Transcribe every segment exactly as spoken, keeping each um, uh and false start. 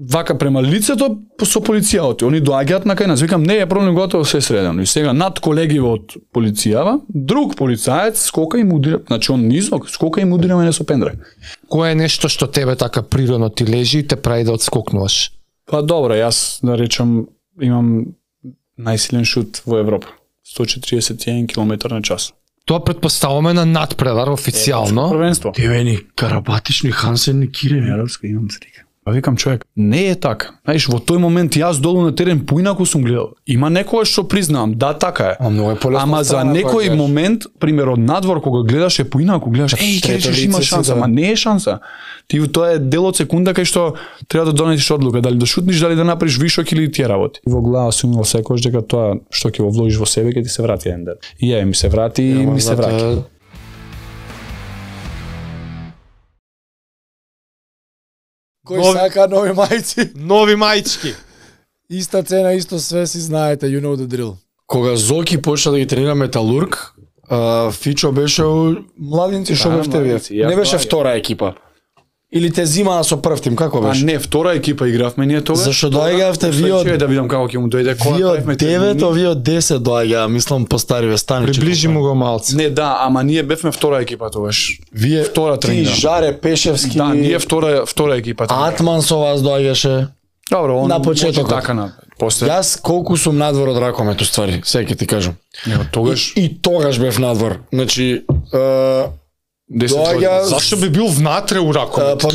вака према лицето со полицијата. Они доаѓаат на кај нас. Викам, не е проблем, готово, се средено. И сега над колегиве од полицијава, друг полицаец скока и мудира, значи он низок, скока и мудира мене со пендрај. Кое е нешто што тебе така природно ти лежи и те прави да отскокнуваш? Па добро, јас да речам имам најсилен шут во Европа. сто четиридесет и еден километар на час. Тоа претпоставуваме на надпревар официјално. Првенство. Девени, Карабатични, Хансен, Кирени. Јаровска имам слика. А викам човек, не е така. Знаеш, во тој момент јас долу на терен поинаку сум гледал. Има некој што признавам, да, така е. А многу е полесно. Ама за некој момент, пример од надвор кога гледаш е поинаку, гледаш, еј, ќе речеш има шанса, ама не е шанса. Ти тоа е дел од секунда кај што треба да донесеш одлука, дали да шутниш, дали да направиш вишок или тие работи. Во глава сум имал секогаш дека тоа што ќе го вложиш во себе ќе ти се врати еден ден. И ја ми се врати и ми се враќа. Кој нови... сака нови мајци? Нови мајчки. Иста цена, исто све, си знаете, you know the drill. Кога Зоки почна да ги тренира Металург, uh, Фичо беше у младинци, шо бевте вие? Не беше втора екипа. Или те зима со прв тим, како беше? А не, втора екипа игравме ние тогаш. Зашо доаѓавте вие од... да видам како ќе му дојде која вие од девет, вие од десет доаѓа, мислам постариве станичи. Приближи му го малце. Не, да, ама ние бевме втора екипа тогаш. Вие втора ти, тренира. Жаре Пешевски. Да, ние втора втора екипа. Атман со вас доаѓаше. Добро, он на почетокот. Така на после. Јас колку сум надвор од ракомет уствари, сега ќе ти кажам. Не, тогаш и, и тогаш бев надвор. Значи, е, доаѓа... Зашто би бил внатре у ракомет? Па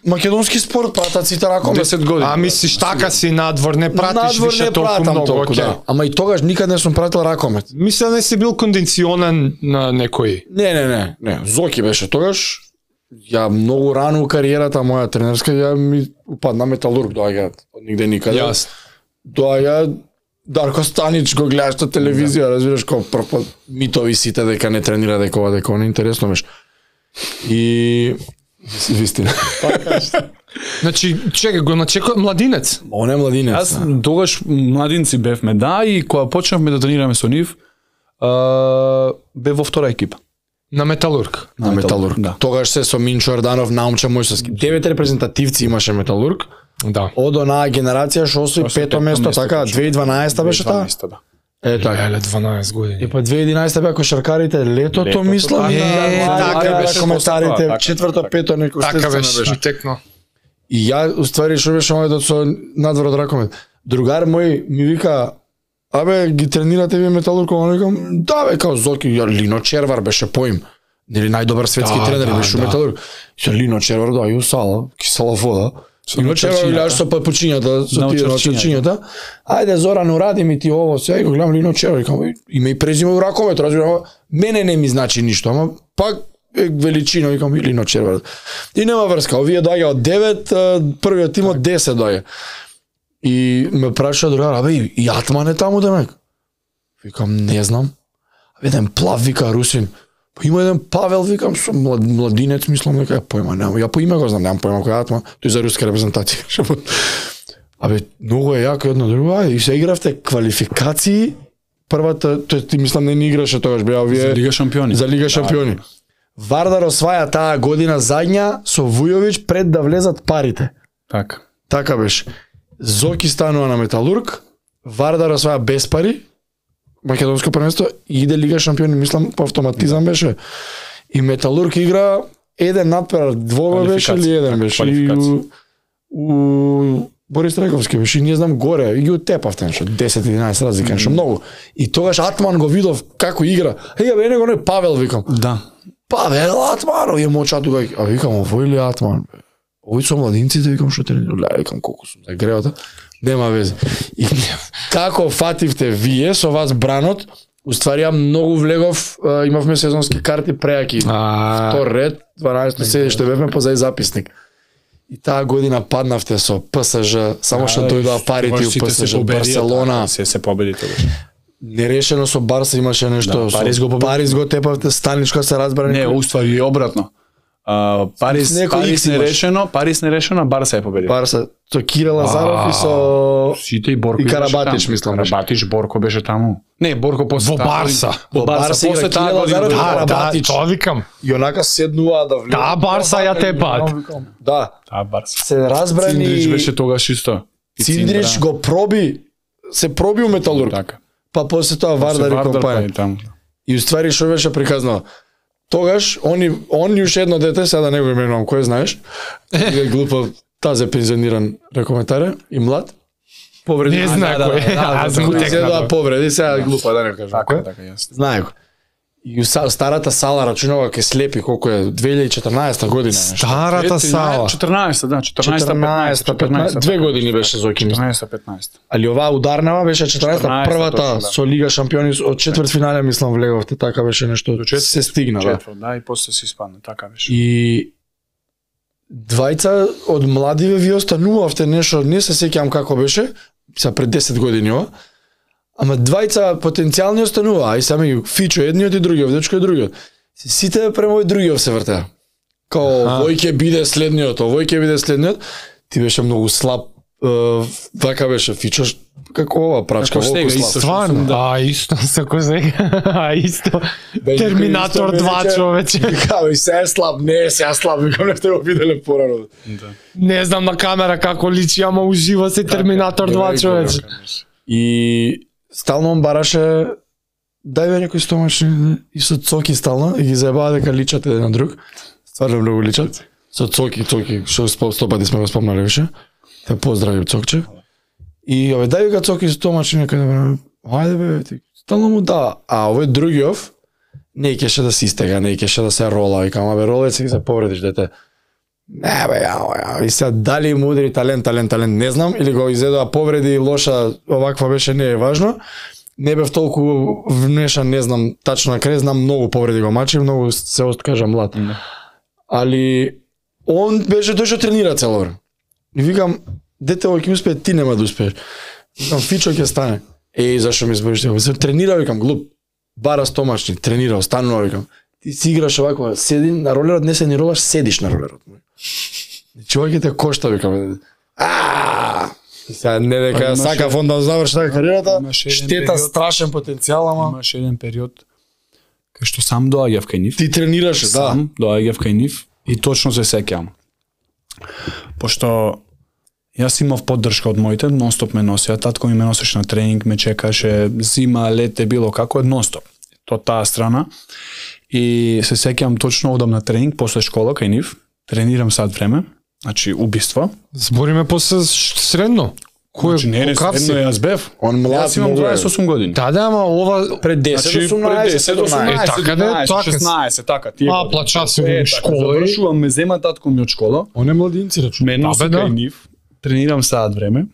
македонски спорт пратат сите ракомет. десет години. А мислиш така си надвор, не пратиш надвор више не толку многу, толку, да. Ама и тогаш никад не сум пратил ракомет. Мисля не си бил кондиционен на некој. Не, не, не, не. Зоки беше тогаш. Ја многу рано у кариерата моја тренерска ја ми упадна Металург доаѓа од нигде никаде. Јас. Доаѓа Дарко Станич го гледаш на телевизија, да. Разбираш како прв митови сите дека не тренира дека ова дека ова интересно беше. И вистина. Значи, чекај го начекува младинец. Он е младинец. Јас тогаш младинци бевме, да, и кога почнавме да тренираме со нив, бев во втора екипа. На Металург. На, на Металург. Да. Тогаш се со Минчо Орданов, Наумча Мојсовски. Девет репрезентативци имаше Металург. Да. Од онаа генерација што освои пето место, така, две хиляди и дванаесета беше таа? Да. Е, така. Еле, дванаесет години. И па две хиляди и единаесета беа кошаркарите, летото, летото мислам. Е, така беше коментарите, четврто, пето, некој така беше, текно. И ја, уствари, шо беше мојот со надвор од ракомет. Другар мој ми вика, абе, ги тренирате вие Металург, а викам, да бе, као Зоки, ја, Лино Червар беше поим. Нели најдобар светски да, тренер да, беше да. Металург. Се Лино Червар доаѓа у сала, кисела вода. Лино Червар гледаш со папучињата, со тие начинјата. Ајде Зоран, уради ми ти ово, сега го гледам Лино Червар, викам, име и презиме у ракомет, разбирам, мене не ми значи ништо, ама пак е величина, викам Лино Червар. И нема врска, овие доаѓа од девет, првиот тим од десет доаѓа. И ме праша другар, абе, и Атман е таму демек. Викам, не знам. Еден плав, вика Русин. Па има еден Павел, викам, со млад, младинец, мислам дека ја поима, немам. Ја по име го знам, немам поима кој Атман. Тој за руска репрезентација. Абе, многу е јако едно друго. И се игравте квалификации. Првата, тој ти мислам не ни играше тогаш, беа овие за Лига шампиони. За Лига шампиони. Да. Вардар осваја таа година задња со Вујовиќ пред да влезат парите. Така. Така беше. Зоки станува на Металург, Вардар осваја без пари, македонско првенство и иде Лига шампиони, мислам по автоматизам беше. И Металург игра еден надпревар, двојно беше или еден беше. И у, у Борис Трековски беше, и не знам горе, и ги утепавте нешто, десет единаесет разлика, нешто многу. И тогаш Атман го видов како игра. Еј, бе, него не Павел, викам. Да. Павел Атман, овие мочату, а викам, овој ли Атман? Овој со младинците, викам, што тренира, викам, колку сум загреота. Нема везе. И како фативте вие со вас бранот, уствари ја многу влегов, имавме сезонски карти преаки. Втор ред, дванаесет седиште бевме позај записник. И таа година паднавте со ПСЖ, само што дојдоа парите у ПСЖ, Барселона. Се се победи тогаш. Нерешено со Барса имаше нешто. Да, Париз го победи. Париз го тепавте, Станич кога се разбрани. Не, уствари е обратно. Uh, Парис, Парис не решено, Парис не решено, Барса е победил. Барса, со Кира Лазаров и со Сите и Борко и Карабатич, мислам. Карабатич, Борко беше таму. Не, Борко после во Барса. Во Барса после таа година. Да, да, тоа викам. И онака седнуваа да влезат. Да, Барса ја те пат. Да. Таа Барса. Се разбрани. Циндрич беше тогаш исто. Циндрич го проби, се проби у Металург. Така. Па после тоа Вардар и компанија. И уствари што беше приказано. Тогаш они они уште едно дете, сега да не го именувам, кој знаеш? Е глупо, тазе пензиониран рекометаре и млад. Повреди. Не знае кој. Аз му текна повреди, сега глупо да не кажам. Така, така, јасно. Знае го. И старата сала рачунава ке слепи колку е две илјади и четрнаесета година. Старата сала. четрнаесета, да, четрнаесета, петнаесета, петнаесета, две години беше Зоки. четрнаесета, петнаесета. Али оваа ударнава беше четрнаесета, првата со Лига шампиони од четвртфинале мислам влеговте, така беше нешто. Се стигна, да. Да, и после се испадна, така беше. И двајца од младиве ви останувавте нешто, не се сеќавам како беше, са пред десет години ова. Ама двајца потенцијални останува, а и сами ги Фичо едниот и другиот, дечко и другиот. Сите према овој другиот се вртеа. Као овој ќе биде следниот, овој ќе биде следниот. Ти беше многу слаб, вака беше Фичо, како ова прачка, волку слаб. Стварно, а исто како сега, а исто. Терминатор два човече. Као и се е слаб, не е сега слаб, викам не сте го виделе порано. Не знам на камера како личи, ама ужива се Терминатор два човече. И стално он бараше дај бе некој стомачни и со Цоки стално и ги заебаа дека личат еден на друг. Стварно многу личат. Со Цоки, Цоки, што сто пати сме го спомнали више. Те поздрави Цокче. И овој дај вика Цоки стомачни некој да ајде бе, ти стално му да, а овој другиов не кеше да се истега, не кеше да се рола, вика, ама бе ролец и се повредиш дете. Не бе, ја, ја, и сега дали му удри талент, талент, талент, не знам, или го изедоа повреди лоша, оваква беше, не е важно. Не бев толку внешан, не знам, тачно на крај, знам многу повреди го мачи, многу се откажа млад. Mm. Али он беше тој што тренира цело време. И викам, дете овој ќе успее, ти нема да успееш. Викам, Фичо ќе стане. Еј, зашо ми збориш тоа? Се тренира, викам, глуп. Бара стомачни, тренира, останува, викам. Ти си играш овако, седи на ролерот, не се ни ролаш, седиш на ролерот. Човек те кошта, викам. Ааа! Сега не дека сака фонд да заврши така кариерата, штета, страшен потенцијал, ама имаше еден период кај што сам доаѓав кај нив. Ти тренираше, да. Сам доаѓав кај нив и точно се сеќавам. Пошто јас имав поддршка од моите, нонстоп ме носеа, татко ми ме носеше на тренинг, ме чекаше, зима, лете, било како, нонстоп. Тоа таа страна. И се сеќавам точно одам на тренинг после школа кај нив, тренирам сад време, значи убиство. Збориме после средно. Кој значи, не е средно, јас бев. Он млад, јас имам дваесет и осум години. Да, да, ама ова пред десет, значи, осумнаесет, осумнаесет, е, така да, така. шеснаесет, така. Тие а, плача се во школа. Завршувам, ме зема татко ми од школа. Он е младинци, рачу. Ме носи кај нив, тренирам сад време.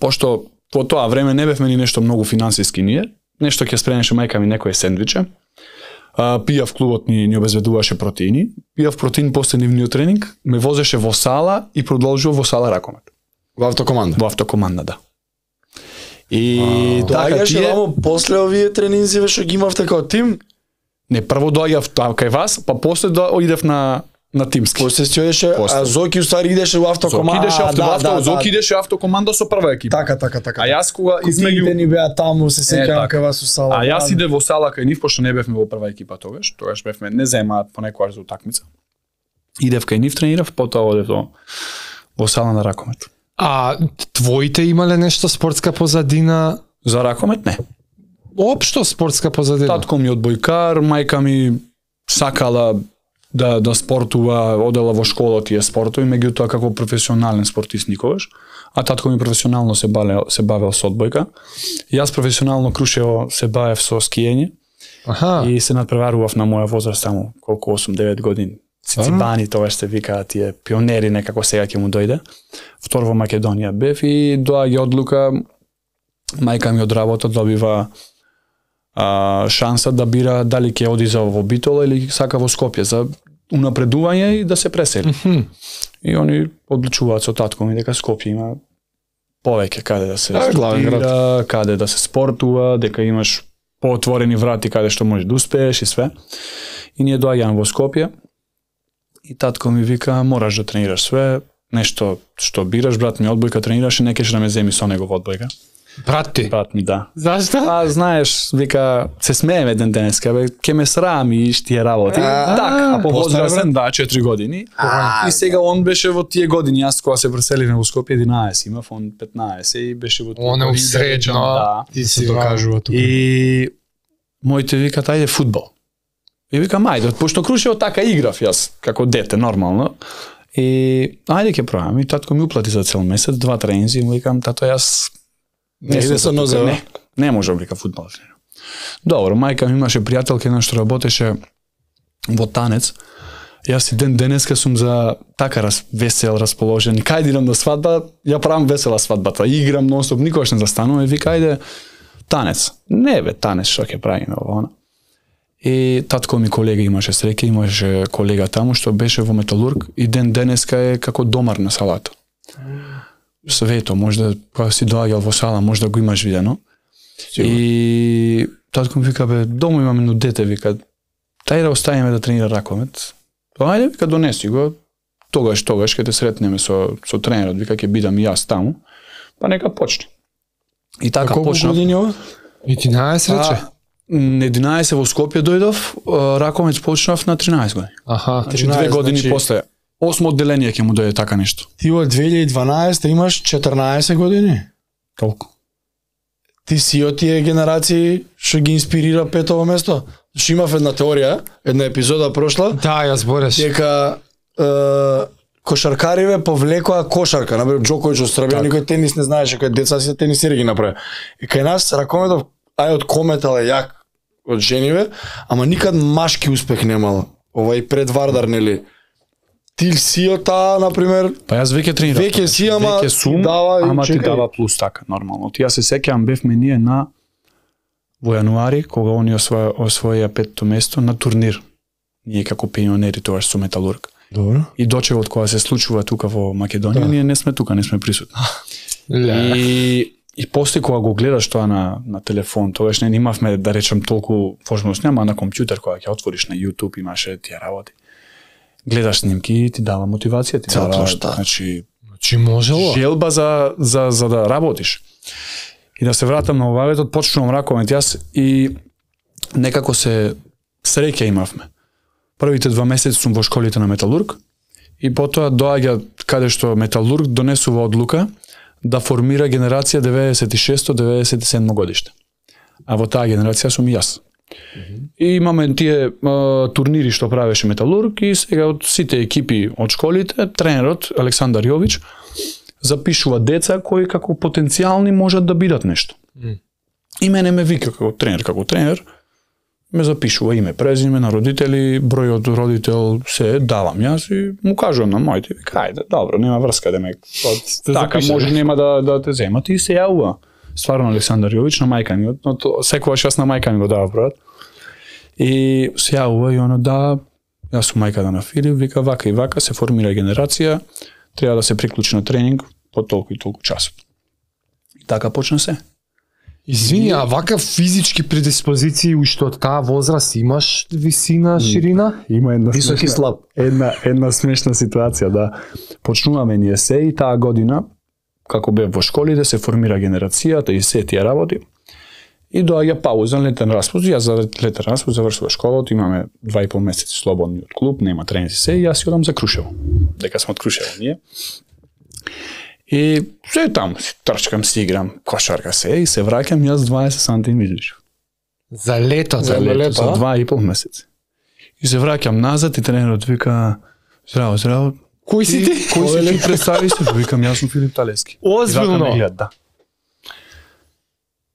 Пошто во тоа време не бевме ни нешто многу финансиски ние. Нешто ќе спремеше мајка ми некое сендвиче. Uh, пијав клубот ни, ни обезбедуваше протеини, пијав протеин после нивниот тренинг, ме возеше во сала и продолжува во сала ракомет. Во автокоманда? Во автокоманда, да. И а, така тие... Доаѓаше после овие тренинзи што ги имавте како тим? Не, прво доаѓав кај вас, па после до... идев на на тимски. После се одеше, а Зоки уствари идеше во автокоманда. Зоки идеше авто, да, авто, да, Зоки да. идеше автокоманда со прва екипа. Така, така, така. А јас кога измеѓу ни беа таму, се сеќавам кај вас у сала. А јас иде во сала кај нив, пошто не бевме во прва екипа тогаш, тогаш бевме не земаат понекогаш за утакмица. Идев кај нив, тренирав, потоа одев во во сала на ракомет. А твоите имале нешто спортска позадина? За ракомет не. Општо спортска позадина. Татко ми одбојкар, мајка ми сакала да да спортува, одела во школа тие спортови, меѓутоа како професионален спортист никогаш, а татко ми професионално се бавел се бавел со одбојка. Јас професионално крушево се бавев со скиење. Аха. И се надпреварував на моја возраст таму колку осум-девет години. Цицибани тоа што викаат тие пионери некако сега ќе му дојде. Втор во Македонија бев и доаѓа одлука, мајка ми од работа добива а, шанса да бира дали ќе оди за во Битола или сака во Скопје за унапредување и да се пресели. Mm-hmm. И они одлучуваат со татко ми дека Скопје има повеќе каде да се а, студира, каде да се спортува, дека имаш поотворени врати каде што можеш да успееш и све. И ние доаѓаме во Скопје. И татко ми вика, мораш да тренираш све, нешто што бираш, брат ми одбојка тренираше, не кеш да ме земи со него во одбојка. Брат ти? Брат ми, да. Зашто? А, знаеш, вика, се смееме ден денеска, бе, ке ме срам и тие работи. Така, а повозрасен, да, четири години. И сега он беше во тие години, јас кога се преселивме во Скопје единаесет, имав он петнаесет и беше во тие години. Он е усредно, да. Ти се докажува тука. И моите викат, ајде фудбал. И викам, ајде, пошто Крушево така играв јас, како дете, нормално. И ајде ќе пробам. И татко ми уплати за цел месец, два тренинзи, и му викам, тато, јас не иде со нозе, не, не можам вика фудбал. Добро, мајка ми имаше пријателка една што работеше во танец. Јас и ден денеска сум за така раз, весел, расположен. И кај идам на свадба, ја правам весела свадбата. Играм нонстоп, никогаш не застанувам и вика ајде танец. Не бе, танец што ќе правиме ова. И татко ми колега имаше среќа, имаше колега таму што беше во металург и ден денеска е како домар на салата. Свето, можда кога си доаѓал во сала, можда го имаш видено. Сигурно. И татко ми вика, бе, дома имам едно дете, вика, тај да оставиме да тренира ракомет. Па ајде, вика, донеси го, тогаш, тогаш, ке те сретнеме со, со тренерот, вика, ке бидам и јас таму, па нека почне. И така почна. почна. Колку години ова? единаесет рече? единаесет во Скопје дојдов, ракомет почнав на тринаесет години. Аха. Значи две години значи... после. Осмо одделение ќе му дојде така нешто. Ти од две илјади и дванаесета имаш четрнаесет години? Толку. Ти си од тие генерации што ги инспирира петово место? Што имав една теорија, една епизода прошла. Да, ја збореш. Дека е, кошаркариве повлекоа кошарка, например Џоковиќ од Србија, никој тенис не знаеше, кој деца си тенисери ги направи. И кај нас ракометов ај од кометал е јак од жениве, ама никад машки успех немала. Ова и пред Вардар, нели? Ти си од таа, например, па јас веќе тренирам. Веќе си, ама веќе сум, дава, ама ти чекай. дава плюс така, нормално. Ти јас се сеќавам бевме ние на во јануари, кога они освоја, освоја петто место на турнир. Ние како пионери тогаш со Металург. Добро. И дочевот кога се случува тука во Македонија, да. Ние не сме тука, не сме присутни. И и после кога го гледаш тоа на на телефон, тогаш не имавме да речам толку возможност, нема на компјутер кога ќе отвориш на YouTube имаше тие работи. Гледаш снимки и ти дава мотивација, ти дава, значи, значи можело. Желба за за за да работиш. И да се вратам на обаветот, почнувам ракомет јас и некако се среќа имавме. Првите два месеци сум во школите на Металург и потоа доаѓа каде што Металург донесува одлука да формира генерација деветдесет и шесто деветдесет и седмо годиште. А во таа генерација сум и јас. Mm-hmm. И имаме тие а, турнири што правеше Металург и сега од сите екипи од школите, тренерот Александар Јович запишува деца кои како потенцијални можат да бидат нешто. Mm. И мене ме вика како тренер, како тренер, ме запишува име, презиме на родители, број од родител се давам јас и му кажувам на моите, вика, ајде, добро, нема врска да ме така може нема да да те земат и се јавува. Стварно Александар Јович на мајка ми, но секогаш јас на мајка ми го дава бројот. И се јавува и оно да, јас сум мајката на Филип, вика вака и вака се формира генерација, треба да се приклучи на тренинг по толку и толку часот. И така почна се. Извини, а вака физички предиспозиции уште од таа возраст имаш висина, ширина? Има една висок и слаб. Една една смешна ситуација, да. Почнуваме ние се и таа година како бев во школите се формира генерацијата и се тие работи. И доаѓа пауза, летен распуст, јас за летен распуст завршува школата, имаме два и пол месеци слободни од клуб, нема тренинзи се и јас одам за Крушево. Дека сме од Крушево ние. И се таму си трчкам, си играм, кошарка се и се враќам јас дваесет сантиметри излишав. За лето, за, за лето, лето, за два и пол месеци. И се враќам назад и тренерот вика: "Здраво, здраво. Кој си ти? Кој си ти представи се?" Викам: "Јас сум Филип Талески." Озбилно. Гледат, да.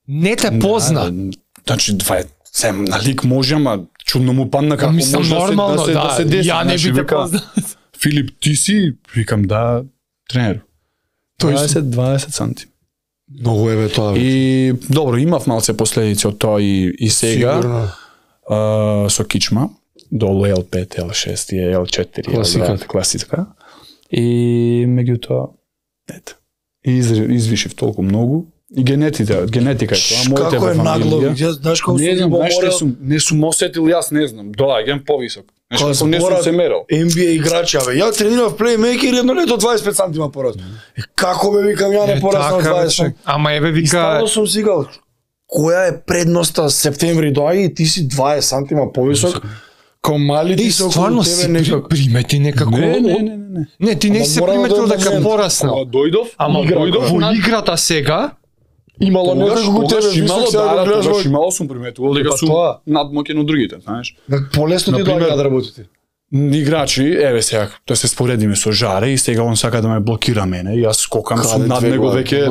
Не те позна. Да, значи два се на лик може, ама чудно му падна како може нормално, да се, да, да, да се деси. Ја не значи, би те вика, позна. Филип, ти си? Викам: "Да, тренер." дваесет дваесет санти. Многу е бе тоа. И добро, имав малце последици од тоа и, и сега. А, со кичма, долу Ел пет, Ел шест и Ел четири, класика. класика. И меѓутоа, ето, из, извишив толку многу. И генетика, генетика е тоа, моите како е нагло, фамилија. Јас знаеш како не сум знам, го знаеш морал. не сум, не сум осетил јас, не знам, доаѓам повисок. Кога не сум се мерал. Н Б А играчи, абе, ја тренирав плеймейкер и едно лето дваесет и пет сантима пораст. Е, како бе, викам, ја не пораснав дваесет. Ама еве вика... И стално сум сигал, која е предноста септември доаѓа и ти си дваесет сантима повисок. Као мали ти се околу тебе некако. Примети некако... Не, не, не, не. Не, ти не се приметил дека пораснал. Кога дојдов, ама дојдов во играта сега, имало некако го тебе имало, да, да, тогаш имало сум приметувал дека сум надмоќен од другите, знаеш. Полесно ти доаѓа да работите. Играчи, еве сега, да се споредиме со Жаре и сега он сака да ме блокира мене и јас скокам сум над него веќе,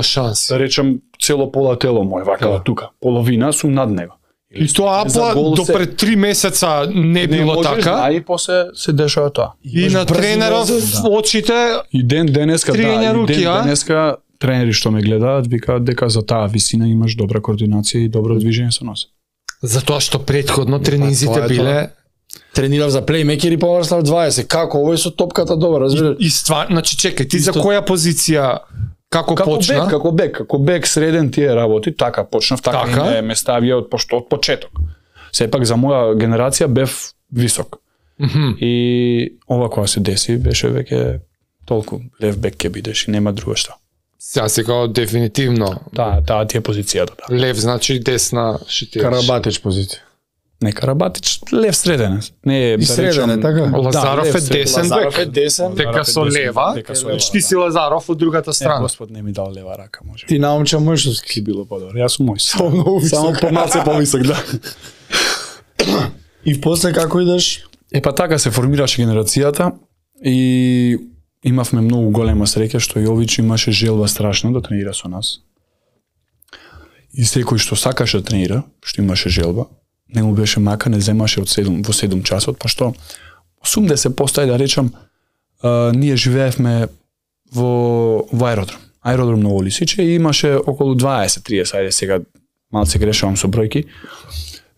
да речем, цело пола тело мој, вака тука, половина сум над него. И тоа апла до пред три месеца не било така. А и после се дешава тоа. И на тренеров очите и ден денеска, да, и ден а? денеска тренери што ме гледаат викаат дека за таа висина имаш добра координација и добро движење со нос. Затоа што претходно тренинзите биле тренирав за плеймейкер и пораснав дваесет. Како овој со топката добро, разбираш? И ствар, значи чекај, ти за која позиција како, како почна? Бек, како бек, како бек среден тие работи, така почнав, така, така? И ме, ме ставија од пошто од почеток. Сепак за моја генерација бев висок. Mm -hmm. И ова кога се деси беше веќе толку лев бек ќе бидеш и нема друго што. Сега се као дефинитивно. Да, таа ти е позицијата, да. Лев значи десна шитираш. Карабатич позиција. Не Карабатич, лев среден. Не е и среден е така. Лазаров да, е десен бек. Лазаров е десен. Дека со лева. Значи ти си Лазаров од другата страна. Е, Господ не ми дал лева рака, може. Ти наумча мъжовски. Ки било подобро. Јас сум мој. Само, само помалце повисок, да. И после како идеш? Е па така се формираше генерацијата и имавме многу голема среќа што Јович имаше желба страшно да тренира со нас. И секој што сакаше да тренира, што имаше желба, не му беше мака, не земаше од седум во седум часот, пошто осумдесет проценти да речам, а, ние живеевме во, во аеродром. Аеродром на Олисиче и имаше околу дваесет до триесет, ајде сега малце грешавам со бројки.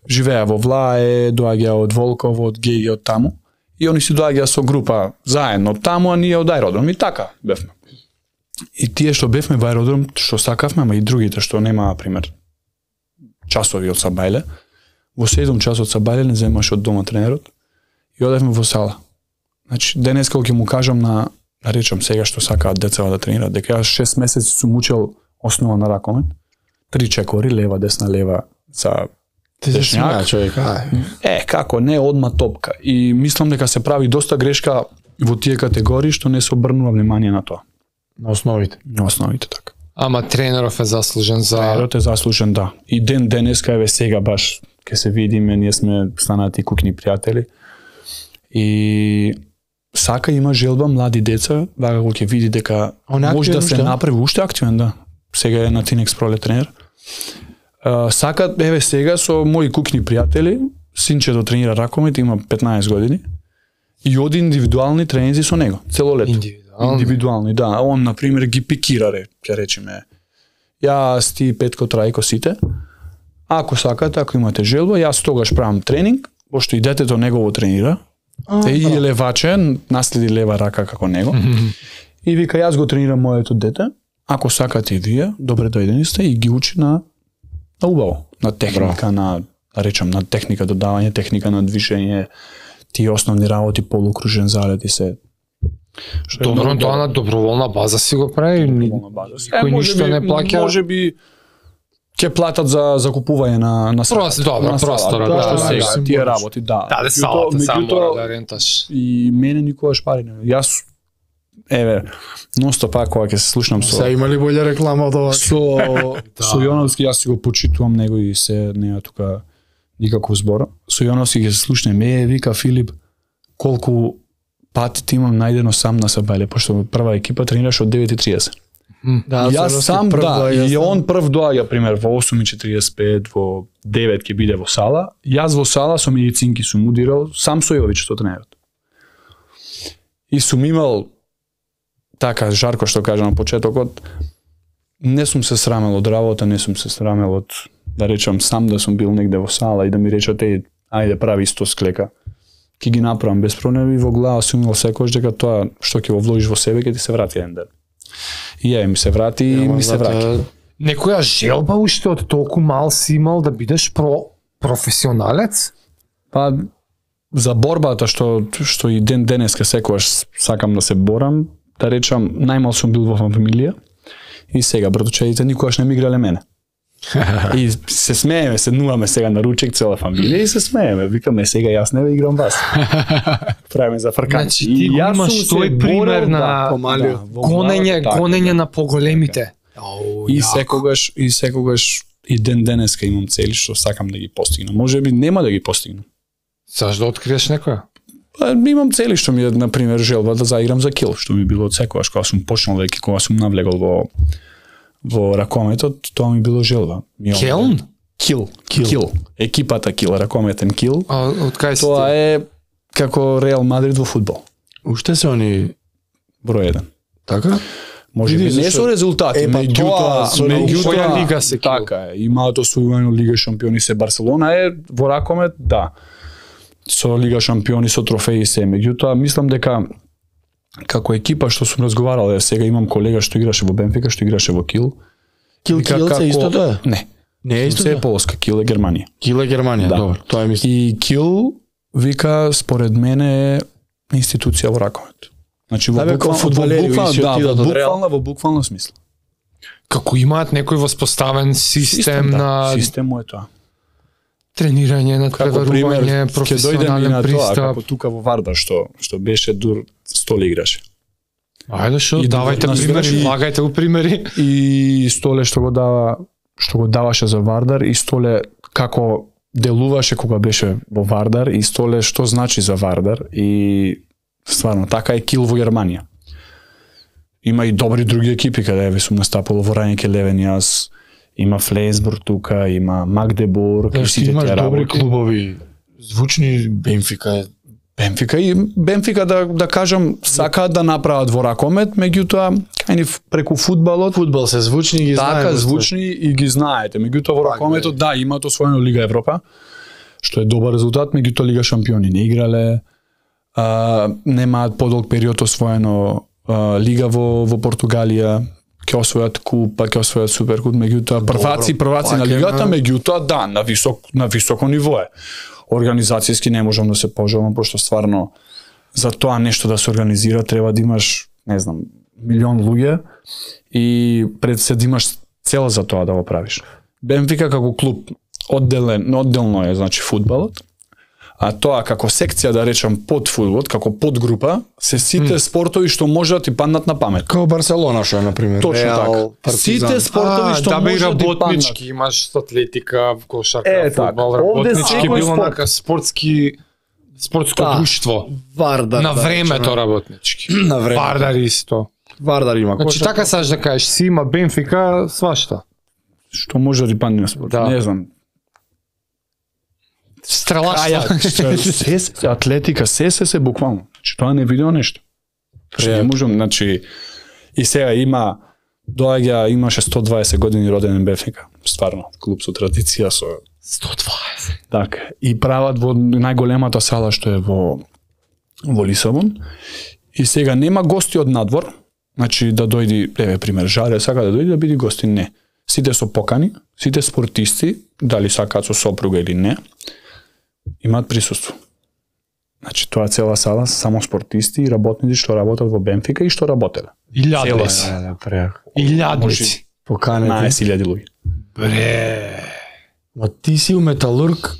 Живеа во Влае, доаѓа од Волково, од Геги, од таму. И они си доаѓа со група заедно од таму, а ние од аеродром. И така бевме. И тие што бевме во аеродром, што сакавме, ама и другите што нема, например, часови од Сабајле, во седум часот Сабајле не земаше од дома тренерот и одевме во сала. Значи, денес кога ќе му кажам на, да речам сега што сакаат децава да тренираат, дека јас шест месеци сум учел основа на ракомет, три чекори, лева, десна, лева, за дешњак. човек, Е, како не, одма топка. И мислам дека се прави доста грешка во тие категории што не се обрнува внимание на тоа. На основите. На основите, така. Ама тренеров е заслужен за... Тренерот е заслужен, да. И ден денеска, еве сега баш, ке се видиме, ние сме станати кукни пријатели. И сака има желба млади деца, вака го ќе види дека може да се направи уште активен, да. Сега е на Тинекс пролет тренер. Uh, сакат, еве сега со мои кукни пријатели, синчето тренира ракомет, има петнаесет години, и оди индивидуални тренинзи со него, цело лето. Индивидуални? Индивидуални, да. Он, например, ги пикира, ќе речеме, јас, ти, Петко, Трајко, сите. Ако сакате, ако имате желба, јас тогаш правам тренинг, пошто и детето негово тренира, а, и е леваче, наследи лева рака како него, и вика, јас го тренирам моето дете, ако сакате и вие, добре дојдени сте, и ги учи на на убаво, на техника, Браво. на, да речам, на техника додавање, техника на движење, тие основни работи, полукружен залет и се. Добро, тоа на доброволна база си го прави, никој ништо не плаќа. Може би ќе платат за закупување на на Просто добро, просто да, да, сега, тие работи, да. Да, салата само мора да ренташ. И мене никогаш пари не. Јас еве, ностоп пак кога ќе се слушнам со. Се има ли болја реклама од ова? Со со Јоновски јас си го почитувам него и се неа тука никаков збор. Со Јоновски ќе се слушнем, е вика Филип, колку пати ти имам најдено сам на Сабајле, пошто прва екипа тренираш од девет и триесет. Да, јас сам, да, и он прв доаѓа, пример, во осум и четириесет и пет, во девет ќе биде во сала. Јас во сала со медицинки сум удирал, сам со Јович што тренерот. И сум имал така жарко што кажа на почетокот, не сум се срамел од работа, не сум се срамел од, да речам, сам да сум бил негде во сала и да ми речат, еј, ајде прави сто склека. Ки ги направам без проблем и во глава сум имал секојаш дека тоа што ќе го вложиш во себе ќе ти се врати еден ден. И ја ми се врати и ми се враќа. Некоја желба уште од толку мал си имал да бидеш про професионалец? Па за борбата што што и ден денеска секогаш сакам да се борам, да речам, најмал сум бил во фамилија и сега братучедите никогаш не ми играле мене. И се смееме, седнуваме сега на ручек цела фамилија и се смееме. Викаме сега јас не играм вас. Правиме за фрканци. Значи ти имаш тој пример на гонење, гонење на поголемите. И секогаш и секогаш и ден денеска имам цели што сакам да ги постигнам. Можеби нема да ги постигнам. Саш да откриеш некоја? Па имам цели што ми е на пример желба да заиграм за кил, што ми било од секогаш кога сум почнал веќе кога сум навлегол во во ракометот, тоа ми било желба. Келн? Кил, кил. Екипата Кил, ракометен Кил. А од кај си? Тоа е како Реал Мадрид во фудбал. Уште се они број еден. Така? Може би не со резултати, е, меѓутоа, меѓутоа лига се Кил. Така е, имаат освојување Лига шампиони се Барселона е во ракомет, да. Со Лига шампиони со трофеи се, меѓутоа мислам дека како екипа што сум разговарал, е, сега имам колега што играше во Бенфика, што играше во Кил. Кил Кил се истото е? Не. Не е истото? Се е Полска, Кил е Германија. Кил е Германија, да. добро, тоа е мислам. И Кил вика според мене е институција во ракомет. Значи во буквално фудбалери, да, во буквално во буквално смисла. Како имаат некој воспоставен систем, систем да. на Систем е тоа. Тренирање, надпреварување, професионален пристап. Како тука во Вардар што што беше дур Столе играше. Ајде шо, И давајте да, примери, и- влагајте го примери. И Столе што го дава што го даваше за Вардар и Столе како делуваше кога беше во Вардар и Столе што значи за Вардар и стварно така е Кил во Германија. Има и добри други екипи каде ви сум настапувал во Рајнеке Левен јас, има Флейсбург тука, има Магдебург, и Ти сите имаш тие добри работи. клубови, звучни Бенфика е. Бенфика и Бенфика да да кажам сакаат да направат во ракомет, меѓутоа кај преку фудбалот Фудбал се звучни ги знаеме. така звучни и ги знаете. Меѓутоа во ракометот да имаат освоено Лига Европа, што е добар резултат, меѓутоа Лига шампиони не играле. А, немаат подолг период освоено а, Лига во во Португалија, ќе освојат куп, па ќе освојат суперкуп, меѓутоа прваци, прваци пак на е лигата, на- меѓутоа да, на висок на високо ниво е. Организацијски не можам да се пожалам, пошто стварно за тоа нешто да се организира треба да имаш, не знам, милион луѓе и пред се да имаш цел за тоа да го правиш. Бенфика како клуб одделен, одделно е значи фудбалот, а тоа како секција да речам под фудбалот, како подгрупа, се сите mm. спортови што можат да ти паднат на памет. Као Барселона што е на пример. Точно Реал, така. Партизан. Сите спортови што да бе можат да ти работнички, паднат. имаш атлетика, кошарка, Е, така. фудбал, Овде работнички секој било спорт. нака спортски спортско Да. друштво. Вардар. На да времето речеме. работнички. На време. Вардар исто. Вардар има. Значи така саш да кажеш, си има Бенфика, свашта. Што може да ти падне на спорт. Да. Не знам. Стрелаштво. се, се, атлетика, се, се, се, буквално. Значи, тоа не видео нешто. Значи, не можам, значи, и сега има, доаѓа, имаше сто дваесет години роден Бенфика. Стварно, клуб со традиција, со... сто дваесет. Така, и прават во најголемата сала што е во, во Лисабон. И сега нема гости од надвор, значи да дојди, еве пример, Жаре сака да дојде да биде гости, не. Сите со покани, сите спортисти, дали сакаат со сопруга или не, имаат присуство. Значи тоа цела сала само спортисти и работници што работат во Бенфика и што работеле. Илјадници. Да, да, преако. Илјадници. Поканете. наесет илјади луѓе. Бре. Ма ти си у Металург,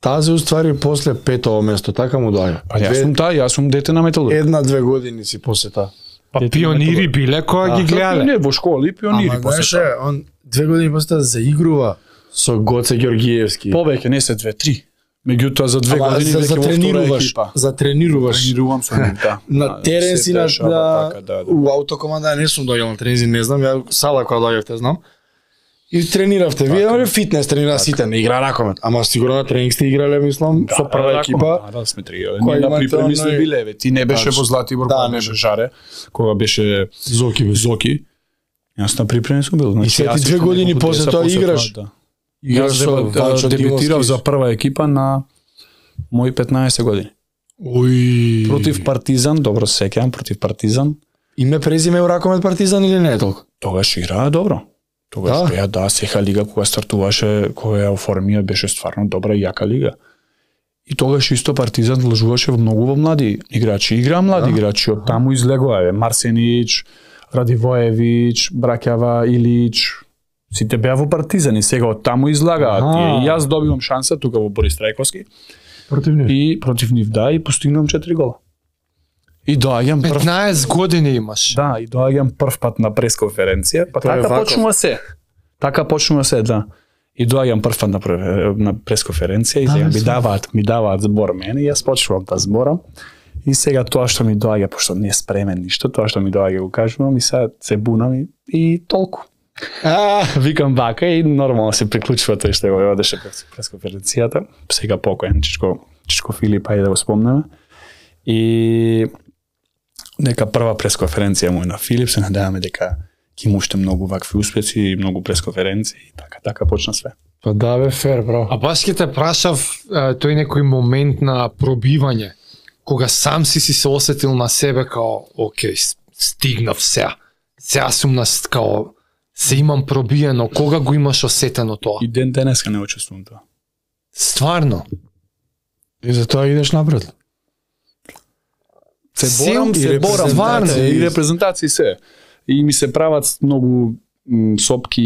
тази уствари после петово место, така му доаѓа. Па јас сум таа, јас сум дете на Металург. Една-две години си после таа. Па пионири биле која ги гледале. Не, во школи пионири Ама после знаеше, тоа. он две години после тоа заигрува со Гоце Ѓоргиевски. Повеќе не се две, три. Меѓутоа за две Ама години за, веќе за во втора тренируваш, екипа. за тренируваш. Тренирувам со нив, да. На Да, терен се си на, дешава на така, да, да. у аутокоманда не сум доаѓал на тренинзи, не знам, ја сала која доаѓавте знам. И трениравте, вие Така. на фитнес тренира сите, не игра ракомет. Ама сигурно на тренинг сте играле, мислам, со прва Да, екипа. Да, да, сме тренирали. Кој Ние на имате припреми сме оној- биле, еве. Ти не беше Тачно. во Златибор, Да, кога не беше Жаре, кога беше Зоки беше. Зоки. Јас на припреми сум бил. Значи, И сега јас ти две искам години неколку после деца тоа после играш. тоа, да. Играш Јас со а, Вачо дебютирав Димовски. за прва екипа на мои петнаесет години. Ој. Против Партизан, добро се сеќавам, против Партизан. Име презиме у ракомет Партизан или не е толку? Тогаш играа добро. Тогаш Да. беа, да, сеха лига кога стартуваше, кога ја оформија, беше стварно добра и јака лига. И тогаш исто Партизан вложуваше многу во млади играчи. Игра млади да. играчи, од таму излегува е Марсенич, Радивоевич, Бракјава, Илич, сите беа во Партизан и сега од таму излагаат. И јас добивам шанса тука во Борис Трајковски. Против нив. И против нив, да, и постигнувам четири гола. И доаѓам прв... петнаесет години имаш. Да, и доаѓам прв пат на пресконференција, па така почнува се. Така почнува се, да. И доаѓам прв пат на, прв, на пресконференција и сега ми даваат, ми даваат збор мене и јас почнувам да зборам. И сега тоа што ми доаѓа, пошто не е спремен ништо, тоа што ми доаѓа го кажувам и сега се бунам и, и толку. А, викам вака и нормално се приклучува тој што го одеше пресконференцијата. Сега покоен Чичко, Чичко Филип, ајде да го спомнеме. И дека прва пресконференција му на Филип, се надеваме дека ќе има уште многу вакви успеси и многу пресконференции и така, така почна све. Па да бе, фер, бро. А баш ке те прашав тој некој момент на пробивање, кога сам си си се осетил на себе као, окей, стигнав сега. Сега сум нас као, се имам пробиено, кога го имаш осетено тоа? И ден денеска не учествувам тоа. Стварно? И затоа идеш напред. Се борам, се борам, стварно, и репрезентации се. И ми се прават многу м, сопки,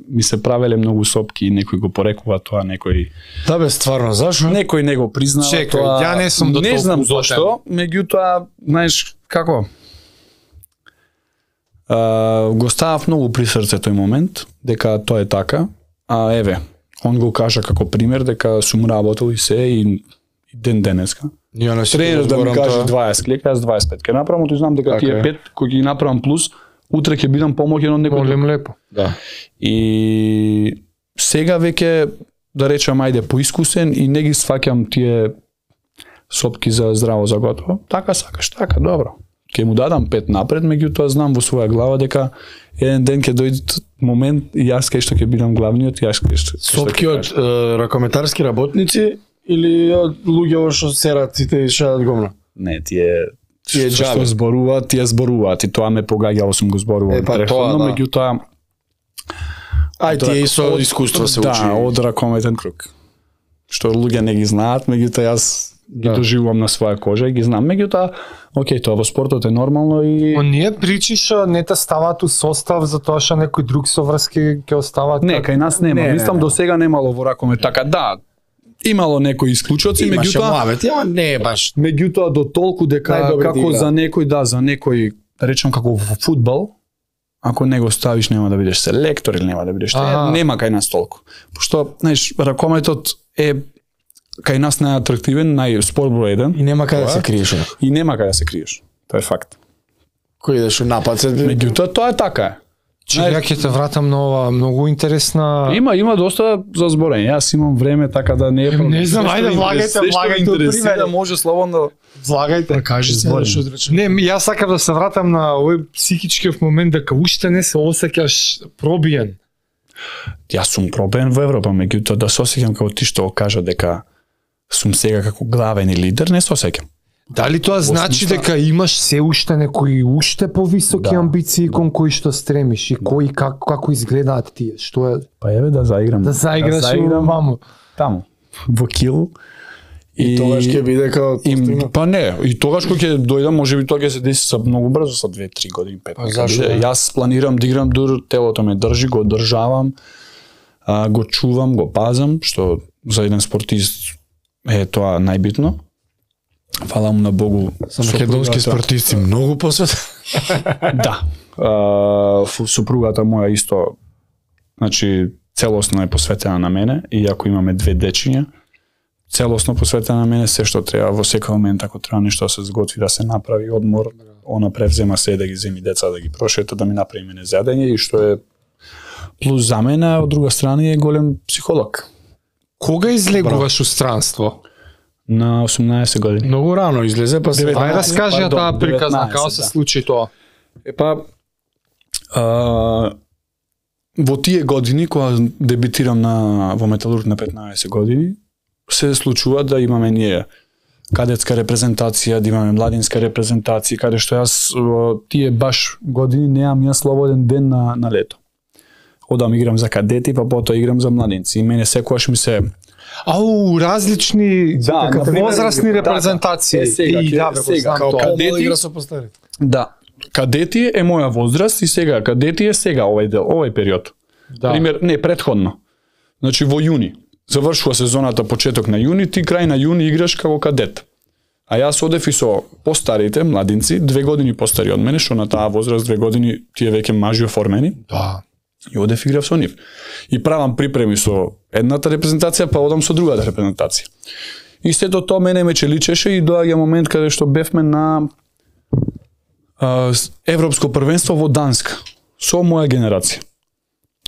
ми се правеле многу сопки, некој го порекува тоа, некој... Да бе, стварно, зашо? Некој не го признава Чекај, тоа. ја не сум до Не толку знам уплетен. зашто, меѓутоа, знаеш, како? Uh, го ставав многу при срце тој момент, дека тоа е така, а еве, он го кажа како пример, дека сум работел и се, и, и ден денеска. Ја не си Тренер да ми зборам каже тоа. дваесет клека, јас дваесет пет ке направам, тој знам дека Така тие е. пет кои ги направам плюс, утре ќе бидам помоќен од некој. Молим лепо. Да. И сега веќе да речам ајде поискусен и не ги сваќам тие сопки за здраво за готово. Така сакаш, така, добро. Ќе му дадам пет напред, меѓутоа знам во своја глава дека еден ден ќе дојде момент и јас кај што ќе бидам главниот, јас кај што. Сопки од е, ракометарски работници или од луѓе што серат сите и шадат гомна? Не, тие Тие што, џабе. што зборуваат, тие зборуваат и тоа ме погаѓало, сум го зборувал Е, па претходно, тоа, да. меѓутоа Ај, тие и со од- искуство се учи. Да, од ракометен круг. Што луѓе не ги знаат, меѓутоа јас ги Да. доживувам на своја кожа и ги знам. Меѓутоа, окей, тоа во спортот е нормално и Оние причиша не те ставаат у состав затоа што некој друг соврски ќе остават. не, кај нас нема. Не, не, Мислам не. до сега немало во ракомет така. Да, имало некои исклучоци, Имаше меѓутоа муавет, ама не е баш. меѓутоа до толку дека Најдобрите како играат. за некој, да, за некој, да речам како во фудбал, ако не го ставиш нема да бидеш селектор или нема да бидеш Аха. тоа, нема кај нас толку. Пошто, знаеш, ракометот е кај нас најатрактивен, најспорт број еден И нема каде да Тоа се е. криеш. и нема каде да се криеш. Тоа е факт. Кој идеш у напад се. Меѓутоа тоа е така. Че ја ќе те вратам на ова многу интересна. Има има доста за зборење. Јас имам време така да не е проблем. Не знам, Се што ајде, ви влагајте, интерес- се што ви влагајте интересира, примери. може слободно. Влагајте. Кажи се, Зборим. што речем. Не, ми- јас сакам да се вратам на овој психичкиот момент дека уште не се осеќаш пробиен. Јас сум пробен во Европа, меѓутоа да се осеќам како ти што го кажа дека сум сега како главен и лидер, не се осеќам. Дали тоа значи смисла- дека имаш се уште некои уште повисоки Да. амбиции кон кои што стремиш и кои како како изгледаат тие? Што е Па еве да заиграм. да заиграш во маму? таму во Кил. И тогаш ќе биде као И, постигнат. па не, и тогаш кога ќе дојдам, можеби тоа ќе се деси со многу брзо, со две-три години, пет. Па зашо? Јас планирам да играм дур, телото ме држи, го одржавам, а, го чувам, го пазам, што за еден спортист е тоа најбитно. Фала му на Богу. За македонски сопругата- спортисти многу посвет. Да. А, фу- супругата моја исто, значи, целосно е посветена на мене, и ако имаме две дечиња, целосно посветена на мене, се што треба во секој момент, ако треба нешто да се зготви, да се направи одмор, она превзема се да ги земи деца, да ги прошета, да ми направи мене зедење, и што е плюс за мене, а од друга страна е голем психолог. Кога излегуваш у странство? На осумнаесет години. Многу рано излезе, па се Ај раскажи ја пардон, таа приказна, деветнаесет, како се да. случи тоа? Епа, а, во тие години, кога дебитирам на, во Металург на петнаесет години, се случува да имаме ние кадетска репрезентација, да имаме младинска репрезентација, каде што јас во тие баш години неам јас слободен ден на, на лето. Одам играм за кадети, па потоа играм за младинци. И мене секогаш ми се Ау, различни Да, например, возрастни да, репрезентации. Е, сега, И, ке- да, бе, го сега, знам као тоа. кадети- Помало игра со постарите. Да. Кадети е моја возраст и сега кадети е сега овој дел, овој период. Да. Пример, не, претходно. Значи во јуни. Завршува сезоната почеток на јуни, ти крај на јуни играш како кадет. А јас одев и со постарите младинци, две години постари од мене, што на таа возраст две години тие веќе мажи оформени. Да. И одев играв со нив. И правам припреми со едната репрезентација, па одам со другата репрезентација. И сето тоа мене ме челичеше и доаѓа момент каде што бевме на а, с- Европско првенство во Данска со моја генерација.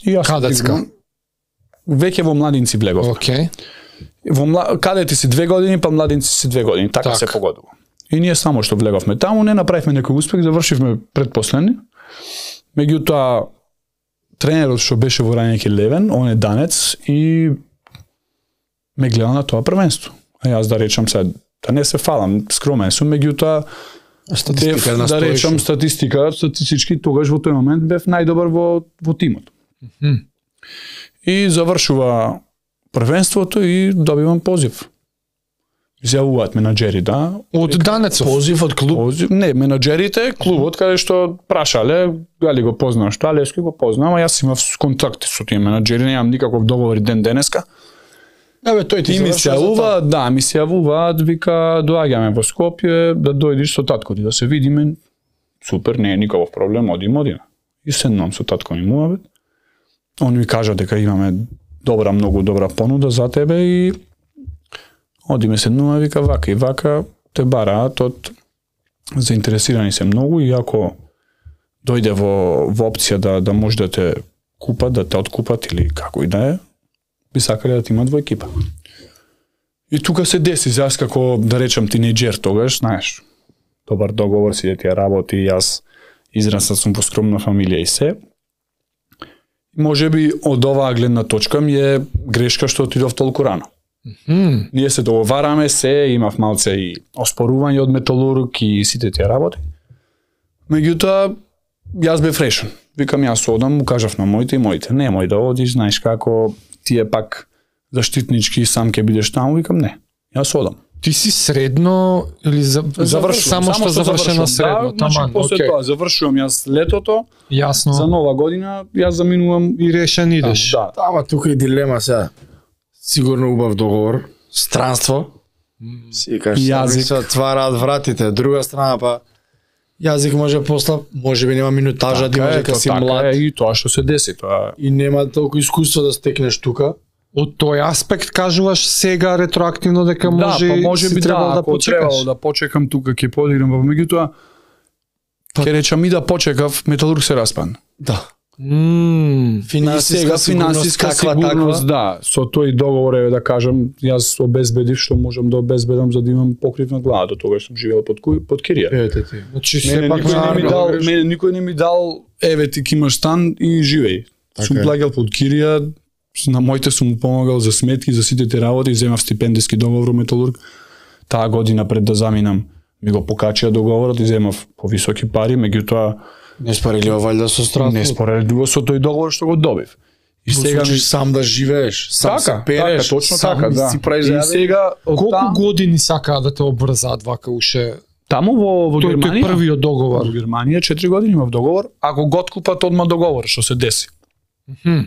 И јас Кадетска? играм. Веќе во младинци влегов. Океј. Во мла... кадети си две години, па младинци си две години, така Так. се погодува. И ние само што влеговме таму, не направивме некој успех, завршивме предпоследни. Меѓутоа тренерот што беше во Рајнеки Левен, он е данец и ме гледа на тоа првенство. А јас да речам се, да не се фалам, скромен сум, меѓутоа Статистика бев, на да речам статистика, статистички тогаш во тој момент бев најдобар во во тимот. Мгм. И завршува првенството и добивам позив. Изјавуваат менаџери, да. Од Данецов. Позив од клуб. Позив, не, менаџерите, клубот каде што прашале, дали го познаваш тоа, Лески го познавам, а јас имав контакти со тие менаџери, немам никаков договор ден денеска. Да бе, тој ти И ми се завршува за тоа. јавува, да, ми се јавуваат, вика, доаѓаме во Скопје, да дојдеш со татко ти, да се видиме. Супер, не е никаков проблем, одим, одиме. И седнам со татко ми муавет. Он ми кажа дека имаме добра, многу добра понуда за тебе и одиме седнуваме, вика, вака и вака, те бараат од заинтересирани се многу и ако дојде во, во опција да, да може да те купат, да те откупат или како и да е, би сакале да ти имат во екипа. И тука се деси, јас како, да речам, тинејџер тогаш, знаеш, добар договор си да ти ја работи, јас израснат сум во скромна фамилија и се. Може би од оваа гледна точка ми е грешка што отидов толку рано. Мгм. Ние се договараме се, имав малце и оспорување од Металург и сите тие работи. Меѓутоа, јас бев решен. Викам, јас одам, му кажав на моите и моите, немој да одиш, знаеш како, тие пак заштитнички сам ќе бидеш таму, викам не. Јас одам. Ти си средно или за... Завршувам, само што завршено средно, Да, значи, таман, после окей. тоа завршувам јас летото, Јасно. за нова година јас заминувам И решен идеш. Да, Ама тука и дилема сега. Сигурно убав договор, странство. Си кажеш, Јазик. се отвараат вратите, друга страна па јазик може после, може би нема минутажа, да имаш дека си така млад е, и тоа што се деси, тоа и нема толку искуство да стекнеш тука. Од тој аспект кажуваш сега ретроактивно дека може да, па може си би требал да, да ако почекаш. требало да почекам тука ќе подиграм, па меѓутоа ќе речам и да почекав, Металург се распадна. Да. Мм. И Финансиска сега сигурност, финансиска каква сигурност, таква. да, со тој договор е да кажам, јас обезбедив што можам да обезбедам за да имам покрив на глава, до тогаш сум живеел под ку- под кирија. Ете ти. Значи Мене сепак никој не ми на дал, мене никој не ми дал, еве ти ки имаш стан и живеј. Сум Така е. плаќал под кирија, на моите сум му помагал за сметки, за сите тие работи, земав стипендиски договор во Металург. Таа година пред да заминам ми го покачија договорот и земав повисоки пари, меѓутоа Не спорелива валјда со странство. не споредува со тој договор што го добив. И Сега сега ми сам да живееш, сам се така, переш, така, точно сам така, да. си правиш И зајадење. сега од Колку там, години сакаа да те обврзаат вака уше? таму во во Тој тој Германија, првиот договор. во Германија четири години имав договор, ако го откупат одма договор, што се деси. Мгм.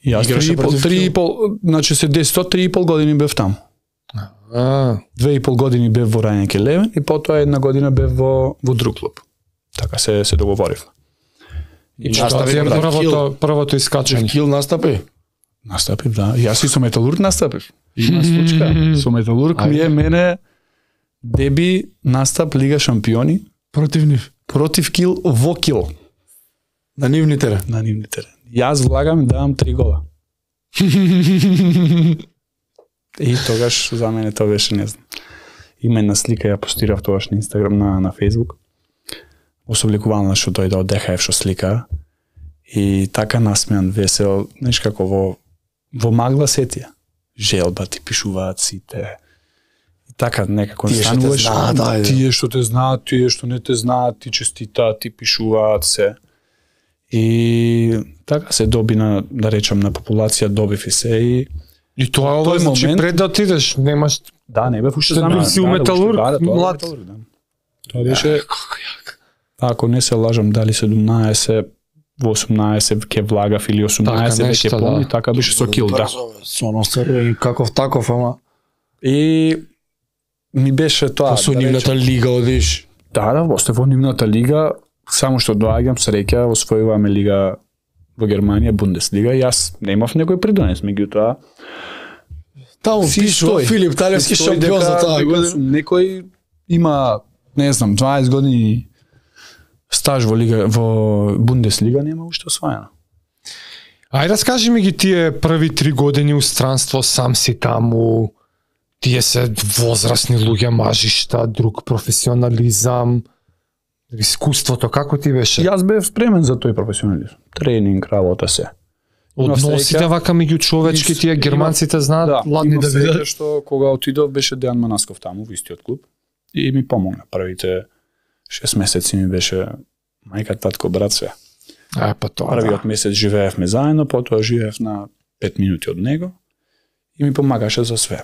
И јас Играше три и пол, против три и Кил. пол, значи се деси тоа, три и пол години бев таму. А, Две и пол години бев во Рајнеки Левен и потоа една година бев во во друг клуб. Така се се договоривме. и Настави тоа ти е против првото првото Че искачање. Кил настапи. Настапив, да. Јас и со Металург настапив. Има случка. Со Металург ми е мене деби настап Лига шампиони Против нив. против Кил во Кил На нивни терен. на нивни терен. Јас влагам и давам три гола. И тогаш за мене тоа беше, не знам. Има една слика, ја постирав тогаш на Инстаграм, на, на Фейсбук. Особлекувана што дојде од ДХФ што слика. И така насмеан, весел, знаеш како во, во магла сетија. Желба ти пишуваат сите. И така некако Тие што те стануваш, знаат, ајде. тие што те знаат, тие што не те знаат, ти честитаат, ти пишуваат се. И така се доби на, да речам, на популација добив и се и И тоа е ова, значи момент... пред да отидеш, немаш... Да, не бев уште знам. Си металург, да, да, млад. Да. Тоа беше... Ако не се лажам, дали седумнаесет, осумнаесет ке влагав или осумнаесет веќе помни, така беше со кил, да. Со ностар каков таков, ама... И ми беше тоа... Со нивната лига одиш. Да, да, осте во нивната лига, само што доаѓам среќа, освојуваме лига во Германија, Бундеслига, и јас немав некој придонес, меѓутоа таму пишува Филип Талевски шампион за таа година. Некој има, не знам, дваесет години стаж во лига, во Бундеслига, нема уште освоено. Ајде раскажи ми ги тие први три години у странство, сам си таму, тие се возрастни луѓе, мажишта, друг професионализам, искуството, како ти беше? Јас бев спремен за тој професионализм. Тренинг, работа се. Односите вака меѓу човечки, тие германците знаат да, ладни да видат. Што кога отидов беше Дејан Манасков таму во истиот клуб и ми помогна. Првите шест месеци ми беше мајка, татко, брат, све. А, па тоа. Првиот да. месец живеевме заедно, потоа живеев на пет минути од него и ми помагаше за све.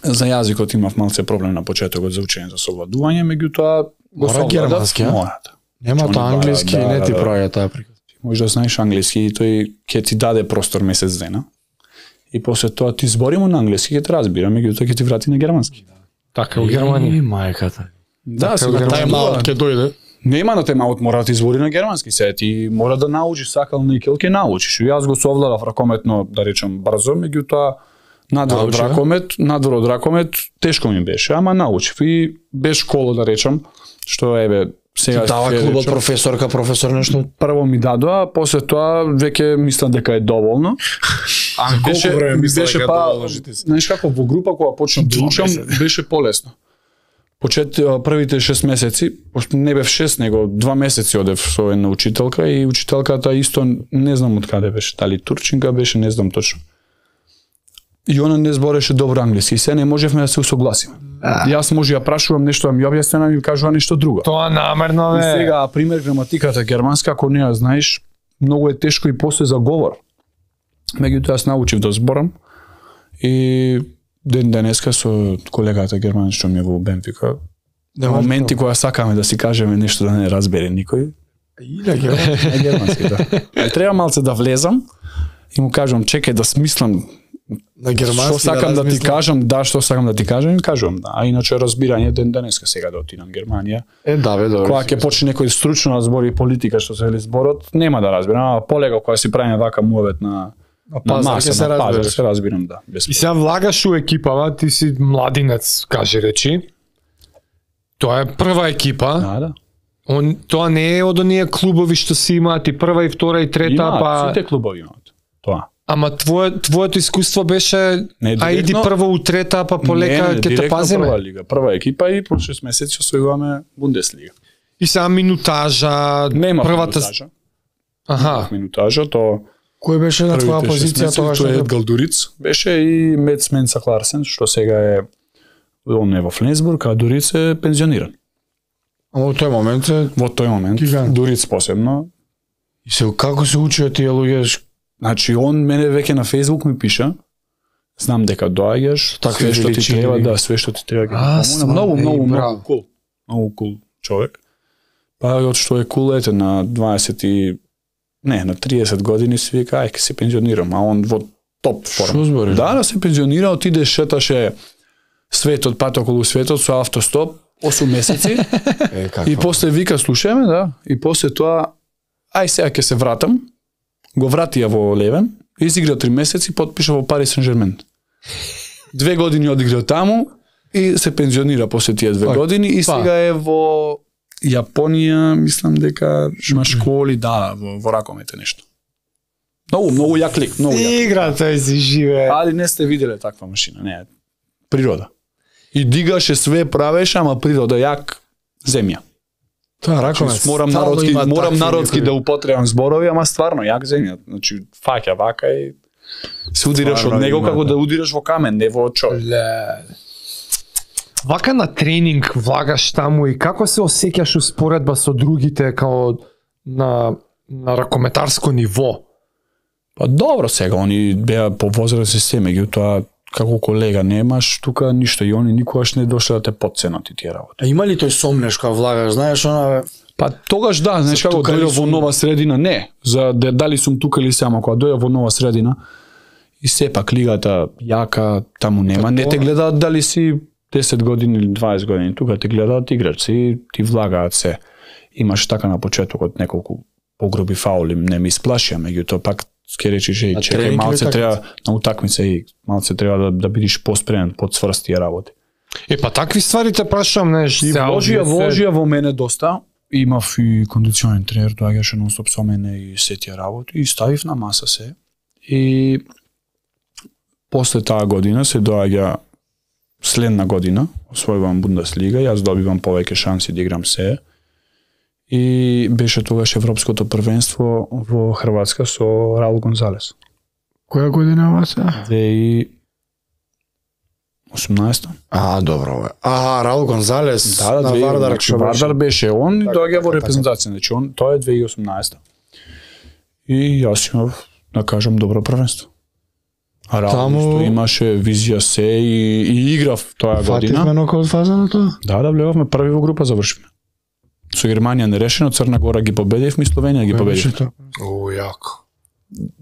За јазикот имав малце проблем на почетокот за учење за совладување, меѓутоа го совладав. Нема тоа англиски, да, не ти да, праја таа приказ. Може да знаеш англиски и тој ќе ти даде простор месец дена. И после тоа ти зборимо на англиски, ќе те разбира, меѓутоа ќе ти врати на германски. Така у Германија. И мајката. Да, се тајмаут ќе дојде. Нема на тајмаут, мора да ти збори на германски, се ти мора да научиш сакал никел, ќе научиш. Јас го совладав ракометно, да речам, брзо, меѓутоа надвор од ракомет, надвор од ракомет тешко ми беше, ама научив и без школа, да речам, што еве сега дава клубот професорка, професор нешто. Прво ми дадоа, после тоа веќе мислам дека е доволно. А беше, колку време мислам дека па, е доволно? Знаеш како во група кога почнав да учам беше полесно. Почет првите шест месеци, не бев шест, него два месеци одев со една учителка и учителката исто не знам од каде беше, дали турчинка беше, не знам точно. И она не збореше добро англиски, и се не можевме да се усогласиме. А. Јас може ја прашувам нешто, да ми објасни, ми кажува нешто друго. Тоа намерно е. И сега, пример, граматиката германска, ако не ја знаеш, многу е тешко и после за говор. Меѓутоа јас научив да зборам и ден денеска со колегата германец што ми е во Бенфика, на моменти кога сакаме да си кажеме нешто да не разбере никој. И на германски, германски да. Треба малце да влезам и му кажувам, чекај да смислам на германски. Што сакам да, да ти кажам, да, што сакам да ти кажам, и кажувам, да. А иначе разбирање ден денеска сега да отидам Германија. Е, да, бе, добро. Кога ќе почне некој стручно да збори политика што се вели зборот, нема да разбирам, ама полего кога си правиме вака муавет на на пазар, маса, се на разбирам. се разбирам, да. И сега влагаш у екипава, ти си младинец, каже речи. Тоа е прва екипа. Да, да. Он, тоа не е од оние клубови што си имаат и прва и втора и трета, имаат, па сите клубови имаат. Тоа. Ама твое твоето искуство беше не, а иди прво у трета, па полека ќе те пазиме. Прва лига, прва екипа и по шест месеци освојуваме Бундеслига. И сега минутажа, нема првата минутажа. Аха, минутажа, то кој беше на твоја позиција тоа што е Галдуриц, беше и Мец Менса Кларсен, што сега е он е во Фленсбург, а Дуриц е пензиониран. А во тој момент е во тој момент гигант. Дуриц посебно. И се како се учио тие луѓе? Значи он мене веќе на Facebook ми пиша, знам дека доаѓаш, све што ти треба, да, све што ти треба ќе ти помогнам. Многу, многу, многу кул. Многу кул човек. Па од што е кул ете на дваесет и не, на триесет години си вика, ај, ке се пензионирам, а он во топ форма. Што збориш? Да, да се пензионира, отиде, шеташе светот, пат околу светот со автостоп, осум месеци. Е, и после вика, слушаме, да, и после тоа, ај сега ќе се вратам, го вратија во Левен, изигра три месеци, потпиша во Пари Сен-Жермен. Две години одигра таму и се пензионира после тие две па, години и па. Сега е во Јапонија, мислам дека има школи, да, во, во ракомете нешто. Многу, многу јак лик, многу јак. Игра тој си живе. Али не сте виделе таква машина, не, природа. И дигаше све правеше, ама природа јак земја. Тоа ракомет. Значи, морам народски, морам народски да употребам зборови, ама стварно јак земја. Значи фаќа вака и се удираш од него како да удираш во камен, не во човек. Вака на тренинг влагаш таму и како се осеќаш успоредба со другите као на на ракометарско ниво? Па добро сега, они беа по возрастни се, меѓутоа како колега немаш, тука ништо и они никогаш не дошле да те потценат и тие работи. А има ли тој сомнеш кога влагаш, знаеш она? Па тогаш да, знаеш како дојде во нова средина, не, за дали сум тука или само кога дојде во нова средина и сепак лигата јака, таму нема, не те гледаат дали си десет години или дваесет години, тука те гледаат играчи, ти влагаат се. Имаш така на почетокот неколку погроби фаули, не ми исплашија, меѓутоа пак ке речиш, еј, чекај, малце треба на утакмица и малце треба да, да бидиш поспремен, подсврст тие работи. Е, па такви ствари те прашам, неш, и вложија, вложија во мене доста, имав и кондиционен тренер, доаѓаше нон-стоп со мене и се тие работи, и ставив на маса се. И после таа година се доаѓа следна година, освојувам Бундеслига, јас добивам повеќе шанси да играм се. И беше тогаш Европското првенство во Хрватска со Раул Гонзалес. Која година ова се? две тисячи и осумнаесета. А, добро. А, Раул Гонзалес да, да, на две, Вардар, значи, Вардар беше он и доаѓа во репрезентација, значи он тоа е две тисячи и осумнаесета. И јас имав, да кажам, добро првенство. А Раул Таму... имаше визија се и, и играв тоа година. Фативме нокаут фаза на тоа? Да, да, влевавме први во група, завршивме. Со Германија нерешено, Црна Гора ги победивме и Словенија ги победивме. О, јако.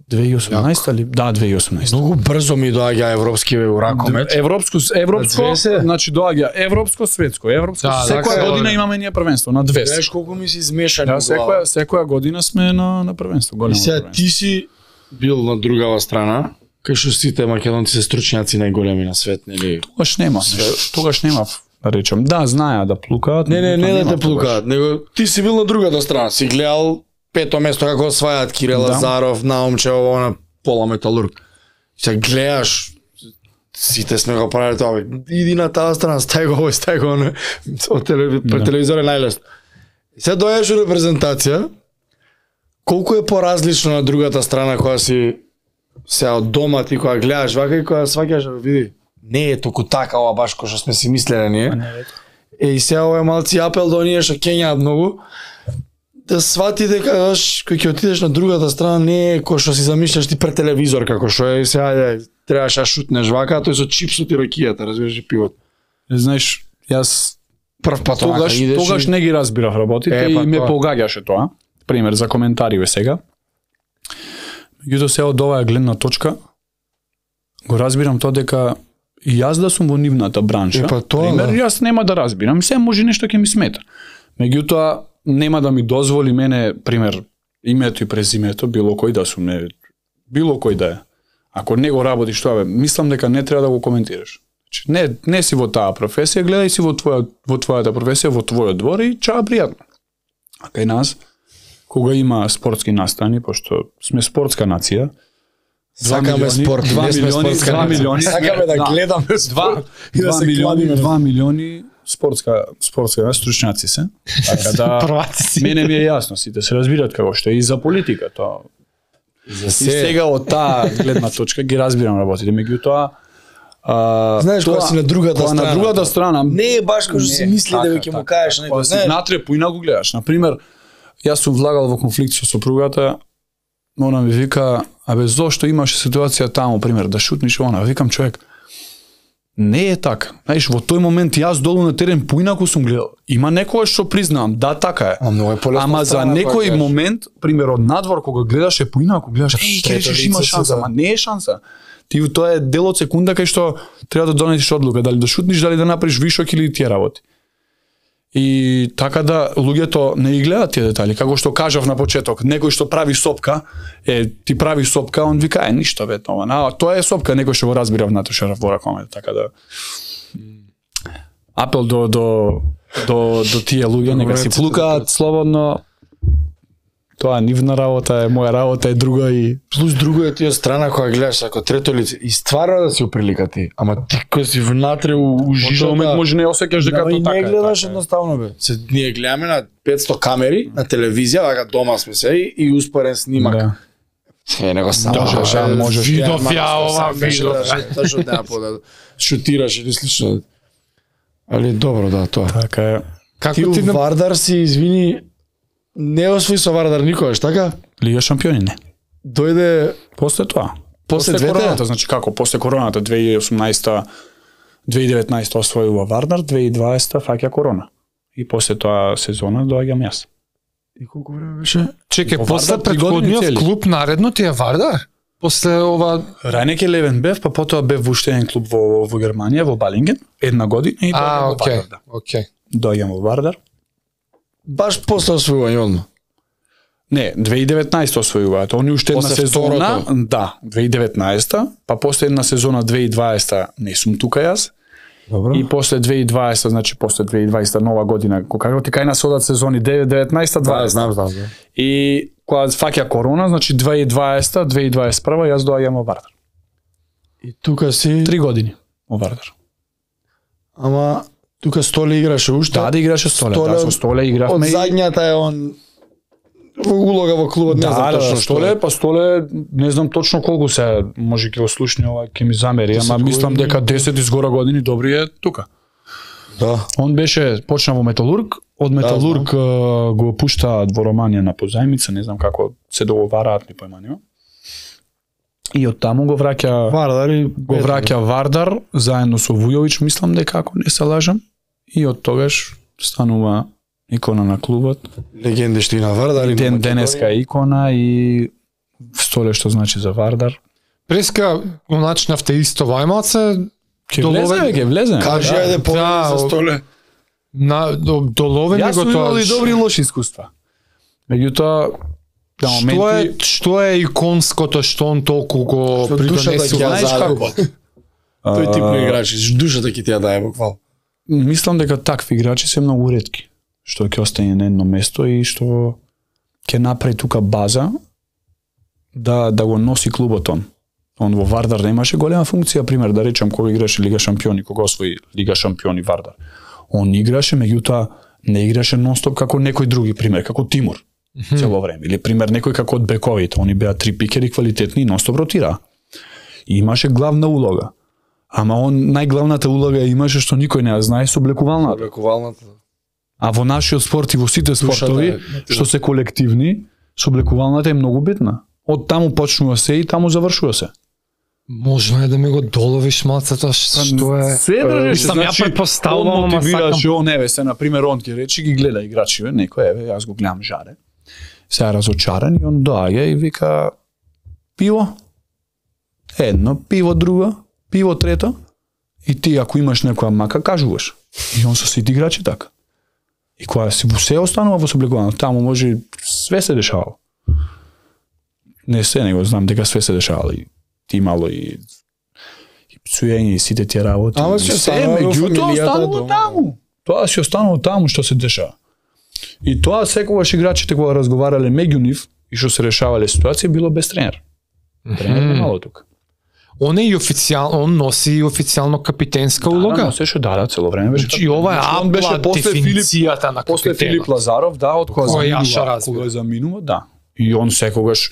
две тисячи и осумнаесета ли? Да, две тисячи и осумнаесета. Многу брзо ми доаѓа европски ракомет. Европско, европско, значи доаѓа европско, светско, европско. Да, секоја да, година имаме ние првенство на две. Знаеш колку ми се измешани. Да, секоја секоја година сме на на првенство, големо. И сега ти си бил на другава страна, кај што сите македонци се стручњаци најголеми на свет, нели? Тогаш нема, тогаш нема. Да речам, да, знаеа да плукаат. Не, не, не да те плукаат, него ти си бил на другата страна, си гледал пето место како освајаат Кирил да. Лазаров, Наумче, ово на пола металург. Се гледаш, сите сме го правили тоа, иди на таа страна, стај го овој, стај го оно, пред телевизор е најлесно. И се дојдеш во репрезентација, колку е поразлично на другата страна која си се од дома ти која гледаш вака и која сваќаш, види, не е толку така ова баш кој што сме си мислеле ние. Е, и сега ова е малци апел до оние што кењаат многу, да свати дека кој ќе отидеш на другата страна не е кој што си замишляш ти пред телевизор, како што е сега ајде требаш да шутнеш вака, тој со чипсот и ракијата, разбираш, и пивот. Знаеш, јас прв пат тогаш идеш тогаш и... не ги разбирав работите е, па, и ме тоа. Погаѓаше тоа. Пример за коментари сега. Меѓутоа се од оваа гледна точка го разбирам тоа дека и јас да сум во нивната бранша. Е, па, тоа, пример, да. јас нема да разбирам, се може нешто ќе ми смета. Меѓутоа нема да ми дозволи мене, пример, името и презимето, било кој да сум, не, било кој да е. Ако не го работиш тоа, бе, мислам дека не треба да го коментираш. Значи, не, не си во таа професија, гледај си во твоја во твојата професија, во твојот двор и чао пријатно. А кај нас, кога има спортски настани, пошто сме спортска нација, сакаме спорт, два милиони, два милиони, сакаме да гледаме спорт и да се милиони, два милиони спортска спортска стручњаци се. Така да мене ми е јасно, сите се разбираат како што е и за политика тоа. За и сега од таа гледна точка ги разбирам работите, меѓутоа а, знаеш кога си на другата страна, на другата страна не е баш како што си мисли дека ќе му кажеш некој, знаеш, натре поина го гледаш. На пример, јас сум влагал во конфликт со сопругата, она ми вика, абе зошто имаше ситуација таму, пример, да шутниш она, викам човек, не е така. Знаеш, во тој момент јас долу на терен поинаку сум гледал. Има некој што признавам, да, така е. А многу е полесно. Ама за некој момент, пример од надвор кога гледаш е поинаку, гледаш, еј, ќе речеш има шанса, ама не е шанса. Ти тоа е дел од секунда кај што треба да донесеш одлука, дали да шутниш, дали да направиш вишок или тие работи. И така да луѓето не ги гледаат тие детали, како што кажав на почеток, некој што прави сопка, е ти прави сопка, он вика е ништо бе тоа. А тоа е сопка, некој што го разбира в Наташа Воракомет, така да апел до до до до тие луѓе нека си плукаат слободно. Тоа нивна работа е, моја работа е друга и плюс друго е тие страна која гледаш како трето лице и стварно да си оприлика ти, ама ти кој си внатре у жижата, момент може не осеќаш дека тоа така е. Не гледаш така, едноставно бе. Се ние гледаме на петсто камери на телевизија, вака дома сме се и успорен снимак. Да. Е, него само можеш, да, можеш. Видов ја ова, видов. Точно таа пода шутираш или слично. Али добро да тоа. Така е. Како ти, ти Вардар си извини не освои со Вардар никогаш, така? Лига шампиони не. дојде после тоа. После, после двете? короната, значи како, после короната две илјади и осумнаесета две илјади и деветнаесета освојува Вардар, две илјади и дваесета фаќа корона. И после тоа сезона доаѓам јас. И колку време беше? Чекај, Во после Вардар три години претходниот цели. клуб наредно ти е Вардар? После ова Рајнек Елевен бев, па потоа бев во уште еден клуб во, во Германија, во Балинген, една година и А, доаѓам во окей. Вардар. Да. Окей. Доаѓам во Вардар. Баш после освојување одма. Не, две илјади и деветнаесета освојуваат. Они уште една После сезона, второто. да, две илјади и деветнаесета, па после една сезона две илјади и дваесета не сум тука јас. Добро. И после две илјади и дваесета, значи после две илјади и дваесета нова година, кога ти кај нас одат сезони девет, деветнаесета, Да, дваесета. знам, знам, знам. И кога фаќа корона, значи две илјади и дваесета, две илјади и дваесет и прва јас доаѓам во Вардар. И тука си Три години во Вардар. Ама тука Столе играше уште. Да, да играше Столе, Столе да, со Столе игравме. Од и- задњата е он во улога во клубот, не Да, знам да, точно да, што Столе, е. па Столе, не знам точно колку се, може ќе го слушне ова, ќе ми замери, десет ама мислам години. дека десет изгора години добри е тука. Да. Он беше почна во Металург, од Металург да, го пуштаат во Романија на позајмица, не знам како се договараат, ни појма нема. И од таму го враќа Вардар и го враќа Вардар заедно со Вујовиќ, мислам дека ако не се лажам, и од тогаш станува икона на клубот. легенди што и на Вардар и на Ден Македонија. денеска икона и Столе што значи за Вардар. Преска го начинавте исто Вајмалце, Ќе Доловен- влезе, бе, ќе влезе. Кажи Да. ајде повеќе Да, за Столе. на до, доловен Јас го сум имал тоа. и добри и лоши искуства. Меѓутоа, на Што е моменти што е иконското што он толку го Што душата ќе придонесува? ја знаеш загуба. Тој тип на играчи, душата ќе ти ја дае буквално. мислам дека такви играчи се многу ретки, што ќе остане на едно место и што ќе направи тука база да да го носи клубот он. Он во Вардар немаше голема функција, пример да речем кога играше Лига шампиони, кога освои Лига шампиони Вардар. Он играше, меѓутоа не играше нонстоп како некој други, пример како Тимур цело време, или пример некој како од бековите, они беа три пикери квалитетни и нонстоп ротираа. И имаше главна улога. Ама он најглавната улога ја имаше што никој не ја знае со облекувалната. Облекувалната. А во нашиот спорт и во сите спортови е, што се колективни, со облекувалната е многу битна. Од таму почнува се и таму завршува се. Можно е да ми го доловиш малце тоа што е. Се држеше, Сам ја предпоставувам, он ама мотивираше, он еве се на пример он ќе рече ги гледа играчиве, некој еве јас го гледам жаре. Се е разочаран и он доаѓа и вика пиво. Едно, пиво друго, пиво трето. И ти ако имаш некоја мака кажуваш. И он со сите играчи така. И кога си во се останува во соблегувано, таму може све се дешавало. Не се, него знам дека све се дешавало и ти имало и и пцуење и сите тие работи. Ама И си се, останува во меѓутоа фамилијата останува дома. таму. Тоа си останува таму што се дешава. И тоа секогаш играчите кога разговарале меѓу нив и што се решавале ситуации било без тренер. Тренер не мало тука. Он е и официјално, он носи и официјално капитенска Да, улога. но сеше да, да, цело време беше. Значи така. ова е Значи, он беше апла после Филип, дефиницијата на после капитенот. Филип Лазаров, да, од кога Кој јаша заминува, разбира. кога заминува, да. И он секогаш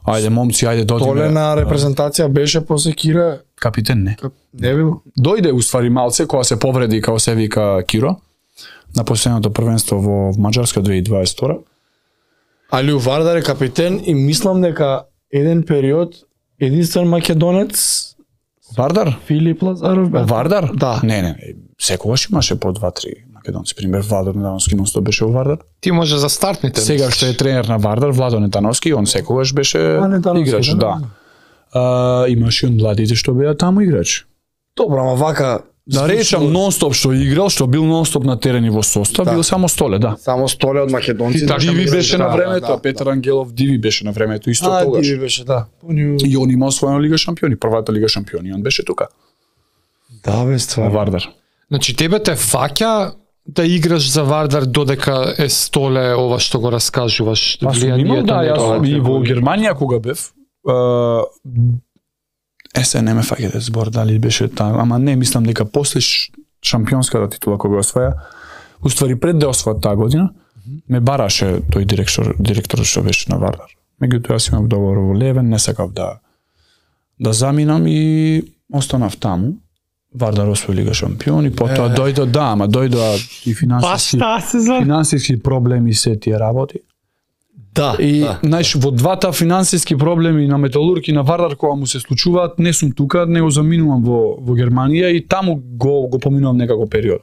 ајде момци, ајде додиме. Толе на репрезентација беше после Кира, Капитен не. не бил. Дојде уствари малце кога се повреди како се вика Киро на последното првенство во Маđарска две илјади и дваесет и втора. Али у Вардар е капитен и мислам дека еден период единствен македонец Вардар? Филип Лазаров бе. Вардар? Да. Не, не, секогаш имаше по два-три македонци. Пример Владо Недановски нонстоп беше во Вардар. Ти може за стартните. Сега што е тренер на Вардар, Владо Недановски, он секогаш беше А, Недановски, играч, да. да. А, имаше и он младите што беа таму играч. Добро, ама вака Да речам нонстоп што играл, што бил нонстоп на терен и во состав, Да. бил само Столе, да. само Столе од македонци. Така Диви мислиш, беше да, на времето, да, а Петар Ангелов Диви беше на времето исто А, тогаш. Диви беше, да. Поњу... И он има освоена Лига шампиони, првата Лига шампиони, он беше тука, Да, бе, во стварно. Вардар. Значи тебе те фаќа да играш за Вардар додека е Столе ова што го раскажуваш. Па сум имал, да, на тоа. јас и во Германија кога бев, е, се не ме фаќате збор дали беше таа, ама не, мислам дека после ш- шампионската титула кога го освоја, уствари пред да освојат таа година, ме бараше тој директор, директор што беше на Вардар. Меѓутоа јас имав договор во Левен, не сакав да да заминам и останав таму. Вардар освои Лига шампиони, потоа Е. дојдо, да, ама дојдоа и Па финансиски шта се за... финансиски проблеми се тие работи. Да, И да. знаеш, во двата финансиски проблеми на Металург и на Вардар кога му се случуваат, не сум тука, него заминувам во во Германија и таму го го поминувам некако период.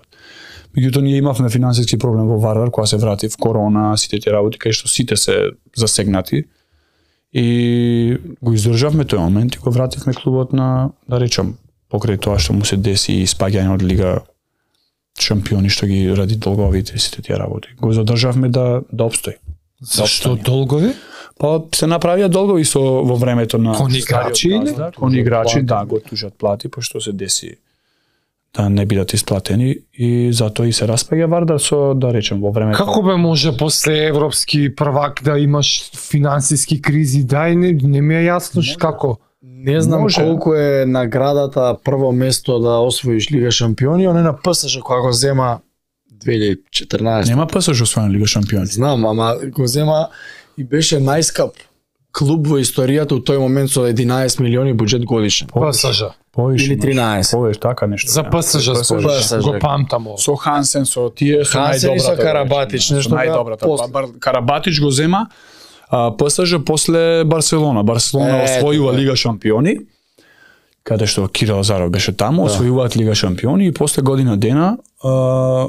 Меѓутоа ние имавме финансиски проблем во Вардар кога се врати в корона, сите тие работи кај што сите се засегнати. И го издржавме тој момент и го вративме клубот на, да речам, покрај тоа што му се деси и спаѓање од лига шампиони што ги ради долговите и сите тие работи. Го задржавме да да опстои. Зашто долгови? Па се направија долгови со во времето на Кон играчи или? Кон играчи, да, го тужат плати, пошто се деси да не бидат исплатени и затоа и се распаѓа Вардар со, да речем, во времето. Како бе може после европски првак да имаш финансиски кризи? Дај, не, не ми е јасно ш- како. Не знам Може. колку е наградата прво место да освоиш Лига шампиони, оне на ПСЖ кога го зема две илјади и четрнаесета. Нема ПСЖ освоена Лига шампиони. Знам, ама го зема и беше најскап клуб во историјата у тој момент со единаесет милиони буџет годишен. ПСЖ. Повише Или имаш. тринаесет. Повише така нешто. За да. ПСЖ ПСЖ. спориш. Го памтам ово. Со Хансен, со тие со Хансен и со најдобрата, Карабатич, да, нешто со беа најдобрата. после. Па, Бар- Карабатич го зема а, ПСЖ после Барселона. Барселона Е, освојува така. Лига шампиони, каде што Кирил Азаров беше таму, освојуваат Лига шампиони и после година дена а,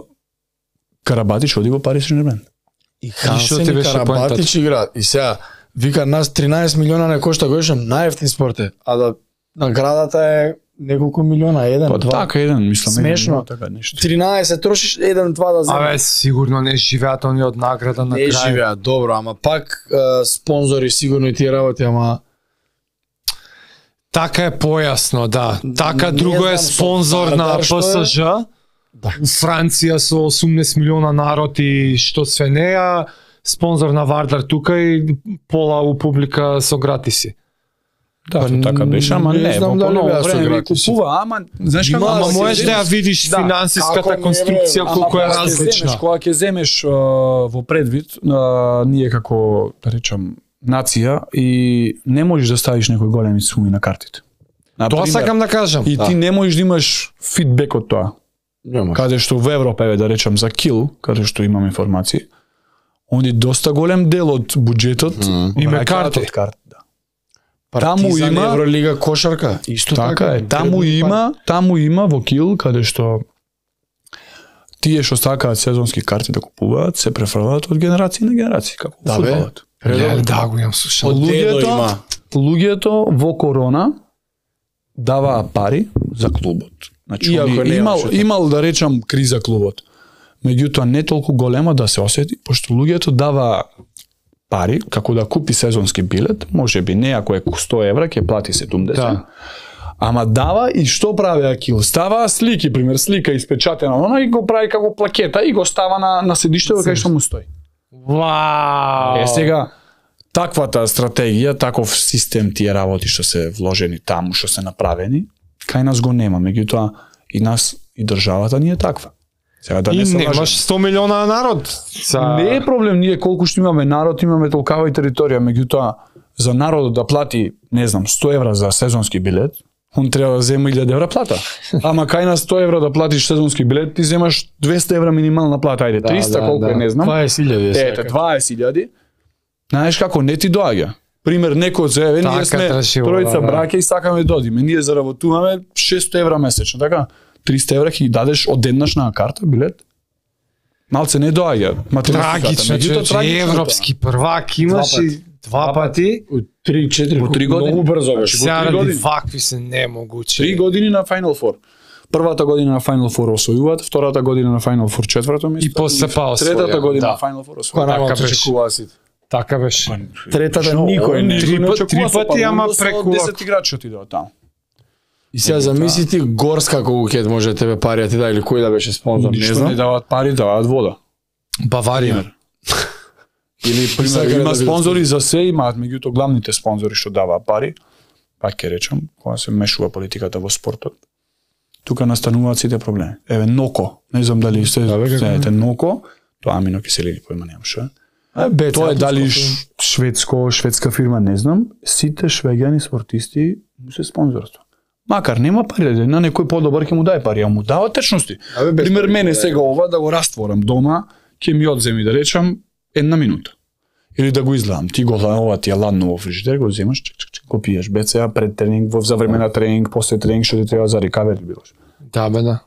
Карабатич оди во Пари Сен-Жермен. И што Хансен ти и беше Карабатич играат. И сега, вика нас тринаесет милиона не кошта годишно, најевтин спорт е. А да наградата е неколку милиона, еден, Па два. така еден, мислам, Смешно. еден, така нешто. тринаесет трошиш, еден, два да земеш. Абе, сигурно не живеат они од награда на Не крај. живеат, добро, ама пак е, спонзори сигурно и тие работи, ама Така е појасно, да. Така Не друго е знам со спонзор на Вардар што е. ПСЖ. Да. У Франција со осумнаесет милиона народ и што све неа, спонзор на Вардар тука и пола у публика со гратиси. Да, тоа така беше, ама не не, знам во дали поново беа со време ви гратиси. купува, ама знаеш како, Има, Ама се можеш да ја земеш- видиш да, финансиската како не, конструкција бре, колку е Ама кога ќе земеш, различна. кога ќе земеш а, во предвид, а, ние како, да речам, нација и не можеш да ставиш некои големи суми на картите. Тоа Например, сакам да кажам. И ти не можеш да имаш фидбек од тоа. нема. Каде што во Европа, еве да речам за Кил, каде што имам информации, они доста голем дел од буџетот Има враќаат карти. од карти, да. Партизан, таму има- Евролига кошарка, исто Така е, таму има, таму има во Кил каде што тие што сакаат сезонски карти да купуваат, се префрлаат од генерации на генерации, како во Да, бе. фудбалот. Не, да, го имам слушал. Од дедо Луѓето, има. луѓето во корона даваа пари за клубот. Значи, Иако они не имал, имаше така. имал да речам криза клубот. Меѓутоа не толку голема да се осети, пошто луѓето даваа пари како да купи сезонски билет, можеби не ако е сто евра ќе плати седумдесет. Да. Ама дава и што прави Акил? Става слики, пример слика испечатена она и го прави како плакета и го става на на седиштето кај што му стои. Вау! Е сега таквата стратегија, таков систем тие работи што се вложени таму, што се направени, кај нас го нема, меѓутоа и нас и државата ни е таква. Сега да И не се немаш лажеме. сто милиона народ. Са... Не е проблем ние колку што имаме народ, имаме толкава и територија, меѓутоа за народот да плати, не знам, сто евра за сезонски билет, он треба да зема илјада евра плата. Ама кај нас сто евра да платиш сезонски билет, ти земаш двесте евра минимална плата, ајде триста колку е, не знам. дваесет илјади. Ете, дваесет илјади. Знаеш како, не ти доаѓа. Пример, некој од еве, Така ние сме трешиво, тројца да, да. браќа и сакаме да одиме. Ние заработуваме шест евра месечно, така? триста евра ќе ги дадеш одеднаш на карта, билет. Малце не доаѓа. математиката, Трагично, меѓутоа, човече, трагично е тоа. европски првак имаш Два и два пати. три четири Во три години. Многу брзо беше. Во Сега три ради години. вакви се немогучи. Три години на Final Four. Првата година на Final Four освојуваат, втората година на Final Four четврто место И после па освоја, третата година да. на Final Four Која освојуваат. нема Така беше. очекуваа сите. Така беше. Третата Што, никој не. никој Три не пат- очекува три со пати, ама Павловно со преку десет играчи отидоа таму. И сега замисли ти Горска колку ќе може тебе пари да ти да или кој да беше спонзор, не Ништо знам. не даваат пари, даваат вода. Баварија. Или пример Сакаат има да бидат спонзори за се, имаат меѓутоа главните спонзори што даваат пари, пак ќе речам, кога се мешува политиката во спортот. Тука настануваат сите проблеми. Еве Ноко, не знам дали се Да, бе, како знаете Ноко, тоа аминокиселини појма немам што. е. А, бе, Тоа е цел дали Турско. ш- шведско, шведска фирма, не знам, сите швеѓани спортисти му се спонзорство. Макар нема пари, да на некој подобар ќе му даде пари, а му дава течности. Абе, без Пример пари, мене да. сега ова да го растворам дома, ќе ми одземи да речам една минута. Или да го изгледам, ти го ова ти е ладно во фрижидер, го земаш, чек, чек, чек, го пиеш, БЦА пред тренинг, во за време на тренинг, после тренинг што ти треба за рекавери билош. Да, бе, да.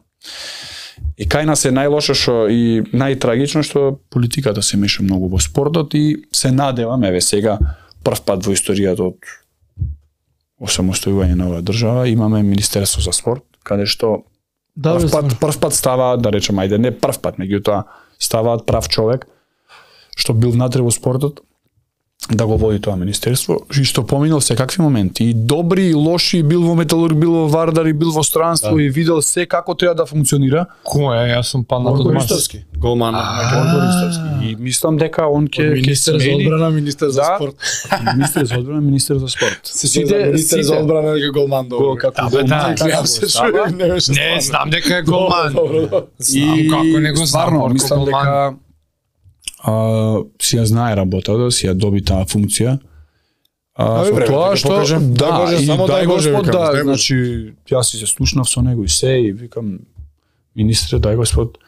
И кај нас е најлошо што и најтрагично што политиката се меша многу во спортот и се надевам, еве сега прв пат во историјата од осамостојување на оваа држава имаме Министерство за спорт, каде што да, прв пат, прв пат ставаат, да речем, ајде, не прв пат, меѓутоа ставаат прав човек што бил внатре во спортот да го води тоа министерство, и што поминал секакви моменти, и добри и лоши, бил во металург, бил во Вардар, и бил во странство, да. И видел се како треба да функционира. Кој е? Јас сум панал од Ристовски. Голман. И мислам дека он ќе министер за одбрана, министер за спорт. Министер за одбрана, министер за спорт. Сите министер за одбрана дека Голман добро. Како Голман, не, знам дека е Голман. И како не го знам, мислам дека Uh, си ја знае работата, си ја доби таа функција. А, со тоа што да, и дај Господ, да, значи јас си се слушнав со него и се и викам министре, дај Господ,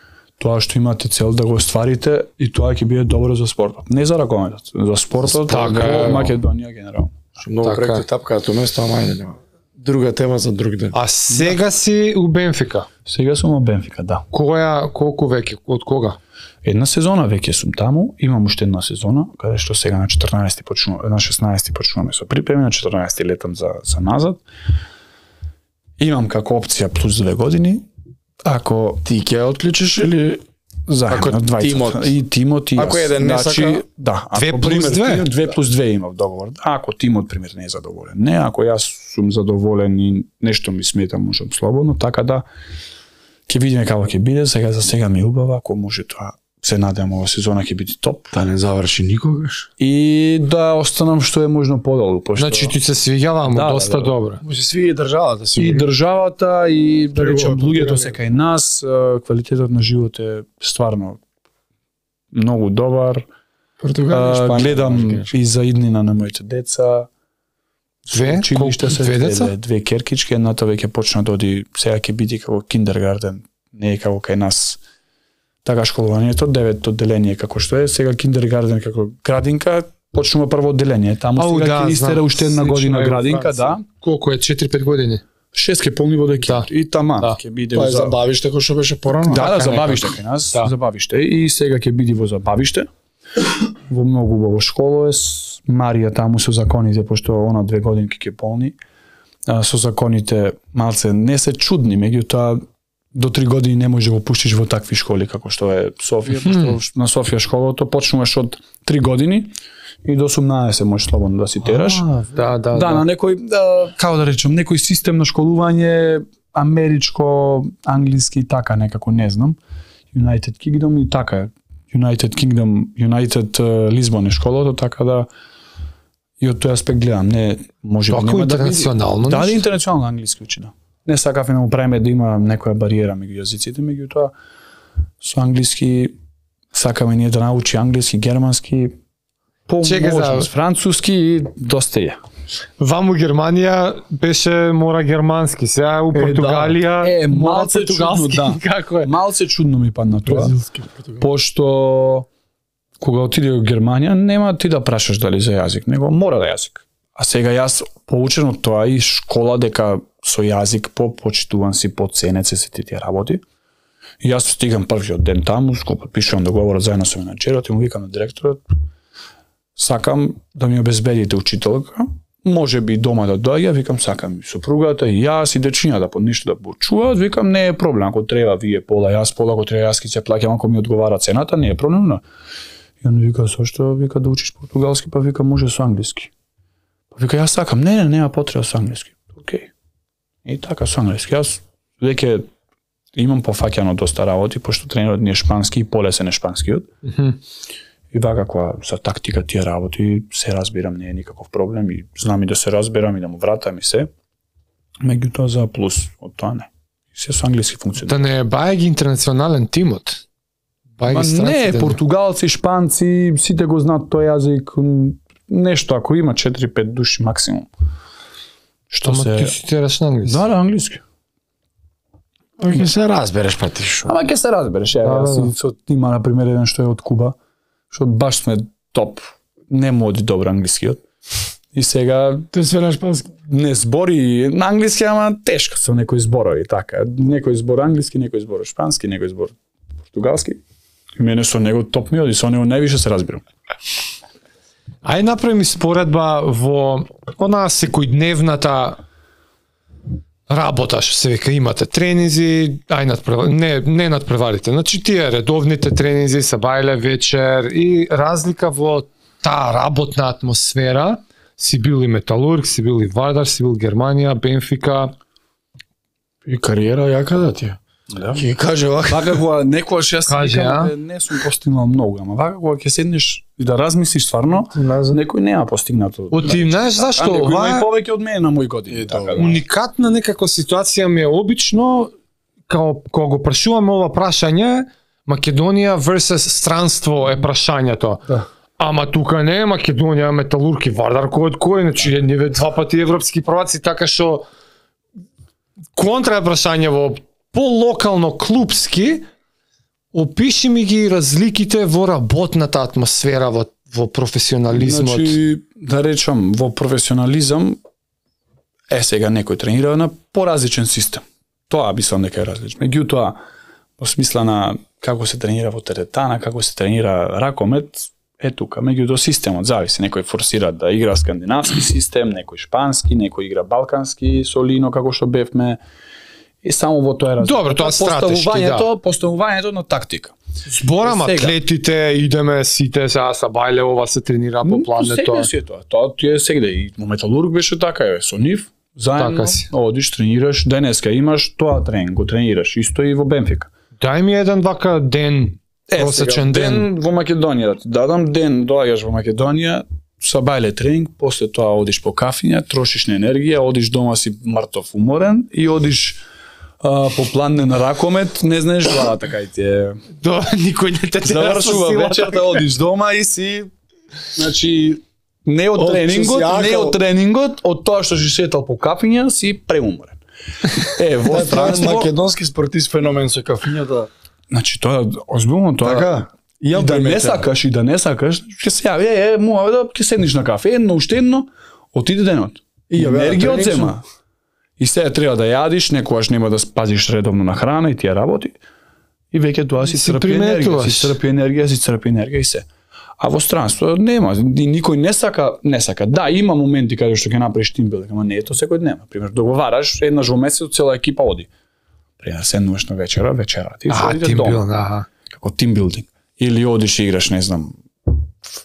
тоа што имате цел да го остварите и тоа ќе биде добро за спортот. Не за ракометот, за спортот во Македонија генерално. Многу проекти тапкаат уместо, ама ајде нема. Друга тема за друг ден. А сега си у Бенфика? Сега сум у Бенфика, да. Која, колку веќе, од кога? Една сезона веќе сум таму, имам уште една сезона, каде што сега на четрнаесети почнуваме, на шеснаесети почнуваме со припреми, на четрнаесети летам за за назад. Имам како опција плюс две години. Ако ти ќе отклучиш или заедно двајцата тимот и тимот и ако еден не значи, сака, да, две ако плюс две, две плюс две имав договор. Ако тимот пример не е задоволен, не, ако јас сум задоволен и нешто ми смета, можам слободно, така да ќе видиме како ќе биде. Сега за сега ми е убава, ако може тоа се надевам ова сезона ќе биде топ. Да не заврши никогаш. И да останам што е можно подолу, пошто значи ти се свиѓала му да, доста да, да. добро. Може свиѓа и државата, и државата и да речем луѓето се кај нас, квалитетот на живот е стварно многу добар. Португалија, Шпанија, гледам и за иднина на моите деца. Две? Училиште се две деца? Две, две керкички, едната веќе почна да оди, сега ќе биде како киндергарден, не е како кај нас. Така школувањето, девет одделение како што е, сега киндергарден како градинка, почнува прво одделение. Таму Ау, сега ќе да, истера знам. уште една година градинка, да. Колку е, четири-пет години? Шест ке полни во декември. Да. И тама Да. ќе биде Тоа е за забавиште кој што беше порано. Да, да, Така забавиште некако. кај нас, Да. забавиште и сега ќе биде во забавиште. Во многу убаво школа е с Марија таму со законите, пошто она две годинки ќе полни. А, со законите малце не се чудни, меѓутоа до три години не може да го пуштиш во такви школи како што е Софија, Мгм. пошто на Софија школото почнуваш од три години и до осумнаесет можеш слободно да си тераш. А, да, да, Да, на некој, да, како да речем, некој систем на школување америчко, англиски, така некако, не знам. United Kingdom и така е. United Kingdom, United uh, Lisbon е школото, така да и од тој аспект гледам, не може би Тоа нема да интернационално да, да, нешто? интернационално англиски учи, да. Не сакав да му правиме да има некоја бариера меѓу јазиците, меѓутоа со англиски сакаме ние да научи англиски, германски, по Чекај за- можност, француски и доста е. Ваму Германија беше мора германски, сега у Португалија Е, мора малце португалски. чудно, да. Како е? Малце чудно ми падна тоа, Бразилски, португалски. пошто кога отиде во Германија нема ти да прашаш дали за јазик, него мора да јазик. А сега јас поучен од тоа и школа дека со јазик попочитуван си, поценет се сите тие работи. И јас стигам првиот ден таму, го потпишувам договорот заедно со менаџерот и му викам на директорот, сакам да ми обезбедите учителка, може би дома да доаѓа, викам сакам и сопругата и јас и дечињата под ништо да почуваат, викам не е проблем, ако треба вие пола, јас пола, ако треба јас ќе се плаќам, ако ми одговара цената, не е проблем, но и он вика зошто, вика да учиш португалски, па вика може со англиски. Па вика јас сакам, не, не, нема потреба со англиски. Океј. И така со англиски. Јас веќе имам пофаќано доста работи, пошто тренерот ни е шпански и полесен е шпанскиот. Мгм. И вака кога за тактика тие работи се разбирам, не е никаков проблем и знам и да се разберам и да му вратам и се. Меѓутоа за плюс од тоа не. И се со англиски функционира. Да не е бајаги интернационален тимот. Бајаги Ма не, странците. португалци, шпанци, сите го знаат тој јазик, м, нешто ако има четири-пет души максимум. Што Ама се ти си тераш на англиски. Да, да, англиски. Ќе се разбереш па ти шо. Ама ќе се разбереш, Да, ја, да, јас да. и со има на пример еден што е од Куба, што баш сме топ. не му оди добро англискиот. И сега тој све на шпански. Не збори на англиски, ама тешко со некои зборови, така. Некој збор англиски, некој збор шпански, некој збор португалски. И мене со него топ ми оди, со него највише се разбирам. Ај направи споредба во онаа секојдневната работа, што се века, имате тренинзи, ај надпревар... не, не надпреварите, значи тие редовните тренинзи, сабајле, вечер и разлика во таа работна атмосфера, си бил и Металург, си бил и Вардар, си бил Германија, Бенфика. И кариера јака да ти е. Да. Ќе каже вака. Вака кога некојаш јас Каже, викам, не сум постигнал многу, ама вака кога ќе седнеш и да размислиш стварно, некој нема постигнато. Оти, знаеш зашто? Некој има Ова и повеќе од мене на мои години. Е, така, да. уникатна некако ситуација ми е обично, као кога го прашуваме ова прашање, Македонија versus странство е прашањето. Да. Ама тука не е Македонија, Металург и Вардар кој од кој, значи ниве два пати европски прваци, така што контра е прашање во полокално клубски, опиши ми ги разликите во работната атмосфера, во, во професионализмот. Значи, да речам, во професионализам е сега некој тренира на поразличен систем. Тоа мислам дека е различно. Меѓутоа, во смисла на како се тренира во теретана, како се тренира ракомет, е тука. Меѓутоа системот зависи. Некој форсира да игра скандинавски систем, некој шпански, некој игра балкански со Лино како што бевме. И само во тоа е разлика. Добро, тоа стратешки, поставувањето, поставувањето на тактика. Зборам Сега. атлетите, идеме сите сега са бајле, ова се тренира по плането. Сега си е тоа. Тоа ти е сегде и во Металург беше така, е со нив. Заедно Така си. одиш, тренираш, денеска имаш тоа тренинг, го тренираш, исто и во Бенфика. Дај ми еден вака ден, просечен ден. ден во Македонија, да ти дадам ден, доаѓаш во Македонија, са бајле тренинг, после тоа одиш по кафиња, трошиш на енергија, одиш дома си мртов уморен и одиш а, по планне на ракомет, не знаеш главата кај ти е. До, никој не те тера со Завршува сила. вечерта, одиш дома и си, значи, не од Од тренингот, сосјакал. не од тренингот, од тоа што си шетал по кафиња, си преуморен. Е, во Тоа е странство, македонски спортист феномен со кафињата. значи тоа озбилно тоа. Така. И Ја да не приметен. сакаш и да не сакаш, ќе се јави, е, е, муа да ќе седнеш на кафе, едно уште едно, отиде денот. И И ја беа енергија тренинг одзема. И сега треба да јадиш, некогаш нема да спазиш редовно на храна и тие работи. И веќе тоа си Си црпи енергија, приметуваш. си црпи енергија, си црпи енергија и се. А во странство нема, и никој не сака, не сака. Да, има моменти каде што ќе направиш тимбилдинг, ама не е тоа секој дневно. Пример, договараш еднаш во месец цела екипа оди. Пример, седнуваш на вечера, вечера ти А, одите тим дома. бил, аха. Како тимбилдинг. Или одиш и играш, не знам,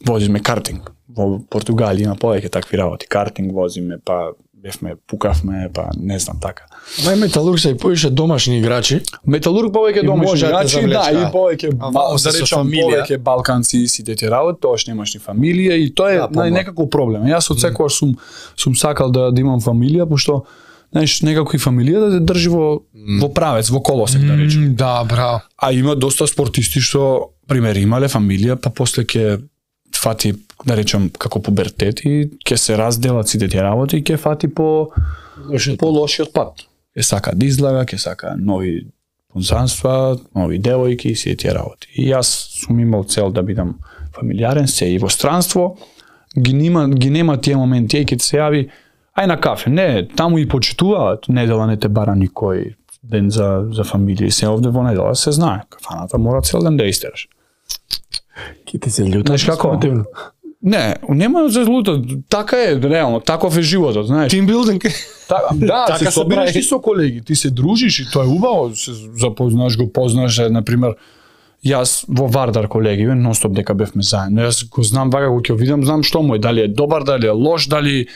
возиме картинг. Во Португалија има повеќе такви работи. Картинг возиме, па бевме, пукавме, па не знам така. Ама и Металург се и поише домашни играчи. Металург повеќе И домашни може да те играчи, да, завлечка. и повеќе, А ба- вао да се со речам, фамилија. повеќе балканци и сите тие работи, тоа што немаш ни фамилија и тоа е Да, нај помал. некако проблем. Јас од секогаш сум сум сакал да да имам фамилија, пошто знаеш, некако и фамилија да те држи во во правец, во колосек да речем. М, Да, браво. А има доста спортисти што, пример, имале фамилија, па после ќе фати, да речем, како пубертет и ќе се разделат сите тие работи и ќе фати по по лошиот пат. Ќе сака да излага, ќе сака нови понзанства, нови девојки и сите тие работи. И јас сум имал цел да бидам фамилиарен, се и во странство, ги нема, ги нема тие моменти, и ќе се јави, ај на кафе, не, таму и почитуваат, недела не те бара никој ден за, за фамилија, и се овде во недела се знае, кафаната мора цел ден да истераш. Ки ти се љута. Знаеш како? Не, нема за лута, така е, реално, таков е животот, знаеш. Тимбилдинг. Та, да, Така се се собираш прави. и со колеги, ти се дружиш и тоа е убаво, се запознаш, го познаш, е, например, јас во Вардар колеги, нонстоп дека бевме заедно, јас го знам вака, го ќе видам, знам што му е, дали е добар, дали е лош, дали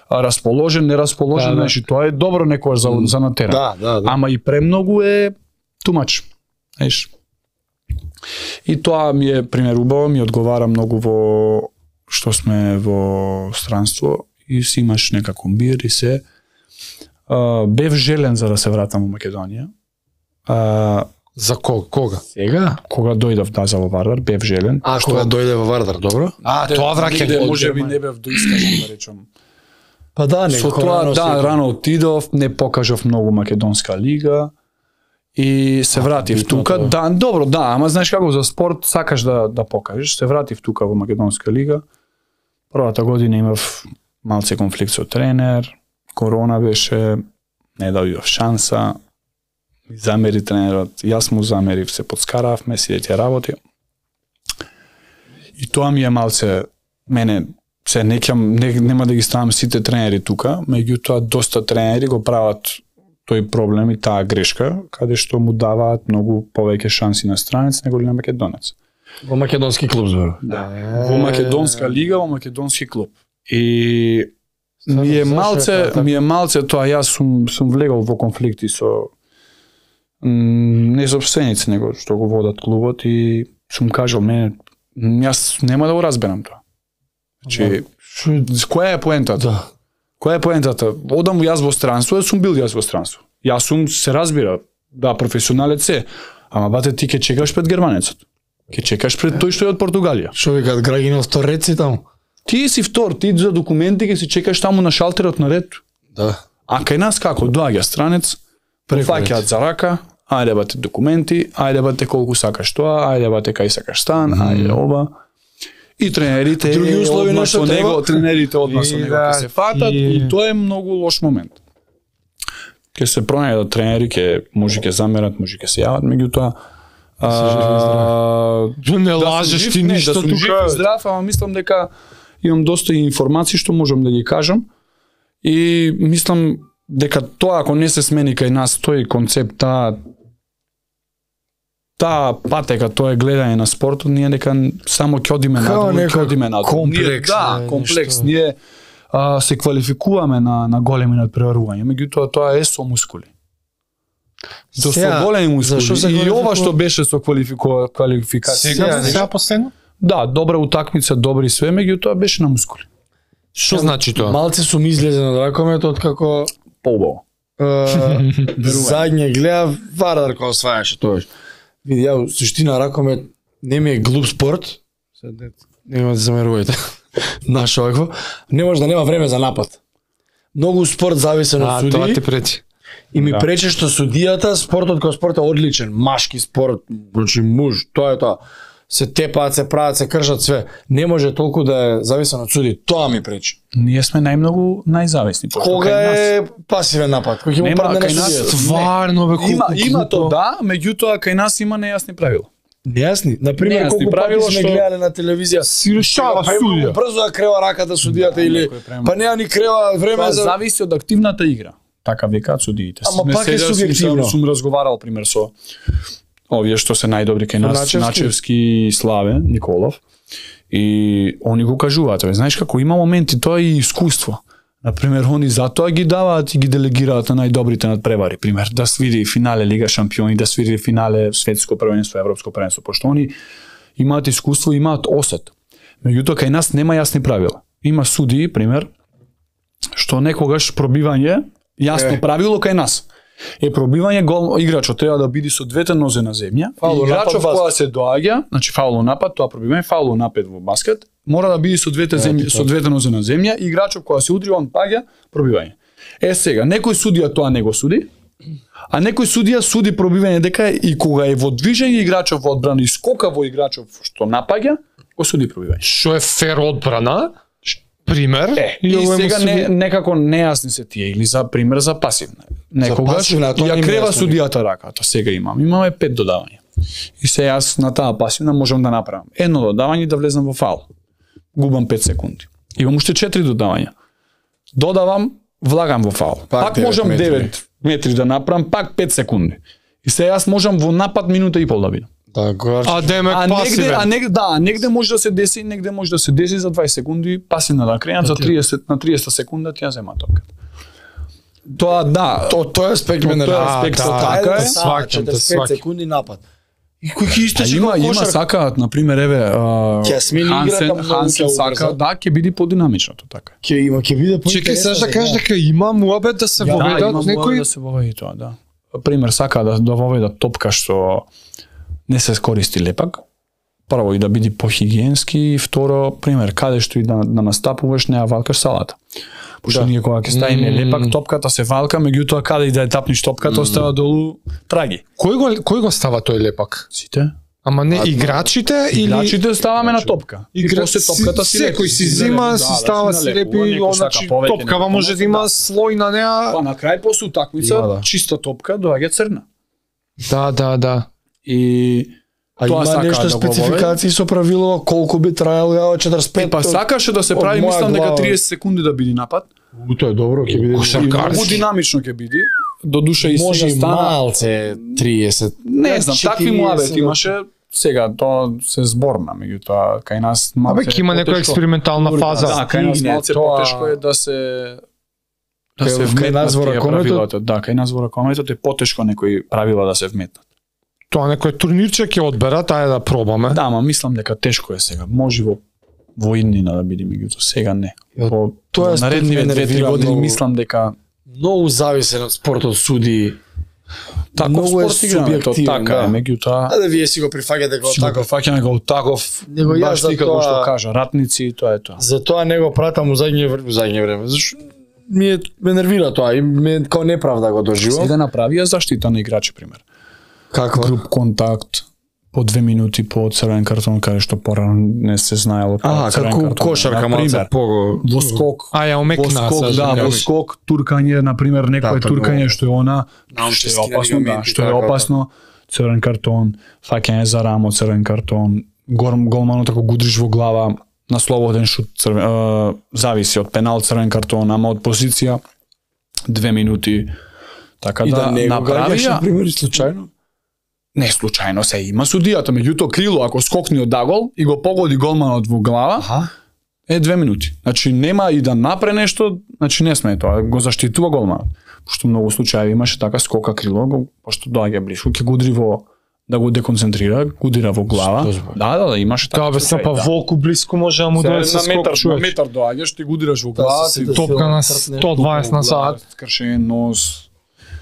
а, расположен, нерасположен, Да, да. знаеш, и тоа е добро некојаш за, за на терен. Да, да, да. Ама и премногу е тумач, знаеш. И тоа ми е, пример, убаво, ми одговара многу во што сме во странство и си имаш нека комбир и се. Uh, бев желен за да се вратам во Македонија. Uh, За кога? Кога? Сега? кога дојдов да за во Вардар, бев желен. А, кога дојде во Вардар, добро? А, тоа враќање. Негде, може би не бев доискажен, да речам. Па да, Со некако тоа, рано да, си- рано отидов, не покажав многу македонска лига и се вратив битно тука. тоа. Да, добро, да, ама знаеш како за спорт сакаш да да покажеш. Се вратив тука во македонска лига. Првата година имав малце конфликт со тренер, корона беше, не добив шанса, замери тренерот, јас му замерив, се подскаравме, си да работи. И тоа ми е малце, мене, се некам, не, нема да ги ставам сите тренери тука, меѓутоа доста тренери го прават тој проблем и таа грешка, каде што му даваат многу повеќе шанси на странец него ли на македонец. Во македонски клуб збор. Да. Во македонска лига, во македонски клуб. И ми е малце, ми е малце тоа, јас сум сум влегол во конфликти со не собственици, него што го водат клубот и сум кажал мене, јас нема да го разберам тоа. Значи, која е поентата? Да. Која е поентата? Одам јас во странство, јас сум бил јас во странство. Јас сум, се разбира, да, професионалец е, ама бате ти ке чекаш пред германецот. Ке чекаш пред тој што е од Португалија. Што викаат Грагинов втор ред си таму? Ти си втор, ти за документи ке си чекаш таму на шалтерот на ред. Да. А кај нас како доаѓа странец, фаќаат за рака, ајде бате документи, ајде бате колку сакаш тоа, ајде бате кај сакаш стан, ајде ова. И тренерите други услови одма со него, треба. тренерите одма со него ќе се фатат и... и тоа е многу лош момент. Ке се пронајдат тренери, ке може ќе замерат, може ќе се јават, меѓутоа а, не лажеш ти не, ништо да сум жив тука. и здрав, ама мислам дека имам доста информации што можам да ги кажам и мислам дека тоа ако не се смени кај нас тој концепт, таа таа патека, тоа е гледање на спортот, ние дека само ќе одиме надолу, ќе одиме надолу. комплекс, Да, не, комплекс. нешто. Ние а, се квалификуваме на на големи надпреварувања, меѓутоа тоа е со мускули. Со Сега, со големи мускули. зашо се И квалификува? ова што беше со квалификува квалификација. Сега, сега последно? Да, добра утакмица, добри све, меѓутоа беше на мускули. Што значи тоа? Малце сум излезен од ракомет откако Поубаво. задње гледав Вардар кога освајаше тоа. Види, ја суштина ракомет не ми е глуп спорт. Сед нема да замерувајте. Наш овакво. Не може да нема време за напад. Многу спорт зависен од А, тоа суди. ти пречи. И ми Да. пречи што судијата, спортот кој спорт е одличен, машки спорт, значи муж, тоа е тоа. Се тепаат, се прават, се кршат све. Не може толку да е зависен од суди. Тоа ми пречи. Ние сме најмногу најзависни. пошто Кога кај нас- е пасивен напад? Кој ќе му Нема, падне на кај нас- судијата? Стварно бе, колку Има има глупо. тоа, да, меѓутоа кај нас има нејасни правила. Нејасни. Например, Нејасни колку правила пати сме што- гледале на телевизија. Си решава Па има судија. брзо да крева раката судијата или некој према. па неа ни крева време Тоа за зависи од активната игра. Така викаат судиите. Ама Сме пак е седел, сум- субјективно. Сум разговарал пример со овие што се најдобри кај нас, Начевски. Начевски и Славе Николов. И они го кажуваат, бе, знаеш како има моменти, тоа е и искуство. Например, они затоа ги даваат и ги делегираат на најдобрите надпревари, пример, да свири финале Лига шампиони, да свири финале светско првенство, европско првенство, пошто они имаат искуство, имаат осет. Меѓутоа кај нас нема јасни правила. Има судии, пример, што некогаш пробивање, јасно Е. правило кај нас. Е пробивање гол играчот треба да биде со двете нозе на земја. Фаул, И играчот напад, кога се доаѓа, значи фаул напад, тоа пробивање, фаул напад во баскет, мора да биде со двете земји, со двете нозе на земја, и играчот кога се удри он паѓа, пробивање. Е сега, некој судија тоа не го суди, а некој судија суди пробивање дека и кога е во движење играчот во одбрана и скока во играчот што напаѓа, го суди пробивање. Што е фер одбрана? Пример. Е, и овој му сега суди- не, некако нејасни се тие, или за пример за пасивна. Некогаш пасивна, а тоа ја не ми е крева јасно. судијата раката, сега имам. Имаме пет додавања. И се јас на таа пасивна можам да направам едно додавање и да влезам во фаул. Губам пет секунди. Имам уште четири додавања. Додавам, влагам во фаул. Пак Пак, девет можам метри. девет метри да направам, пак пет секунди. И се јас можам во напад минута и пол да бидам. Да, го А демек А негде, пасивен. а негде, да, негде може да се деси, негде може да се деси за дваесет секунди, пасивна да кренат за триесет на триесет секунда ти ја зема топката. Тоа да, То тој аспект ме Од тој нервира. аспект Да, така да, е. да, Сваќам те, четиридесет сваќам. секунди напад. И кој ќе а истече има како има кошар? сакаат на пример еве а, Ке смени Хансен, играта, многу Хансен ќе сака, убрза. да, ќе биде подинамичното така. Ќе има, ќе биде по. Чекај, сега да кажеш дека има муабет да се Да, воведат има некој некои да се воведи тоа, да. Пример сака да да воведат топка што не се користи лепак. Прво и да биде похигиенски, и второ, пример, каде што и да, да настапуваш, не ја валкаш салата. Пошто Да. ние кога ќе ставиме лепак, топката се валка, меѓутоа каде и да ја тапниш топката, остава долу траги. Кој го кој го става тој лепак? Сите? Ама не играчите или играчите ставаме на топка. Игра... после топката си секој си зима, си става си лепи, значи топкава може да има слој на неа. Па на крај после утакмица чиста топка доаѓа црна. Да, да, да. И а тоа има нешто да спецификации со правило колку би траело ја четиридесет и пет. Па сакаше да се прави, мислам дека триесет секунди да биде напад. У, тоа е добро, ќе биде многу динамично ќе биде. До душа и може се стана малце триесет. Не знам, такви муабети имаше. Сега тоа се зборна, меѓутоа кај нас малце. Абе, има некоја експериментална фаза. Да, кај нас малце потешко е да се да се вметнат тие правилата. Да, кај нас во ракометот е потешко некои правила да се вметнат. Тоа некој турнирче ќе одберат, ајде да пробаме. Да, ама мислам дека тешко е сега. Може во во иднина да биде, меѓутоа сега не. Во тоа наредниве две-три години мислам дека многу зависен од спортот суди. Таков спорт игрането, така, меѓутоа. А да вие си го прифаќате го таков. Фаќаме го таков. Него ја за како што кажа, ратници, тоа е тоа. За тоа не го пратам у задње време, у задње време. Зашто ми е, ме нервира тоа и ме као неправда го доживам. Сега направија заштита на играчи пример. Каква? Груп контакт по две минути по црвен картон, каде што порано не се знаело како црвен картон. А, како кошарка малце пого. Во скок. А ја омекна. Во скок, да, во скок, туркање, на пример, некое да, туркање што е она, што е опасно, да, што е опасно, црвен картон, фаќање за рамо, црвен картон, горм голманот ако гудриш во глава, на слободен шут, црвен, е, зависи од пенал, црвен картон, ама од позиција две минути. Така и да, да направија, на пример, случајно. Не случајно се има судијата, меѓутоа крило ако скокни од дагол и го погоди голманот во глава, аха, е две минути. Значи нема и да напре нешто, значи не сме тоа, го заштитува голманот. Пошто многу случаи имаше така скока крило, го, пошто доаѓа блиску, ќе го удри во да го деконцентрира, го удира во глава. Да, да, да, имаше така. Да, бе, са па волку блиску може да му дојде со скок, на метар доаѓаш, ти го удираш во глава, си топка на сто дваесет на сат, кршен нос.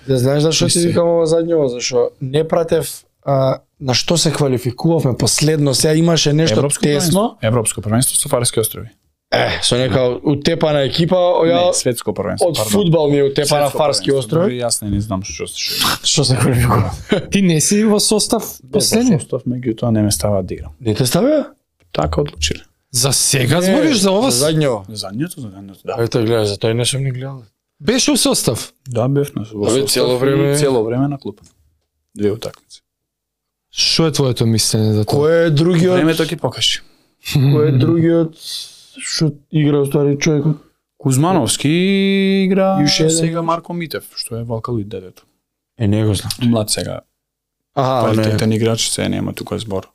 Да знаеш зашо ти викам ова задњево, зашо не пратев а, на што се квалификувавме последно, сега имаше нешто Европско тесно. Европско првенство со Фарски острови. Е, со нека утепана екипа, ја не, светско првенство, од фудбал ми е утепана Фарски острови. Јас не, не знам што што. Што се квалификува? Ти не си во состав последни? Во состав, меѓутоа не ме става да играм. Не те ставија? Така одлучиле. За сега збориш за ова? За задњево. За задњето, за задњето, да. Ето гледаш, за тој не сум ни гледал. Беше у состав? Да, бев на состав. Абе, цело време, цело време на клуб. Две утакмици. Што е твоето мислење за тоа? Кој е другиот? Времето ќе покажи. Кој е другиот што игра уствари човекот? Кузмановски игра сега Марко Митев, што е Валкалуид дедето. Е, не го знам. Млад сега. Аха, квалитетен играч, се нема тука збор.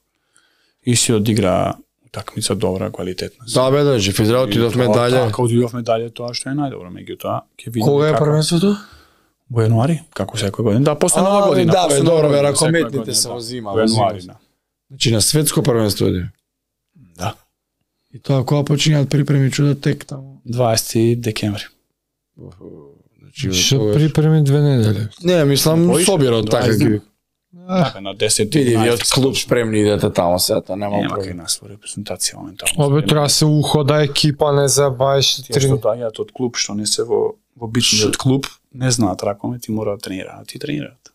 И си одигра утакмица добра, квалитетна. Да, бе, да, жив израел, отидовме дале. Така, отидовме дале, тоа што е најдобро, меѓутоа ќе видиме. Кога е првенството? Во јануари, како секоја година. Да, после нова година. Да, бе, добро, бе, ракометните се возима. Во јануари, да. Значи на светско првенство е. Да. И тоа кога починаат припреми чудо тек таму? дваесети декември. Што припреми две недели? Не, мислам собирот така ги. Така на десет. Види, ви од клуб спремни идете таму сега, тоа нема проблем. Нема кај нас во репрезентација моментално. Обе треба се ухода екипа, не забаеш три. Што доаѓаат од клуб, што не се во во бичниот клуб, не знаат ракомет и мора да тренираат, и тренираат.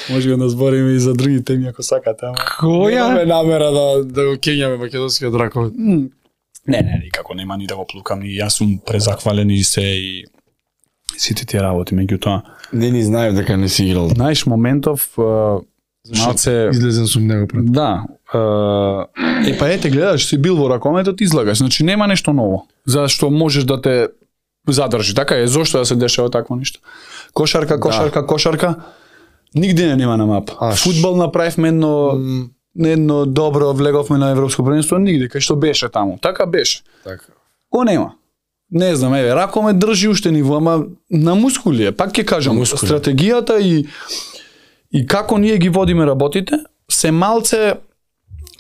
Може да збориме и за други теми ако сакате, ама која немаме намера да да го кењаме македонскиот ракомет. Не, не, никако нема ни да го плукам, и јас сум презахвален и се и сите тие работи, меѓутоа не ни знаев дека не си играл. Знаеш, моментов малце излезен сум него пред. Да. Е па ете гледаш, си бил во ракометот, излагаш, значи нема нешто ново. Зашто можеш да те задржи, така е, зошто да се дешава такво нешто. Кошарка, кошарка, да. Кошарка, нигде не нема на мап. А, фудбал направивме едно mm. едно добро, влеговме на европско првенство, нигде, кај што беше таму. Така беше. Така. Ко нема. Не знам, еве, ракомет држи уште ниво, ама на мускули е. Пак ќе кажам, мускули. Стратегијата и и како ние ги водиме работите, се малце.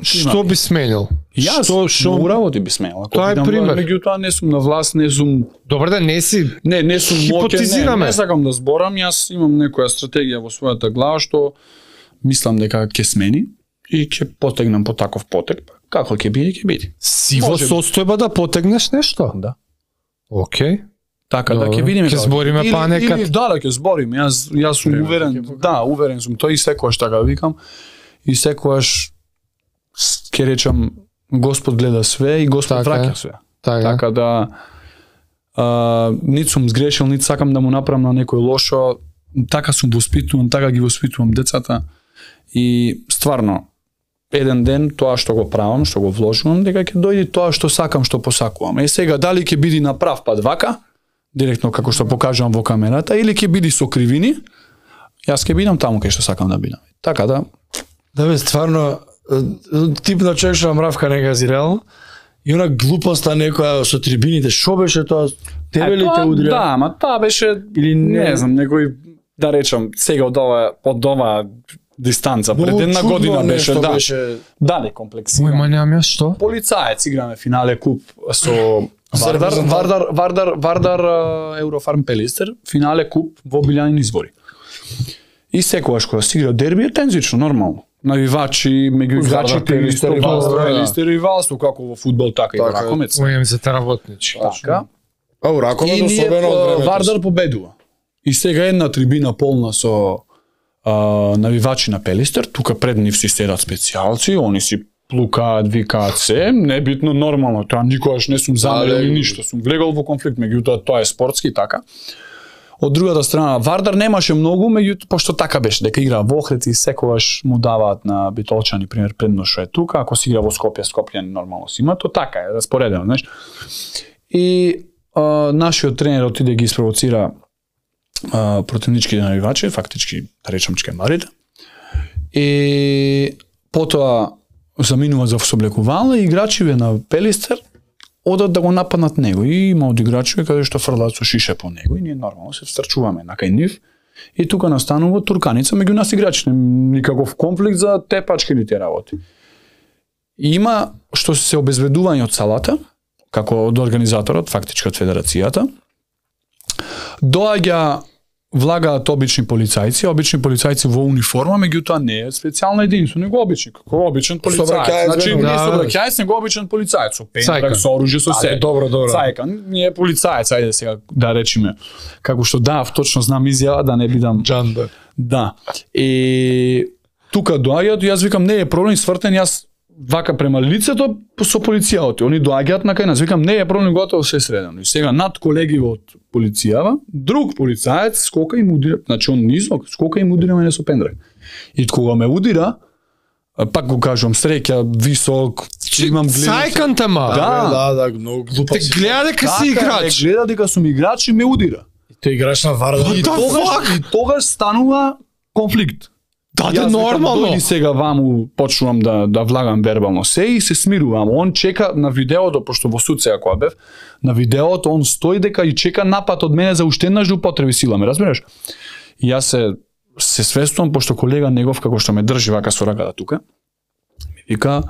Што би сменил? Јас што што работи би сменил. Тоа е пример. Меѓутоа не сум на власт, не сум. Добро да не си. Не, не сум моќен, не, не сакам да зборам, јас имам некоја стратегија во својата глава што мислам дека ќе смени и ќе потегнам по таков потек. Како ќе биде, ќе биде. Си во состојба да потегнеш нешто? Да. Океј. Така да ќе видиме. Ќе збориме па некад. Или, да, да ќе збориме. Јас јас сум уверен, да, уверен сум. Тој и секогаш така викам. И секогаш ќе речам Господ гледа све и Господ враќа све. Така, така да а, нит сум сгрешил, нит сакам да му направам на некој лошо. Така сум воспитуван, така ги воспитувам децата. И стварно еден ден тоа што го правам, што го вложувам, дека ќе дојде тоа што сакам, што посакувам. Е сега дали ќе биде на прав пат вака, директно како што покажувам во камерата, или ќе биде со кривини, јас ќе бидам таму кај што сакам да бидам. Така да. Да бе, стварно тип на човек што мравка не гази реално. И она глупоста некоја со трибините, што беше тоа? Тебе ли те удрија? Да, ама тоа беше или не, не знам, некој да речам сега од ова од ова дистанца, пред една година беше, да. Беше дали комплексирано. Мој мањам јас што? Полицаец играме финале куп со Вардар, Вардар, Вардар, Вардар Еврофарм Пелистер, финале куп во Билјанин избори. И секогаш кога се игра дерби е тензично, нормално. Навивачи, меѓу играчите, Пелистер и Валсто, како во фудбал, така и во ракомец. Мојам за работничи. Така. А у ракомец особено од времето. Вардар победува. И сега една трибина полна со Uh, навивачи на Пелистер, тука пред нив си седат специјалци, они си плукаат, викаат се, небитно, нормално, тоа никогаш не сум замерил или ништо, сум влегол во конфликт, меѓутоа тоа е спортски, така. Од другата страна, Вардар немаше многу, меѓутоа, пошто така беше, дека игра во Охрид и секогаш му даваат на Битолчани, пример, предно што е тука, ако си игра во Скопје, Скопјани нормално си има, то така е, распоредено, знаеш. И uh, нашиот тренер отиде ги испровоцира Uh, противничките навивачи, фактички да речам чкемарите. И потоа заминува за соблекувална и играчиве на Пелистер одат да го нападнат него. И има од играчиве каде што фрлаат со шише по него и ние нормално се встрчуваме на кај нив. И тука настанува турканица меѓу нас играчите, никаков конфликт за тепачки или те работи. И има што се обезбедување од салата, како од организаторот, фактички од федерацијата. Доаѓа влагаат обични полицајци, обични полицајци во униформа, меѓутоа не е специјална единица, него обични, како обичен полицајец. Значи, не собраќајец, него обичен полицајец, со пендрак, со оружје, со се. Добро, добро. Цајка, не е полицајец, ајде сега да речеме. Како што да, точно знам изјава, да не бидам Джанда. Да. И тука доаѓаат, јас викам не е проблем, свртен, јас вака према лицето со полицијата. Они доаѓаат на кај нас, викам не е проблем, готово се средено. И сега над колеги од полицијава, друг полицаец скока и му удира, значи он низок, скока и му удира мене со пендрак. И кога ме удира, пак го кажувам, среќа, висок, имам гледа. Цајканте ма. Да, да, да, многу глупо. Те гледа дека си играч. Те гледа дека сум играч и ме удира. Тој играч на Вардар. И тогаш, и тогаш станува конфликт. Да, да, нормално. Дојди сега ваму, почнувам да да влагам вербално се и се смирувам. Он чека на видеото, пошто во суд сега кога бев, на видеото он стои дека и чека напад од мене за уште еднаш да употреби сила, ме разбираш? И јас се се свестувам пошто колега негов како што ме држи вака со раката тука. Ми вика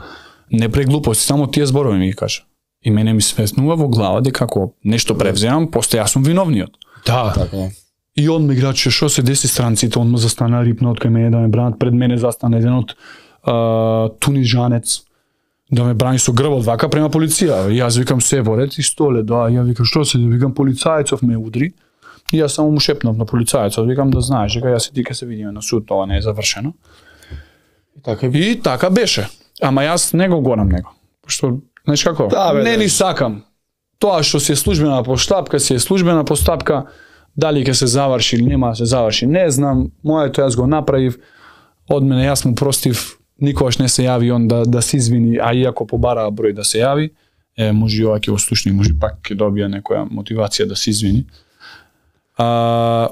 не преглупости, само тие зборови ми ги кажа. И мене ми свеснува во глава дека ако нешто превземам, после јас сум виновниот. Да, така. И он ме играче, што се деси странците, он ме застана рипна од кај мене да ме бранат, пред мене застана еден од uh, тунижанец да ме брани со грбот вака према полиција. И јас викам се во ред и столе, да, ја викам што се, викам полицајцов ме удри. И јас само му шепнав на полицајецот, викам да знаеш дека јас и ти ќе се видиме на суд, ова не е завршено. И така, и така беше. Ама јас не го гонам него. Пошто, знаеш како? Да, бе, не да. ни сакам. Тоа што си е службена постапка, си е службена постапка. Дали ќе се заврши или нема да се заврши, не знам. Моето јас го направив. Од мене јас му простив. Никогаш не се јави он да да се извини, а иако побара број да се јави, е може ова ќе го слушне, може пак ќе добија некоја мотивација да се извини. А,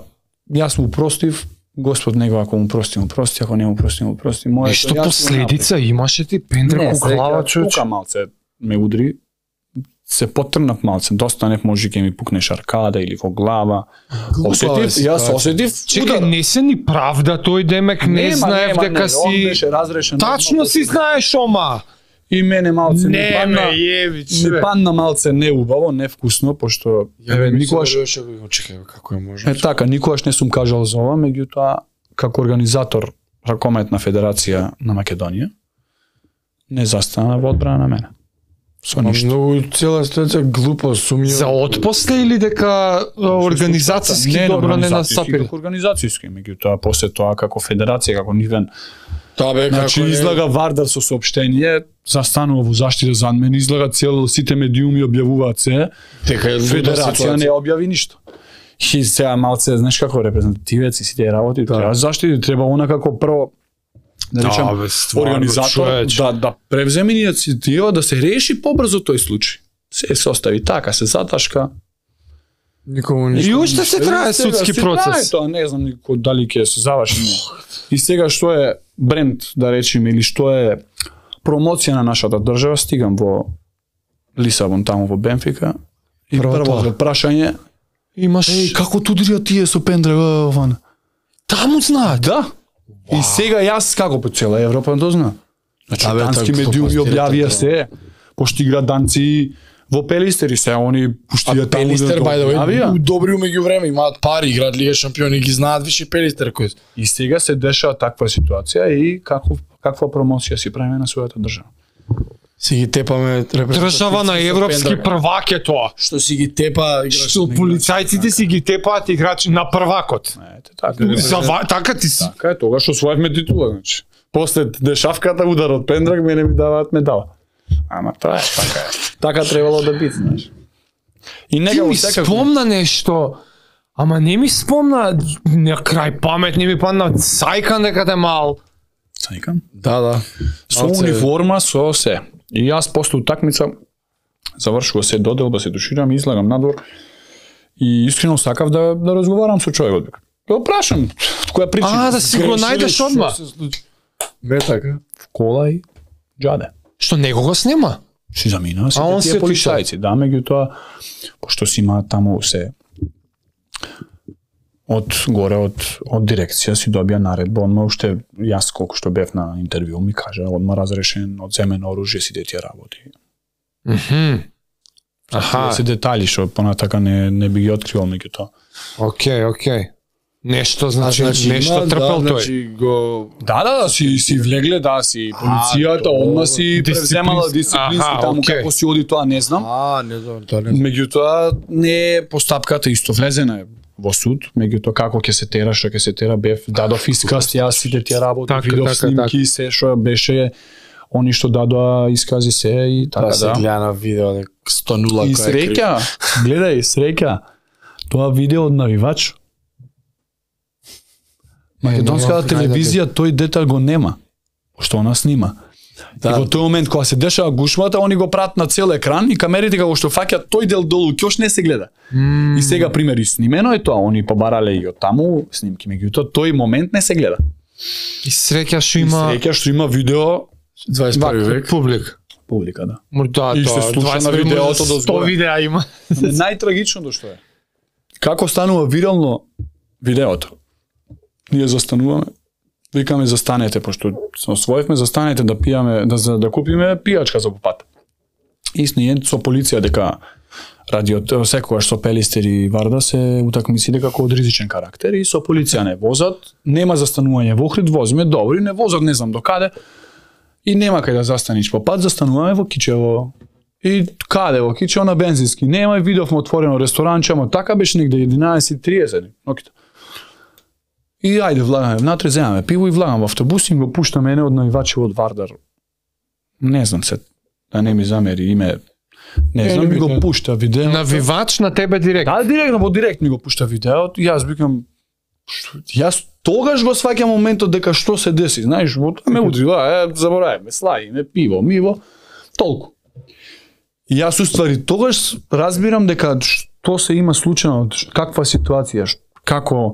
јас му простив, Господ него ако му прости, му прости, ако не му прости, му прости. Моето Нешто последица имаше ти пендрак у глава, човече. Тука малце ме удри. Се потрнав малце, достанев, може ќе ми пукне шаркада или во глава. Осетив, јас осетив. Чекај, не се ни правда тој демек, не Нема, знаев нема, дека не, си... он беше разрешен. Тачно си знаеш, ома! И мене малце ми Не падна, ме јеби, ми чове. падна малце неубаво, невкусно, пошто еве никогаш Чекај, како е можно? е така, никогаш не сум кажал за ова, меѓутоа како организатор ракометна федерација на Македонија не застана во одбрана на мене. Со ништо. Многу цела ситуација глупо, сумњиво. За отпосле или дека организацијски не, добро не организацијски, настапиле? како организацијски, меѓутоа после тоа како федерација, како нивен. Та бе, Значи како не- излага Вардар со соопштение, застанува во заштита зад мене, излага цел сите медиуми објавуваат се. дека е луда Федерација ситуација. не објави ништо. И сега малце, знаеш како репрезентативец и сите работи, Да. треба заштити, треба она како прво да речем Да, бе, стварно, организатор човече. да да превземе иницијатива да се реши побрзо тој случај. Се се остави така, се заташка. Никому И ништо. уште се трае Сега судски се трае процес. Тоа не знам никој дали ќе се заврши. И сега што е бренд, да речеме, или што е промоција на нашата држава, стигам во Лисабон, таму во Бенфика. И Прво прво тоа. прашање, Имаш еј, како тудрија тие со Пендрага, ван? таму знаат. Да. И сега јас како по цела Европа тоа знам. Значи, Да, бе, дански тоа медиуми глупост, објавија директно. се, пошто игра данци во Пелистери се, они пуштија А таму Пелистер, да by the way, објавија. добри меѓу време, имаат пари, играат Лига шампиони, ги знаат више Пелистер кој. И сега се дешава таква ситуација и каков, каква промоција си правиме на својата држава. Си ги тепаме Држава на европски првак е тоа. Што си ги тепа играчи. Што полицајците си ги тепаат играчи на првакот. Ете, така. За ва- така ти си. Така е, тогаш освоевме титула, значи. После дешавката удар од Пендрак мене ми даваат медала. Ама тоа е, така е. Така требало да биде, знаеш. И Ти нега ми во секако. спомна нешто, ама не ми спомна на крај памет, не ми падна Сајкан дека те мал. Сајкам. Да, да. Со Малце- униформа, со се. И јас после утакмица завршува се доделба, се душирам, излагам надвор. И искрено сакав да да разговарам со човекот. Да го прашам која причина. А, да си го најдеш одма. Бе така. Кола и џаде. Што него го снима? Си замина, сите А он тие се полицајци, да, меѓутоа, пошто си има таму се од горе од од дирекција си добија наредба, одма уште јас колку што бев на интервју ми кажа, одма разрешен, одземено оружје сите тие работи. Мхм. Аха, Аха, се детали што понатака не не би ги откривал меѓутоа. окей, окей. Нешто А, значи, нешто има, трпел да, тој. значи го Да, да, да, си си влегле, да, си полицијата, тоа, одма си превземала дисциплински- дисциплински Аха, таму окей. како си оди тоа не знам. А, не знам, тоа не знам. Меѓутоа не е постапката исто влезена е во суд, меѓутоа како ќе се тера, што ќе се тера, бев дадов исказ, јас сите тие работи, Така, видов така, снимки, се што беше они што дадоа искази се и така Тоа се да. гледа на видео, дека сто нула И кој е крив. среќа, гледај, среќа. Тоа видео од навивач. Македонската нема телевизија тој детал го нема, што она снима. Да. И во тој момент кога се дешава гушмата, они го прават на цел екран и камерите како што фаќаат тој дел долу, ќе не се гледа. М, И сега пример и снимено е тоа, они побарале и од таму снимки, меѓутоа тој момент не се гледа. И среќа што И има среќа што има видео дваесет и први век. публик. публика, да. Му да, И се тоа, слуша дваесет на минути, видеото до сто згоре. видеа има. Ама најтрагичното што е, како станува вирално видеото. Ние застануваме, викаме застанете, пошто се освоивме, застанете да пијаме, да, за- да купиме пијачка за по пат. И с ние со полиција дека радио секогаш со Пелистер и Варда се утакмици дека од ризичен карактер и со полиција не возат, нема застанување во Охрид, возиме добри, не возат не знам до каде. И нема кај да застаниш по пат, застануваме во Кичево. И каде во Кичево на бензински. Нема и видовме отворено ресторанче, ама така беше негде единаесет и триесет. Ноките. И ајде влагаме внатре, земаме пиво и влагам во автобус и го пушта мене од наивачи од Вардар. Не знам се, да не ми замери име. Не знам, ми го пушта видео. Навивач на тебе директ. Да, директно, во директ ми го пушта видеото и јас викам, што, јас тогаш го сваќам моментот дека што се деси, знаеш, во тоа ме удри, да, е, забораваме, слаиме, пиво, миво, толку. И јас уствари тогаш разбирам дека што се има случајно, каква ситуација, ш- како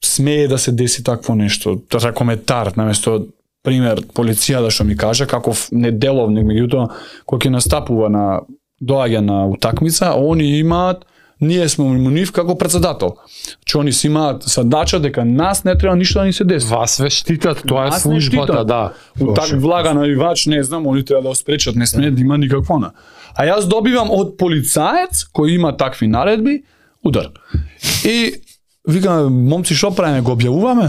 смее да се деси такво нешто, тоа коментар, наместо пример полицијата што ми кажа каков неделовник, меѓутоа кој ќе настапува на доаѓа на утакмица, они имаат ние сме му нив како председател. Че они си имаат задача дека нас не треба ништо да ни се деси. Вас ве штитат, тоа е Нас не службата, штитат. да. Так влага навивач, не знам, они треба да го спречат, не смее да има никакво на. А јас добивам од полицаец кој има такви наредби удар. И викаме, момци што правиме, го објавуваме?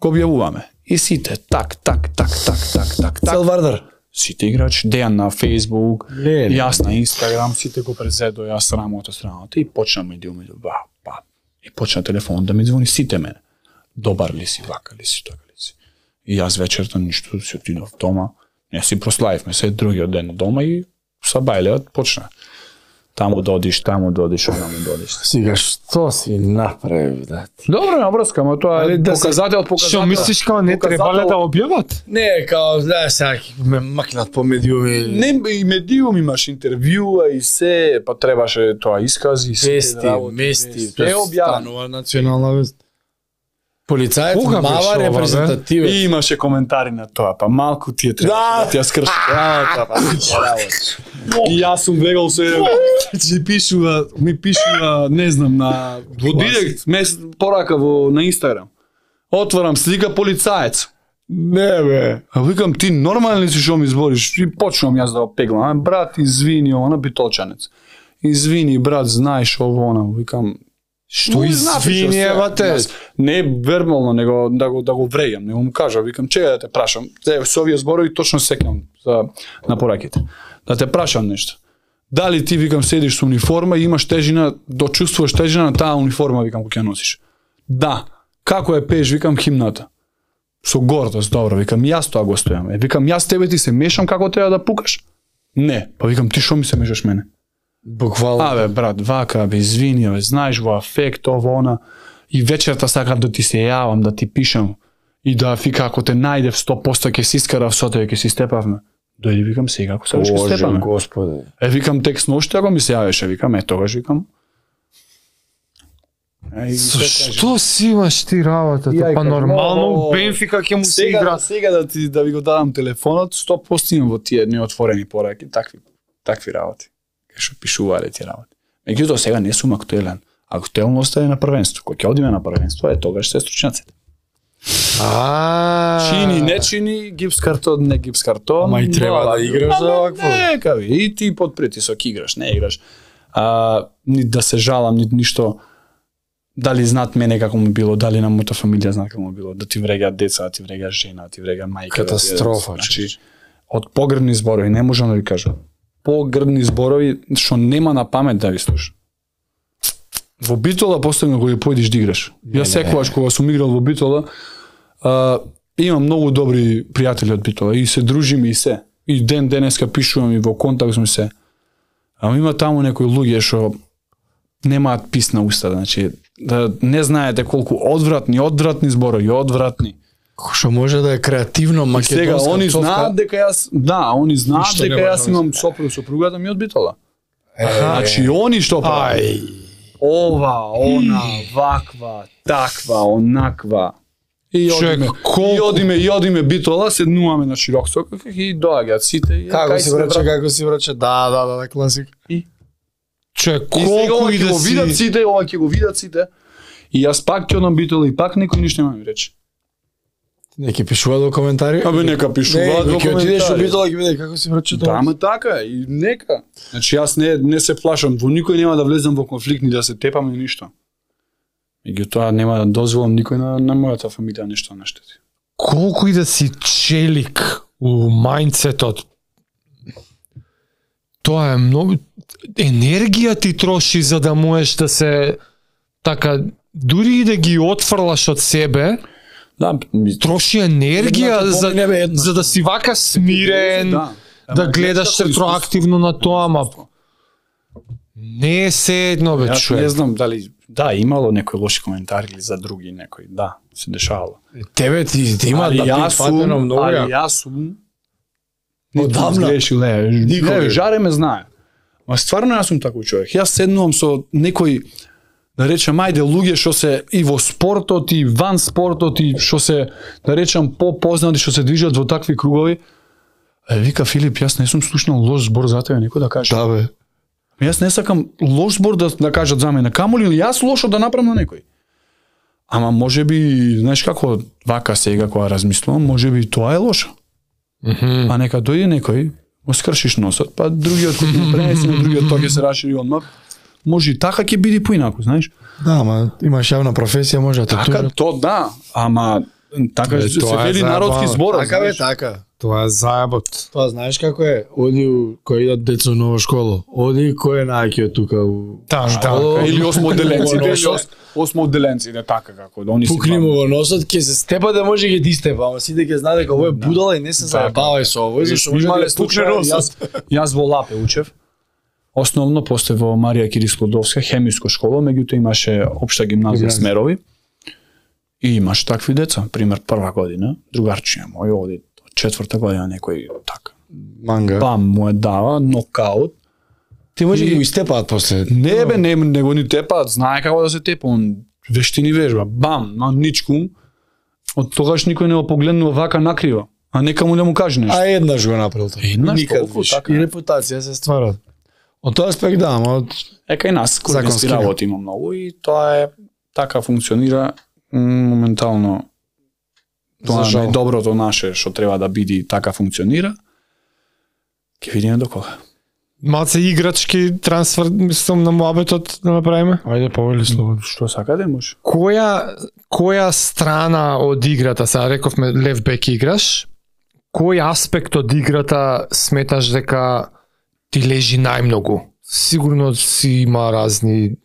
Го објавуваме. И сите так, так, так, так, так, так, так. Цел Вардар. Сите играчи, Дејан на Facebook, Не, не, јас на Instagram, сите го презедо, јас рамото страната и почна ми дил, ба, ба. И почна телефон да ми звони сите мене. Добар ли си, вака ли си, така ли си. И јас вечерта ништо си отидов дома, не си прославивме се другиот ден дома и са бајлеот почна. Таму додиш, таму додиш, онаму додиш. Сега што си направи, да? Добро, на врска, ма тоа е да се- показател, показател. Што мислиш као не требале да објават? Не, као, знаеш, сега ме макнат по медиуми. Не, и медиум имаш интервјуа и се, па требаше тоа искази, се Вести, работи, вести, се објавено. станува национална вест. Полицајец Кога беше мава ова, бе? репрезентативец. И имаше коментари на тоа, па малку ти е требаше Да. да ти ја скрши работа, па работа. И јас сум гледал се, ми пишува, ми пишува, не знам, на во директ, мес порака во на Инстаграм. Отварам слика полицаец. Не, бе. А викам, ти нормални си што ми збориш? И почнам јас да го пеглам. А, брат, извини, она битолчанец. Извини, брат, знаеш ово, она. Викам, Што му знати извини, што се. ева те? Јас не вербално, него да го да го врејам, него му кажа, викам, чека да те прашам. Се со овие зборови точно секам за на пораките. Да те прашам нешто. Дали ти, викам, седиш со униформа и имаш тежина, дочувствуваш тежина на таа униформа, викам, која ќе носиш? Да. Како е пееш, викам, химната? Со гордост, добро, викам, јас тоа го стојам. Е, викам, јас тебе ти се мешам како треба да пукаш? Не. Па викам, ти што ми се мешаш мене? Буквално. Абе, брат, вака, бе, извини, бе, знаеш во афект, ово, она. И вечерта сакам да ти се јавам, да ти пишам. И да, вика, ако те најдев сто посто ќе си искарав со тебе, ќе си степавме. Дојди, викам, сега, ако сакаш ќе Боже, степаме. Господи. Е, викам, текст ноште, ако ми се јавеше, викам, е, тогаш, викам. Е, и Со се кажи. што си имаш ти работата? Јај, Па како- нормално О, Бенфика ќе му се Сега, игра. сега да ти да ви го дадам телефонот, сто посто имам во тие неотворени пораки, такви такви работи. Кај што пишувале тие работи. Меѓутоа сега не сум актуелен. Актуелноста е на првенство. Кога ќе одиме на првенство, е тогаш се стручњаците. А. Чини, не чини, гипс картон, не гипс картон. Ама и треба но, да играш за ама овакво. Нека ви, и ти под притисок играш, не играш. А, ни да се жалам, ни ништо. Дали знаат мене како му било, дали на мојата фамилија знаат како му било, да ти врегаат деца, да ти врега жена, да ти врега мајка. Катастрофа, Да ти, значи, од погрдни зборови, не можам да ви кажам. Погрдни зборови што нема на памет да ви слушам. Во Битола поставено кога појдеш да играш. Јас секогаш кога сум играл во Битола, а, имам многу добри пријатели од Битола и се дружиме и се. И ден денеска пишувам и во контакт сме се. Ама има таму некои луѓе што немаат пис на уста, значи да не знаете колку одвратни, одвратни зборови, одвратни. Што може да е креативно И сега македонска они пцовка. знаат дека јас, да, они знаат Ништо дека не може јас да имам сопруг, сопругата ми од Битола. Е, Значи они што прават? Ај. Ова, она, ваква, таква, онаква. И Човек, одиме, колку- и одиме, и одиме Битола, седнуваме на широк сокак и доаѓаат сите. И Како кај си сме, врача, брат? како си врача? Да, да, да, да, класик. Човек, И сега колку ова и ќе да го видат си... сите, ова ќе го видат сите. И јас пак ќе одам Битола и пак некој ништо нема ми рече. Неки пишува до коментари? Абе нека пишуваат Не, во ќе отидеш у коментари. Битола ќе биде како си врача Да, ама така е, и нека. Значи јас не не се плашам, во никој нема да влезам во конфликт ни да се тепам ни ништо. Меѓутоа нема да дозволам никој на, на мојата фамилија нешто наштети. Колку и да си челик у мајндсетот, тоа е многу... Енергија ти троши за да можеш да се... Така, дури и да ги отфрлаш од себе, Да, ми, троши енергија Едната за, помине бе една. за да си вака смирен, да, Ама гледаш знаеш како ретроактивно на тоа, ама не е се едно бе, Јас не човек. знам дали да имало некои лоши коментари или за други некои, да, се дешавало. Тебе ти, ти има Али да јас ти фатено сум, многу. али ја. јас сум Одамна. Грешил, не, Никога. не, жаре ме знае. Ма стварно јас сум таков човек. Јас седнувам со некој, да речем, ајде, луѓе што се и во спортот, и ван спортот, и што се, да речем, попознати, што се движат во такви кругови. Е, вика Филип, јас не сум слушнал лош збор за тебе, некој да каже. Да бе. Јас не сакам лош збор да, да кажат за мене, камоли или јас лошо да направам на некој. Ама може би, знаеш како, вака сега кога размислувам, може би тоа е лошо. Мгм. А нека дојде некој, го скршиш носот, па другиот кој ќе пренесе на другиот, тоа ќе се рашири одмав. Може и така ќе биде поинаку, знаеш. Да, ама имаш јавна професија, може да те Така, тужат. то да, ама така Е, се тоа е вели заебано. народски збор. Така бе, така. Тоа е заебот. Тоа знаеш како е? Оди у- кој идат деца у нова школа. Оди кој е најаќе тука у Там, школа, там. Или осмоделенци, Во или носот. ос- осмоделенци, не така како да они си Пукни му во носот, ќе се степа да може ќе ти степа, ама сите ќе знаат дека овој е будала и не се заебавај со овој, зашто може да Имале ја пукне случај, носот. јас, јас во Лапе учев, основно после во Марија Кири Склодовска, хемиска школа, меѓутоа имаше општа гимназија Гимназија. Смерови, и имаш такви деца, пример прва година, другарчија мој оди од четврта година некој така, Манга. бам му е дава, нокаут, Ти може И- ќе го истепаат после. не бе, не, не го ни тепаат, знае како да се тепа, он вештини вежба, бам, на ничку, од тогаш никој не го погледнува вака накриво, а нека му да му каже нешто. А еднаш го направил тоа. Еднаш, Никад толку, више. така. И репутација се ствара. Од тоа аспект да, ама од Ека и нас Законски кој работи има многу и тоа е така функционира м, моментално. Тоа За е жал. најдоброто наше што треба да биде и така функционира. Ќе видиме до кога. Малце играчки трансфер, мислам, на муабетот да направиме. ајде повели слободно. Што сакате може? Која која страна од играта, сега рековме лев бек играш, кој аспект од играта сметаш дека ти лежи најмногу? Сигурно си има разни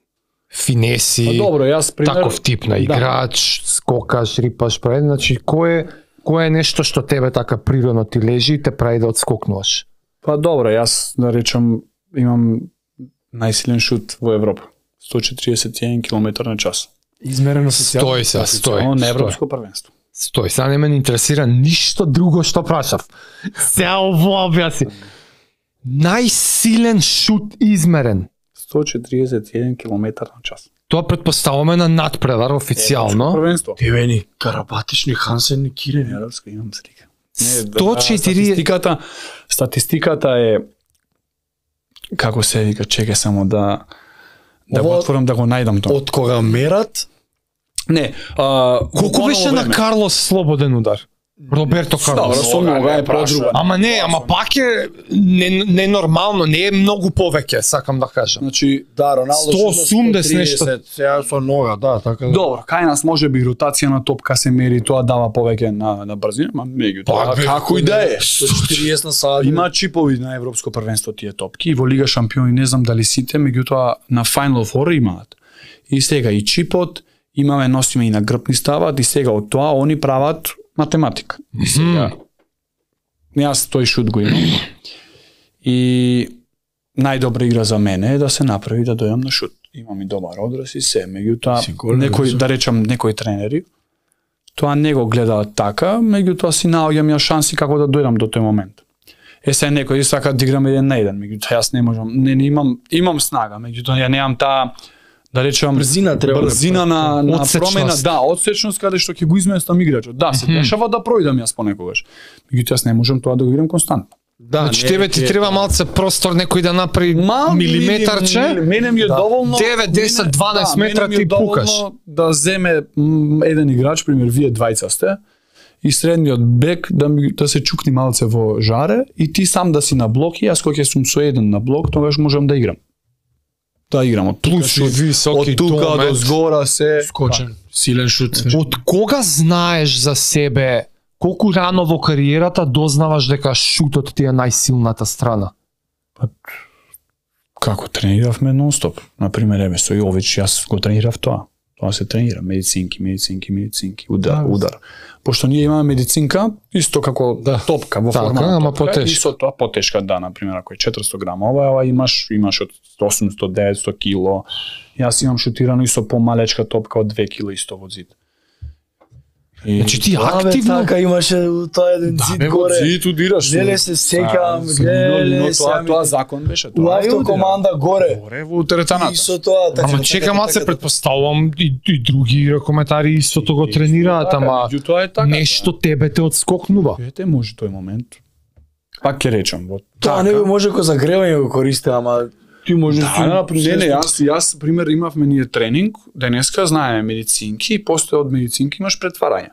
финеси, Па добро, јас пример таков тип на играч, скокаш, рипаш, прави, значи кој е кој е нешто што тебе така природно ти лежи и те прави да отскокнуваш? Па добро, јас да речам имам најсилен шут во Европа. сто четириесет и еден километар на час. Измерено со Стој се, стој. Оно на стој. европско првенство. Стој, сега не ме интересира ништо друго што прашав. Сега ово објаси. Најсилен шут измерен. сто четириесет и еден километар на час. Тоа предпоставуваме на надпревар официјално. Првенство. Тивени, Карабатични, Хансен и Кирени. Европска имам слика. Не, сто да, четири статистиката, статистиката е како се вика, чекај само да да го Ово- отворам да го најдам тоа. Од кога мерат, Не, а колку беше на Карлос слободен удар? Роберто Добро, Карлос. со нога е подруга. Ама не, ама пак е не, не нормално, не е многу повеќе, сакам да кажам. Значи, да, Роналдо сто осумдесет нешто. Сега со нога, да, така да. добро, кај нас може би ротација на топка се мери, тоа дава повеќе на на брзина, ма меѓутоа Пак, бе, како и да е. Со четириесет на сад. Има чипови на европско првенство тие топки и во Лига шампиони не знам дали сите, меѓутоа на Final Four имаат. И сега и чипот имаме носиме и на грб ни стават и сега од тоа они прават математика. И сега јас тој шут го имам. И најдобра игра за мене е да се направи да дојам на шут. Имам и добар одраз и се, меѓутоа Си голем, некои да. да речам некои тренери тоа не го гледаат така, меѓутоа си наоѓам ја шанси како да дојдам до тој момент. Е се некои сака да играм еден на еден, меѓутоа јас не можам, не, не имам имам снага, меѓутоа ја немам таа да речам Брзина треба да брзина на на Одсечност. промена, да, одсечност каде што ќе го изместам играчот. Да, се дешава да пројдам јас понекогаш. Меѓутоа јас не можам тоа да го играм константно. Да, Значи не, тебе ти ќе- треба малце простор некој да направи милиметарче. Мене ми е Да. доволно девет, десет, мене- дванаесет да, метра мене ми е ти пукаш. доволно Да земе м, еден играч, пример вие двајца сте, и средниот бек да ми да се чукни малце во жаре и ти сам да си на блок и јас кога ќе сум со еден на блок, тогаш можам да играм. Да играм од Плюс тука, и високи од тука домет. до згора се скочен, силен шут. Од кога знаеш за себе, колку рано во кариерата дознаваш дека шутот ти е најсилната страна? Како трениравме нонстоп. На пример, еве со Јович, јас го тренирав тоа. Тоа се тренира, медицинки, медицинки, медицинки, удар, Да. удар. Пошто ние имаме медицинка, исто како Да. топка во Така, форма на ама топка, потешка. и со тоа потешка, да, на пример, ако е четиристо грама, ова, ова имаш, имаш од осумстотини деветстотини кило. Јас имам шутирано и со помалечка топка од две кило исто во зид. И Значи ти Да, бе, активно така имаше у тоа еден зид бе, во горе. зид удираш. Леле се секам, Са, леле, но тоа сега ми- тоа закон беше У тоа. е автокоманда горе. Горе во теретаната. И со тоа така. Ама така, чека така, малце, така, предпоставувам и, и други ракометари истото го тренираат, Така, ама меѓутоа е така. нешто тебе те отскокнува. Ете може тој момент. Пак ќе речам, во Тоа не би може ко загревање го користи, ама ти можеш Да, не, не, јас, јас, пример, имавме ние тренинг, денеска знаеме медицинки и после од медицинки имаш претварање.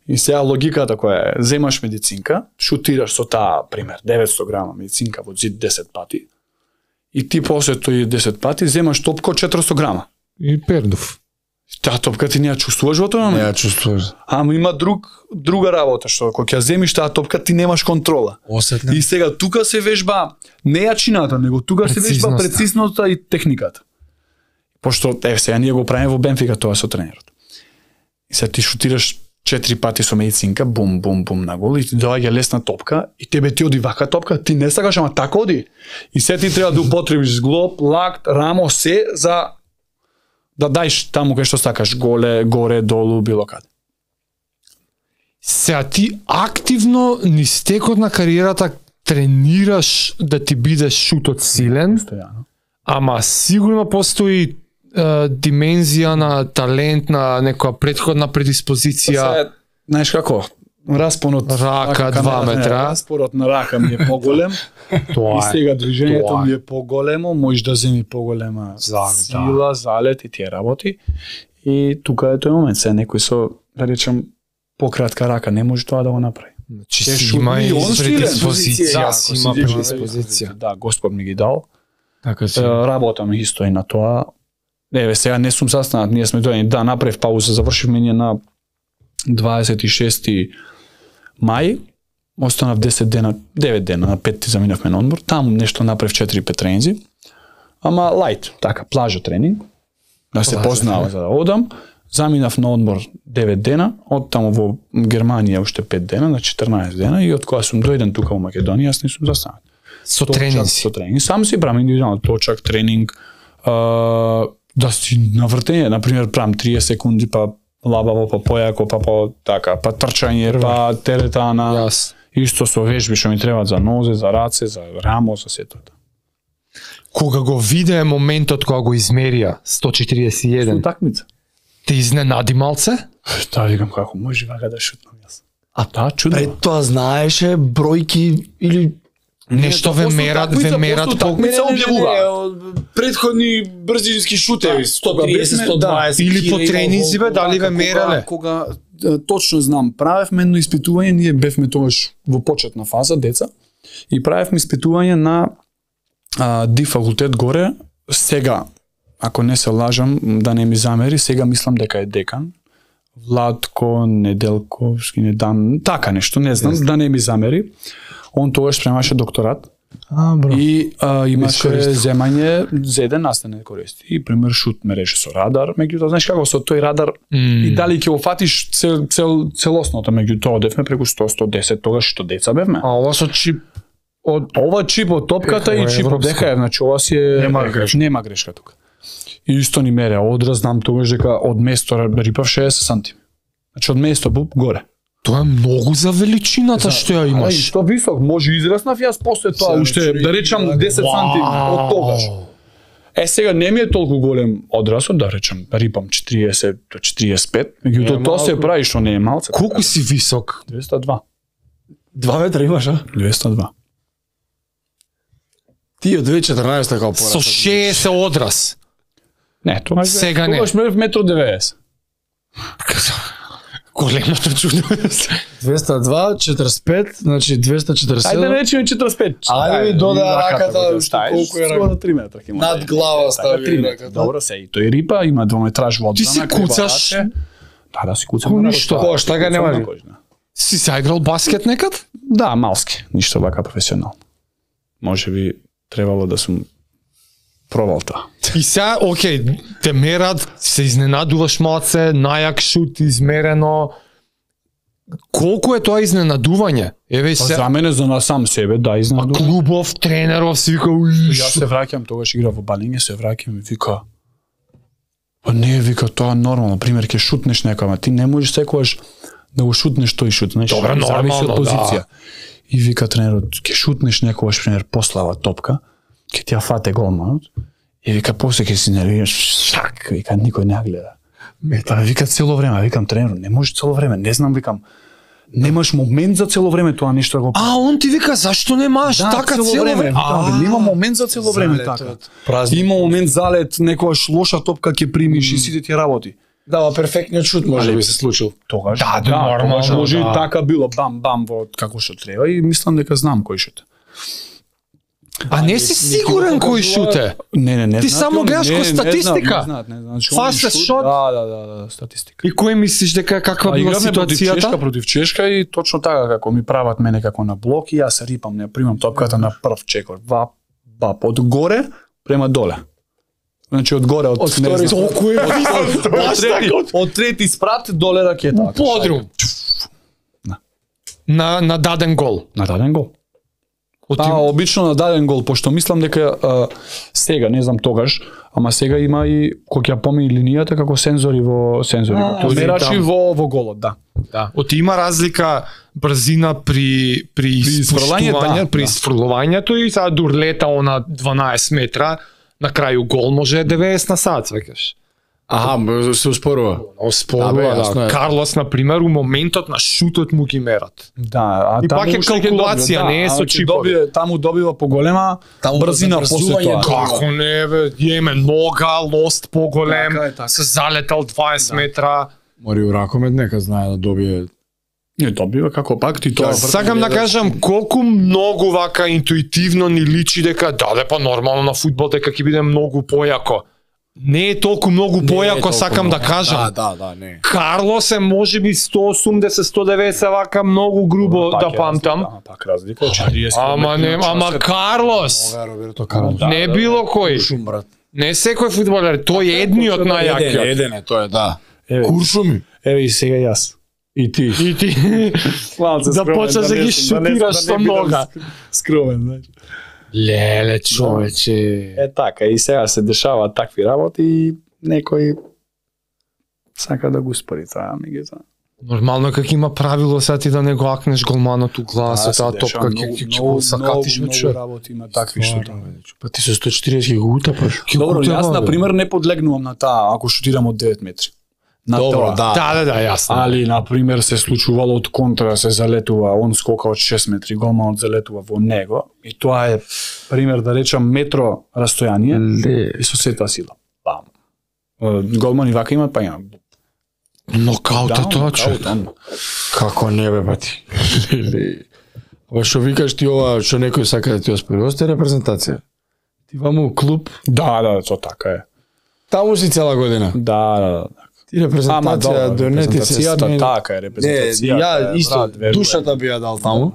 И сега логиката која е, земаш медицинка, шутираш со таа, пример, деветсто грама медицинка во зид десет пати, и ти после тој десет пати земаш топко четиристо грама. И пердув. Таа топка ти не ја чувствуваш во тој момент. Не ја чувствуваш. Ама има друг друга работа што кога ќе земиш таа топка ти немаш контрола. Осетна. И сега тука се вежба не јачината, него тука се вежба прецизноста и техниката. Пошто е сега ние го правиме во Бенфика тоа со тренерот. И сега ти шутираш четири пати со медицинка, бум бум бум на гол и ти доаѓа лесна топка и тебе ти оди вака топка, ти не сакаш ама така оди. И сега ти треба да употребиш зглоб, лакт, рамо, се за да дајш таму кај што сакаш, голе, горе, долу, било каде. Сега ти активно низ текот на кариерата тренираш да ти бидеш шутот силен, Стојано. ама сигурно постои е, димензија на талент, на некоја претходна предиспозиција. Сега, знаеш како, распонот Рака, два метра. Распорот на рака ми е поголем. Тоа И е. сега движењето тоа е. ми е поголемо, можеш да земи поголема Залет, сила, залет и тие работи. И тука е тој момент, се некој со, да речем, пократка рака не може тоа да го направи. Значи Те си шутни, има и он силен. предиспозиција, Да, си ако има си предиспозиција. Да, Господ ми ги дал. Така си. Е, Работам исто и на тоа. Еве, сега не сум застанат, ние сме дојдени, да, направив пауза, завршивме ние на дваесет и шести мај, останав десет дена, девет дена, на петти заминавме на одмор, таму нешто направив четири-пет тренинзи, ама лајт, така, плажа тренинг, да се Плажа познава тренинг. за да одам, заминав на одмор девет дена, од таму во Германија уште пет дена, на четрнаесет дена и од кога сум дојден тука во Македонија, јас не сум застанат. Со Точак, тренинзи. Со тренинг. Сам си правам индивидуално точак, тренинг, а, да си навртење, на пример правам триесет секунди, па лабаво, па појако, па по така, па трчање, па теретана. Јас. Исто со вежби што ми требаат за нозе, за раце, за рамо, за сето. Кога го виде моментот кога го измерија сто четириесет и еден, Утакмица. те изненади малце? Таа викам како може вака да шутнам јас. А таа чудно. Пред тоа знаеше бројки или Нешто ве мерат, ве мерат колку такмица објавуваат. Предходни брзински шутеви, сто Кога триесет, бевме- сто дваесет. Или по кило, тренинзи, бе, дали ве Кога- мерале? Кога, е, точно знам, правевме едно испитување, ние бевме тогаш во почетна фаза, деца, и правевме испитување на а, ди факултет горе, сега, ако не се лажам, да не ми замери, сега мислам дека е декан, Владко Неделковски, не дан, така нешто, не знам, да не ми замери. Он тогаш спремаше докторат. А, бро. И а, имаше Искористив. земање за еден настан користи. И пример шут ме реше со радар, меѓутоа знаеш како со тој радар и дали ќе го фатиш цел, цел целосното, меѓутоа одевме преку сто до сто десет тогаш што деца бевме. А ова со чип Од ова чип од топката Ова е и чип од европско. дека, значи ова си е Нема грешка. Нема грешка тука. И исто ни мере одраз, знам тогаш дека од место рипав шеесет сантиметри. Значи од место буп горе. Тоа е многу за величината што ја А, и имаш. што висок, може израснав јас после тоа, Сега уште чури, да речам десет сантиметри од тогаш. Е сега не ми е толку голем одрасот, да речем, рипам четириесет до четириесет и пет, меѓутоа Не е тоа се малку. прави што не е малце. Колку си висок? двеста и два. два метра имаш, а? двеста и два. Ти од две тисаца и четрнаесета како порасна. Со шеесет одрас. Не, тоа Сега не. Тогаш мерев метро деветдесет. Големото чудо. двеста и два, четириесет и пет, значи двеста и четириесет и Ајде седум. речеме четириесет и пет. Ајде ми додај раката, раката, го што ставиш, колку е рака. скоро три метра ќе има. Над глава Така, стави три метра. раката. Добро се, и тој рипа, има двометраж во Ти си одбрана, крива куцаш? раце. Да, да си куцам. Ко на ништо. кош, Кош, така не куцам на може. кош, да. Си заиграл баскет некад? Да, малски, ништо вака професионално. Може би требало да сум пробал тоа. И сега, окей, те мерат, се изненадуваш малце, најак шут измерено. Колку е тоа изненадување? Еве Па се, за мене, за на сам себе, да, а изненадувам. клубов, тренеров, си вика, уи, Јас се враќам, тогаш игра во Балиње, се враќам и вика, па не, вика, тоа нормално, пример, ќе шутнеш некој, ама ти не можеш секогаш да го шутнеш тој шут, знаеш, Добре, зависи нормално, од позиција. да. И вика тренерот, ќе шутнеш некогаш, пример, послава топка, ќе ти ја фате голманот, и вика, после ќе си нервираш, шак, вика, никој не ја гледа. Па вика цело време, викам тренер, не може цело време, не знам, викам, немаш момент за цело време тоа нешто да го. А, он ти вика, зашто немаш Да, така цело време? викам, А, бе, нема момент за цело време Залетот, така. празник. Има момент залет, некојаш лоша топка ќе примиш и сите ти работи. Да, ма перфектниот шут може би се случил. Тогаш, Да, да, нормално, тогаш може и да. така било, бам, бам, во како што треба и мислам дека знам кој што. А не си сигурен кој шуте? Не, не, не. Ти само гледаш кој статистика. Не знаат, не знаат. Fastest shot? Да, да, да, да, статистика. И кој мислиш дека каква била ситуацијата? Против Чешка, против Чешка и точно така како ми прават мене како на блок и јас се рипам, не примам топката на прв чекор. Вап, вап, од горе према доле. Значи од горе од втори толку е од трети спрат доле ракета. Подрум. На на даден гол. На даден гол. Па, обично на даден гол, пошто мислам дека а, сега, не знам тогаш, ама сега има и кој ќе помени линијата како сензори во сензори. Тоа мерачи во во голот, да. Да. Оти има разлика брзина при при испуштување, да, при да. изфрлувањето и сега дурлета она дванаесет метра, на крају гол може деветдесет на сат, сваќаш. Аха, се успорува. Успорува, да. да. Карлос, на пример, у моментот на шутот му ги мерат. Да, а и пак е калкулација, не е со чипови. Таму добива поголема брзина после тоа. Како не, бе, јеме нога, лост поголем, така е, така. Се залетал дваесет да. метра. Мори у ракомет нека знае да добие. Не добива како пак ти тоа. Сакам да кажам колку многу вака интуитивно ни личи дека да, па нормално на фудбал дека ќе биде многу појако. Не е толку многу појако, сакам много. Да кажам. Да, да, да, не. Карлос е можеби сто осумдесет сто деветдесет вака многу грубо да памтам. Ама пак разлика од четириесет. Ама не, ама Карлос. Роберто Карлос. Не било кој. Куршум, брат. Не секој фудбалер, тој е едниот најакиот. Еден е, тој е, да. Куршум. Еве и сега јас. И ти. И ти. Да почнеш да ги шутираш со нога. Скромен, знаеш. Леле, човече. Е така, и сега се дешаваат такви работи и некој сака да го спори тоа, меѓутоа. Нормално како има правило сега ти да не го акнеш голманот у глас, таа топка ќе ќе го сакатиш во човек. Многу работи има такви што па ти со сто четириесет го утапаш. Добро, јас на пример не подлегнувам на таа ако шутирам од девет метри. На Добро, тоа. да. Да, да, да, јасно. Али на пример се случувало од контра се залетува, он скока од шест метри, голманот залетува во него и тоа е пример да речам метро растојание и со сета сила. Бам. Голмани вака имаат, па има. Нокаута Да, тоа човек. Како не бе, бати. Ова што викаш ти ова, што некој сака да ти оспори, осте репрезентација. Ти ваму клуб. Да, да, тоа така е. Таму си цела година. Да, да, да. Ти репрезентација донети се смени. Така е, репрезентацијата. Не, ја исто душата би ја дал таму.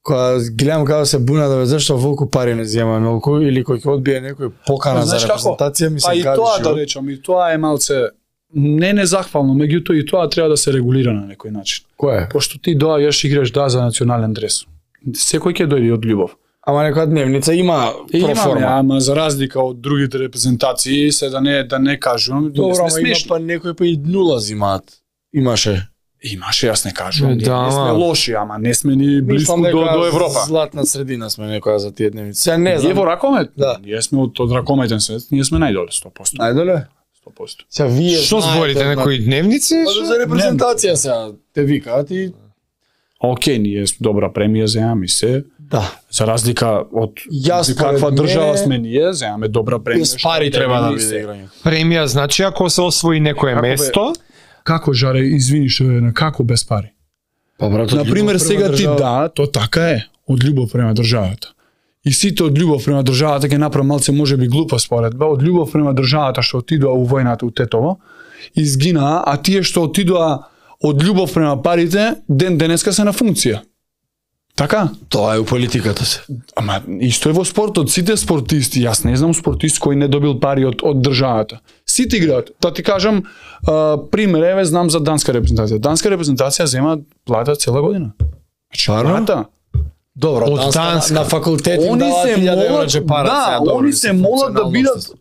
Кога гледам како се буна да зашто волку пари не зема многу или кој ќе одбие некој покана за репрезентација, ми се гади. Па и тоа да речам, и тоа е малце не незахвално, меѓутоа и тоа треба да се регулира на некој начин. Кој е? Пошто ти доаѓаш играш да за национален дрес. Секој ќе дојде од љубов. Ама некоја дневница има проформа. Ама за разлика од другите репрезентации, се да не да не кажувам, добро, ама има па некој па и нула зимаат. Имаше. Имаше, јас не кажувам. Да, не сме лоши, ама не сме ни близко до до Европа. Златна средина сме некоја за тие дневници. Се не знам. Ние во ракомет? Да. Ние сме од од ракометен свет, ние сме најдоле сто проценти. Најдоле? сто проценти. Сега вие што зборите некои дневници? Па за репрезентација сега те викаат и окей, ние добра премија земаме се. Да. За разлика од Јас каква држава сме ние, земаме добра премија. Без пари треба да биде играње. Премија значи ако се освои некое Како место, како жаре, извини што е на како без пари? Па брат, на пример сега ти да, то така е, од љубов према државата. И сите од љубов према државата ќе направи малце можеби глупа според ба, од љубов према државата што отидоа у војната у Тетово, изгинаа, а тие што отидоа од љубов према парите, ден денеска се на функција. Така? Тоа е у политиката се. Ама исто е во спортот, сите спортисти, јас не знам спортист кој не добил пари од од државата. Сите играат. Та ти кажам, а, пример еве знам за данска репрезентација. Данска репрезентација зема плата цела година. Плата? Добро, од данска, данска. На, на факултет им Они даваат се илјада евра молат, джепара. да, добро, они се молат да бидат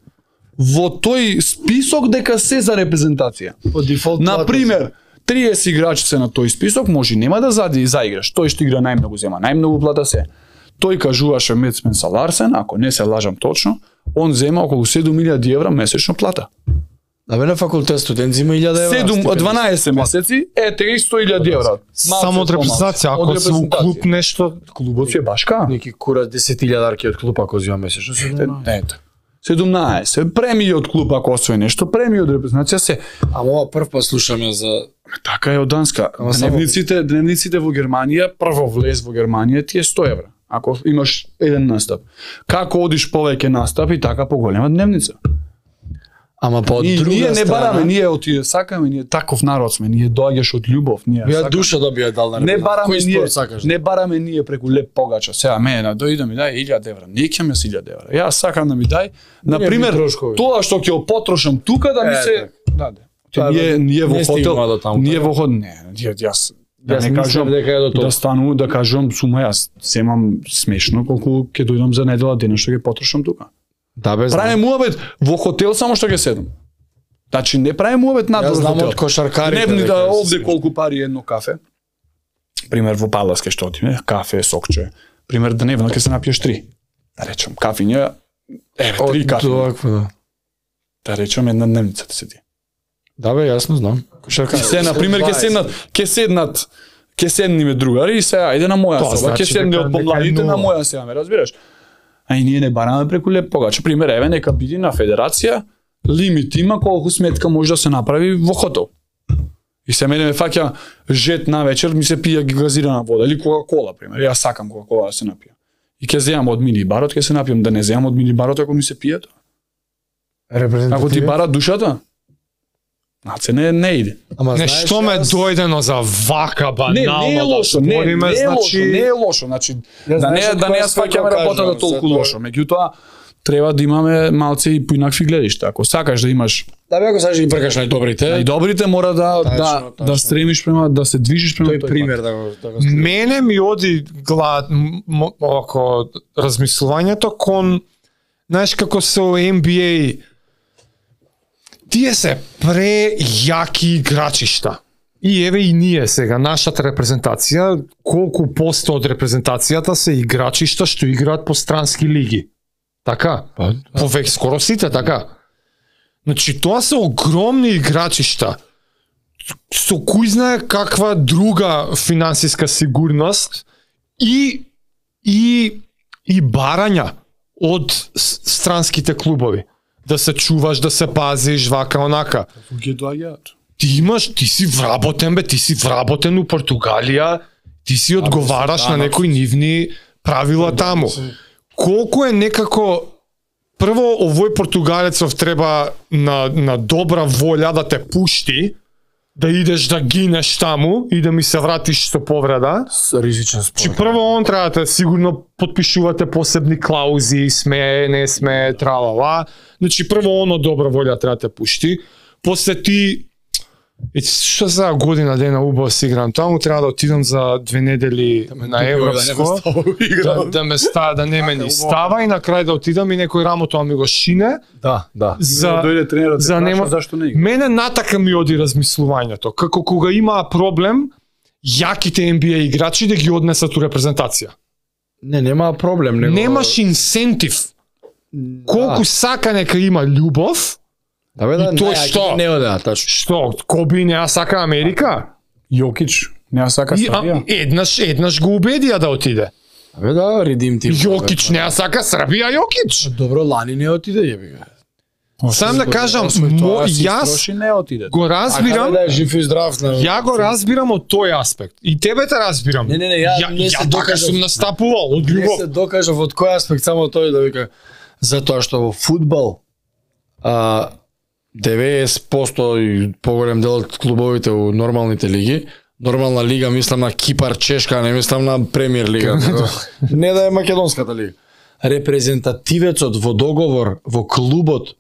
во тој список дека се за репрезентација. По дефолт. На пример, триесет играчи се на тој список, може нема да зади заиграш. Тој што игра најмногу зема, најмногу плата се. Тој кажуваше Мец Менса Ларсен, ако не се лажам точно, он зема околу седум илјади евра месечно плата. Да бе на факултет студент зема илјада евра. седум дванаесет месеци е триесет илјади евра. само од репрезентација, ако се у клуб нешто, клубот е башка. Неки кура десет илјадарки од клуб ако зема месечно. Ето. седумнаесет премии од клуб ако освои нешто, премии од репрезентација се. Ама ова прв пат слушаме за Така е од Данска. Дневниците, дневниците во Германија, прво влез во Германија ти е сто евра. Ако имаш еден настап. Како одиш повеќе настапи, така поголема дневница. Ама па од И друга ние не страна, бараме, ние оти сакаме, ние таков народ сме, ние доаѓаш од љубов, ние Ја сакаме. душа да би ја дал на Не бараме Кој ние, спорт сакаш? не бараме ние преку леп погача. Сега мене на дојде ми дај илјада евра. Не ќе ми илјада евра. Јас сакам да ми дај, на пример, трошкови. тоа што ќе го потрошам тука да ми Е, се даде. Тоа Ние ние во не стигнува хотел, до таму, ние така? во хотел, не, ја- јас да Јас не мислам кажам дека е до тоа. да стану да кажам сума јас земам смешно колку ќе дојдам за недела дена што ќе потрошам тука. Да бе, знам. Правиме муабет во хотел само што ќе седам. Значи не правиме муабет надвор Јас од знам хотел. од кошаркарите. Дневни дека да се овде смешно. колку пари е едно кафе. Пример во Паласке што отиме, кафе, сокче. Пример дневно ќе се напиеш три. Да речем кафиња, еве три Од кафе. овакво, да. Да речем една дневница да се ти. Да бе, јасно знам. Кошаркари. Се на пример ќе седнат, ќе седнат, ќе седниме другари и сега ајде на моја Тоа соба, ќе значи седне дека- од дека е помладите на нула. моја сега, ме разбираш? А и ние не бараме преку леп погача. Пример, еве нека биде на федерација, лимит има колку сметка може да се направи во хотел. И се мене ме фаќа жет на вечер, ми се пија газирана вода или кока-кола, пример. Јас сакам кока-кола да се напијам. И ќе земам од мини барот, ќе се напијам, да не земам од мини барот ако ми се пие тоа. Ако ти бара душата, наце не не иде. Ама Не, знаеш, што ме јас- дојдено за вака банално Не, не е лошо, да не, збориме, не е значи... лошо, не е лошо, значи да знаеш не од да не која ја сваќаме страна работата кажам, толку затоа- лошо, меѓутоа треба да имаме малце и поинакви гледишта. Ако сакаш да имаш Да бе, ако сакаш да ги пркаш најдобрите, и добрите, мора да Тачно, да тачно. да стремиш према да се движиш према тој тој пример пат. да го да го Мене ми оди глад м- м- око размислувањето кон знаеш како со Н Б А тие се прејаки играчишта. И еве и ние сега нашата репрезентација, колку посто од репрезентацијата се играчишта што играат по странски лиги. Така? Па, Повеќе скоро сите, така. Значи тоа се огромни играчишта со кој знае каква друга финансиска сигурност и и и барања од с- странските клубови. Да се чуваш, да се пазиш, вака онака. Ги доаѓаат. Ти имаш, ти си вработен бе, ти си вработен у Португалија, ти си одговараш на некои нивни правила таму. Колку е некако прво овој португалецов треба на на добра волја да те пушти, да идеш да гинеш таму и да ми се вратиш со повреда. ризичен спорт. Чи прво он треба да сигурно потпишувате посебни клаузи, сме, не сме, тралала. Значи прво оно добра волја треба да те пушти. После ти И што за година дена убаво си играм таму, треба да отидам за две недели на европско, да, да ме ста, да не ме ни става и на крај да отидам и некој рамота ми го шине. Да, да. За дојде тренерот за да нема зашто не игра. Мене натака ми оди размислувањето, како кога има проблем, јаките Н Б А играчи да ги однесат у репрезентација. Не, нема проблем, него Немаш инсентив. Колку сака нека има љубов, Да бе, да, И тој не, што? Не одеа, тачно. што Коби не ја сака Америка? Јокич, не ја сака И, а, Србија. еднаш еднаш го убедија да отиде. Да бе, да, редим ти. Јокич не ја сака Србија, Јокич. Добро, Лани не отиде, јеби га. Сам да кажам, Освој мо, тоа си јас строши, не отиде. го разбирам, да е жив и здрав. На... ја го разбирам од тој аспект. И тебе те разбирам. Не, не, не, ја ја, не се ја така докажав. сум настапувал од Не љубов. се докажав од кој аспект, само тој да вика, затоа што во фудбал а, деветдесет проценто и поголем дел од клубовите у нормалните лиги, нормална лига, мислам на Кипар, Чешка, не мислам на премиер лига. Не да е македонската лига. Репрезентативецот во договор во клубот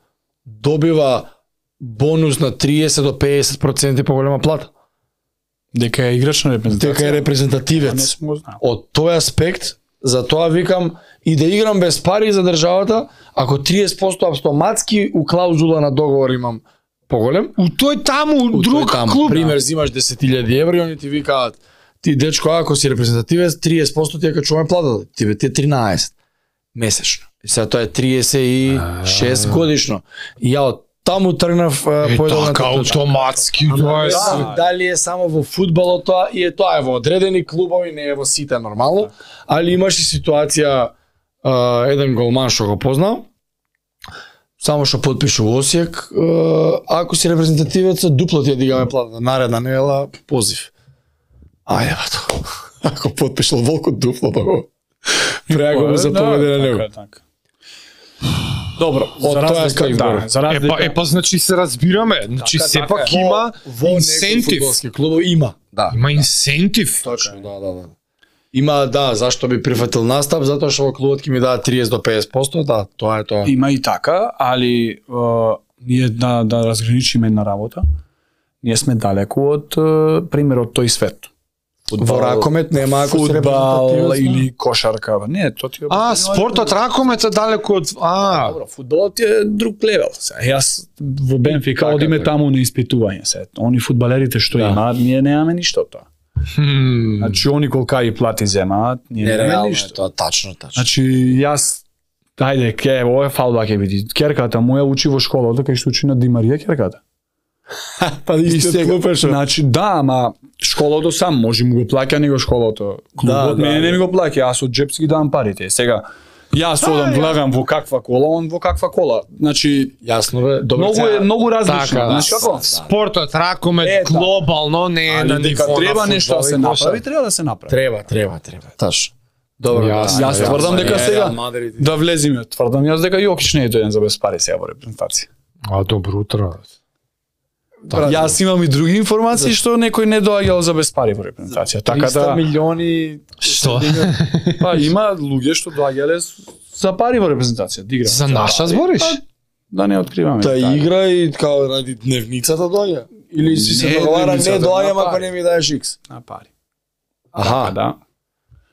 добива бонус на триесет до педесет проценти поголема плата. Дека е играч на репрезентација. Дека е Не репрезентативец. сум го знал. Од тој аспект, затоа викам и да играм без пари за државата, ако триесет проценти автоматски у клаузула на договор имам поголем, У тој таму, у друг тој таму, клуб. пример, зимаш десет илјади евра и они ти викаат, ти дечко, ако си репрезентативец, триесет проценти ти ја качуваме платата, ти ти е тринаесет месечно. И сега тоа е триесет и шест годишно. И ја од таму тргнав Е, поедовната така точка. автоматски, тоа е Да, се. дали е само во фудбалот тоа и е тоа е во одредени клубови, не е во сите нормално, али имаш и ситуација а, еден голман што го познав, само што потпишу во Осијак, а, ако си репрезентативец, дупло ти ја дигаме плата, наредна недела позив. Ајде бато. Ако потпишал Волко дупло, па го Преаго за победа на него. Добро, од тоа е да, за разлика. Епа, епа, значи се разбираме, значи Така, сепак така е. има Во инсентив. фудбалски клуб има. Да. Има инсентив. Точно, да, да, да. Има, да, зашто би прифатил настап, затоа што во клубот ќе ми дадат триесет до песет проценти, да, тоа е тоа. Има и така, али uh, ние да, да разграничиме една работа. Ние сме далеку од uh, примерот тој свет. Во ракомет нема ако се фудбал репрезентативно. или кошарка. Не, тоа ти е А, спортот ракомет е далеку од а. Добро, фудбалот е друг левел. Сега, јас во Бенфика Така, одиме така. таму на испитување се. Они фудбалерите што Да. имаат, ние немаме ништо од тоа. Хм. Значи они колкаи плати земаат, ние немаме Нереално е ништо. тоа, тачно, тачно. Значи јас ајде, ке, ово е фалба ќе биде. Керката моја учи во школата кај што учи на Ди Марија керката. Па И сега, значи да, ама школото сам може му го плаќа него школото. Клубот Да, мене да, не да. ми го плаќа, јас од джепски давам парите. Сега јас одам влагам во каква кола, он во каква кола. Значи Јасно бе, добро. многу е многу различно. Така, Знаеш како? спортот ракомет Е, да. глобално не е на Али дека ниво треба на нешто да фудбал се и кошарка. направи, треба да се направи. Треба, треба, треба. Таш. Добро. Јас- да, Јас да, тврдам да, дека е, сега Реал Мадрид. да влезиме, тврдам јас дека Јокич не е дојден за без пари сега во репрезентација. А добро утро. Јас имам и други информации што некој не доаѓал за без пари во репрезентација. Така триста да милиони. Што? па има луѓе што доаѓале за пари во репрезентација, да играат. За наша збориш? Да не откриваме. Та Така. игра и као ради дневницата доаѓа. Или си се Не, договара, не дневницата, доаѓам на ако пари. не ми даеш икс. На пари. Аха, Да.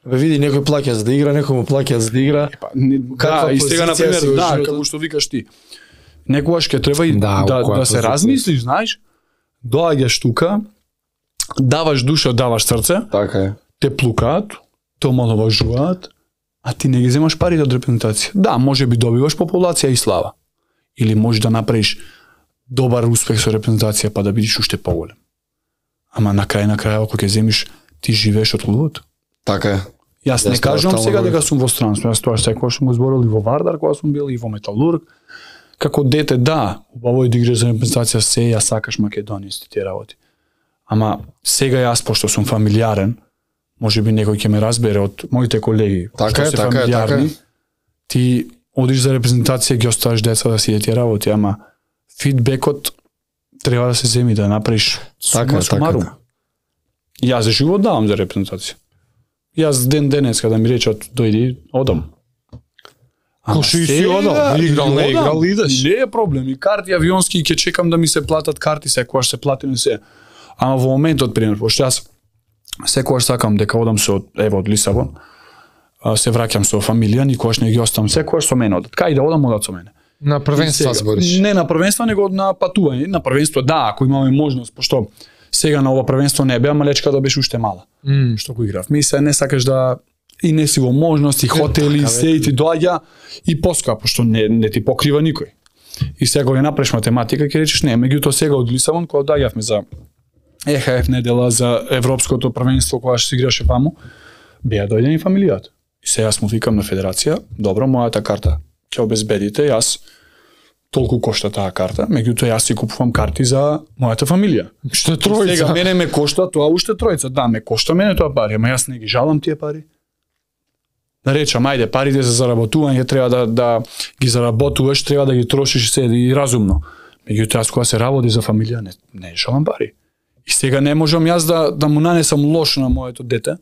Бе види некој плаќа за да игра, некој му плаќа за да игра. Па, не, Каква да, и сега на позиција пример, си во да, животот? како што викаш ти. Некогаш ќе треба и Да, да, во која да, се позиција? размислиш, знаеш, доаѓаш тука, даваш душа, даваш срце, Така е. те плукаат, те омаловажуваат, а ти не ги земаш парите од репрезентација. Да, може би добиваш популација и слава. Или можеш да направиш добар успех со репрезентација па да бидеш уште поголем. Ама на крај на крајот кога ќе земиш, ти живееш од клубот. Така е. Јас не Јас кажувам тоа сега стално дека сум во странство, јас тоа секогаш сум го зборил и во Вардар кога сум бил и во Металург. Како дете, да, убаво е да играш за репрезентација се, ја сакаш Македонија и тие работи. Ама сега јас пошто сум фамилиарен, може би некој ќе ме разбере од моите колеги, Така што е, се така е, фамилиарни, така е. ти одиш за репрезентација, ги оставаш деца да си тие работи, ама фидбекот треба да се земи да направиш Така сума е, така е, сумарум. така. Јас за живот давам за репрезентација. Јас ден денеска да ми речат дојди, одам. Ко што и си сега, одам, играл, не одам. играл, идеш. Не е проблем, и карти авионски ќе чекам да ми се платат карти секогаш се плати не се. Ама во моментот пример, пошто јас секогаш сакам дека одам со ево од Лисабон, а, се враќам со фамилија, никогаш не ги оставам, секогаш со мене одат. Кај да одам, одат со мене. На првенства Сега, збориш. Не на првенство, него на патување. На првенство да, ако имаме можност, пошто сега на ова првенство не беа, ама лечката беше уште мала. М. Што го играв. Ми се не сакаш да и не си во можност, и хотели, така, и се и ти доаѓа и поскапо, што не, не ти покрива никој. И сега кога ја направиш математика, ќе речеш не, меѓутоа сега од Лисабон, кога доаѓавме за Е Х Ф недела, за европското првенство, кога што се играше ваму, беа дојдени фамилијата. И сега јас му викам на федерација, добро, мојата карта ќе обезбедите, јас толку кошта таа карта, меѓутоа јас си купувам карти за мојата фамилија. Што е Сега тројца? мене ме кошта тоа уште тројца, да, ме кошта мене тоа пари, ама јас не ги жалам тие пари. Да речам, ајде, парите за заработување треба да да ги заработуваш, треба да ги трошиш се и разумно. Меѓутоа јас кога се работи за фамилија не не жалам пари. И сега не можам јас да да му нанесам лош на моето дете.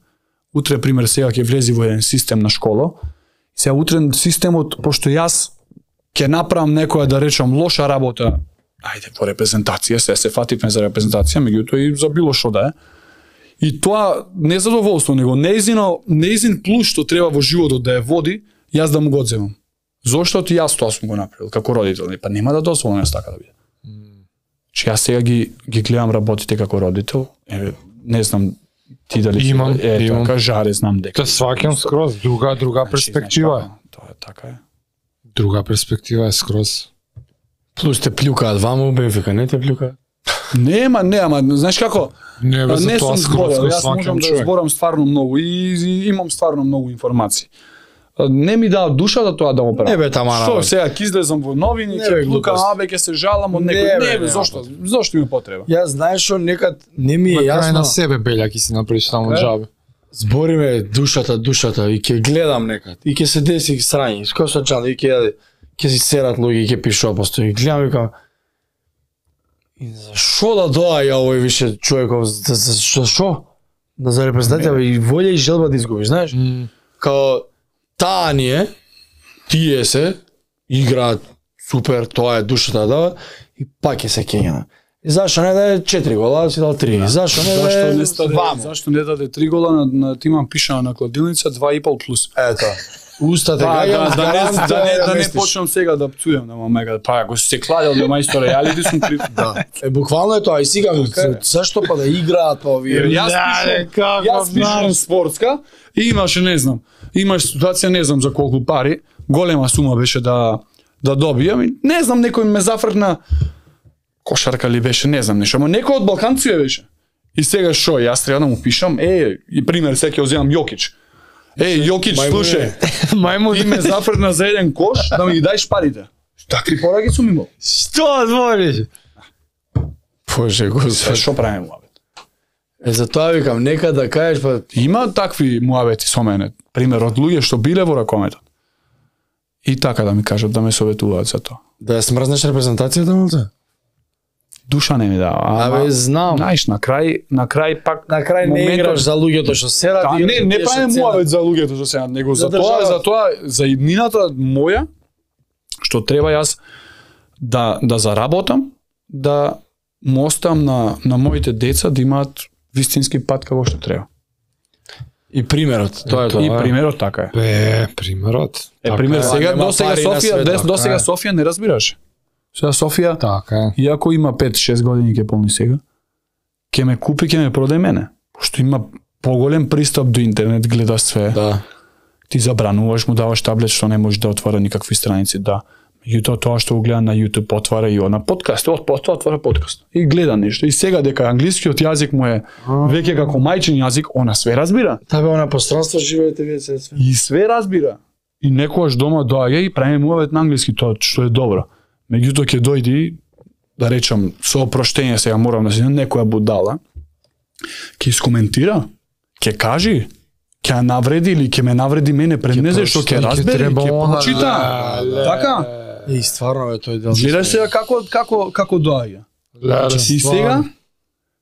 Утре пример сега ќе влези во еден систем на школа. И сега утре системот пошто јас ќе направам некоја да речам лоша работа, ајде во репрезентација, се се фативме за репрезентација, меѓутоа и за било што да е. И тоа не задоволство, него неизино, неизин плюс што треба во животот да ја води, јас да му го одземам. Зошто ти јас тоа сум го направил како родител, па нема да дозволам јас така да биде. Че јас сега ги ги гледам работите како родител, еве не знам ти дали си- Имам, е имам. така жаре знам дека. Те сваќам скроз, друга друга Значи, перспектива е. знаеш како, Тоа е така е. Друга перспектива е скроз. Плюс те плюкаат ваму, Бенфика не те плюкаат. Нема, не, ама знаеш како? Не, бе, за не тоа сум скроз зборел, го јас можам сваќам да човек. зборам стварно многу и, и имам стварно многу информации. Не ми даа душа да тоа да го правам. Не бе, тамара, Што бе. сега ќе излезам во новини, Не бе, ќе плукам, глупост. абе ќе се жалам од Не, некој. бе, Не бе, нема зошто? Зошто има потреба? Јас знаеш што некад не ми На е крај јасно. на себе белја ќе си направиш само Така е. џабе. збориме душата, душата и ќе гледам некад и ќе се деси срањи, како со чан и ќе ќе си серат луѓе и ќе пишува постои. Гледам и викам и зашо да доаѓа овој више човеков, за за шо? Да за репрезентација и волја и желба да изгубиш, знаеш? Mm. Као таа ни е, тие се играат супер, тоа е душата да и пак е се кењена. И зашто не даде четири гола, си дал три. Да. Зашто не даде два? Зашто не даде три гола на, на тимам пишано на кладилница два и пол плюс. Ето. Устата да, да, да, да, не, да, не, да не почнам сега да пцујам на мамека. Па ако се кладел на мајстор реалити сум при... Да. Е буквално е тоа и сега зашто па да играат па овие. Јас пишам, јас пишам спортска и имаше не знам. Имаш ситуација не знам за колку пари, голема сума беше да да добијам и не знам некој ме зафркна кошарка ли беше, не знам нешто, ама некој од Балканција беше. И сега шо, јас треба да му пишам, е, и пример сега ќе земам Јокич. Е, Јокич, слушај, мајмун, ти ме зафркна за еден кош, да ми ги дајш парите. Такви пораки сум имал. Што збориш? Боже, Господи. Шо правиме муабет? Е, за тоа викам, нека да кажеш, па... Има такви муабети со мене, пример, од луѓе што биле во ракометот. И така да ми кажат, да ме советуваат за тоа. Да ја смрзнеш репрезентацијата, молце? Душа не ми дава. Абе, знам. Знаеш, на крај, на крај пак на крај не играш за луѓето што серат. Да, не, не правиме муавет за луѓето што серат, него за, за тоа, за тоа, за иднината моја, што треба јас да да заработам, да му оставам на на моите деца да имаат вистински пат како што треба. И примерот, тоа е тоа. И примерот така е. Бе, примерот. Е, пример, сега до сега Софија, до сега Софија не разбираш. Сега Софија, така е. Иако има пет-шест години ќе полни сега, ќе ме купи, ќе ме продаде мене. Пошто има поголем пристап до интернет, гледа све. Да. Ти забрануваш, му даваш таблет што не може да отвара никакви страници, да. Меѓутоа тоа што го гледа на YouTube отвара и на подкаст, од отвара подкаст и гледа нешто. И сега дека англискиот јазик му е веќе како мајчин јазик, она све разбира. Табе она пространство живеете вие се све. И све разбира. И некогаш дома доаѓа и прави муавет на англиски, тоа што е добро. Меѓутоа ќе дојди, да речам, со опроштење сега морам да се некоја будала, ќе искоментира, ќе кажи, ќе навреди или ќе ме навреди мене пред незе што ќе разбере, ќе прочита. Така? И стварно е тој дел. Гледаш сега како како како доаѓа. И сега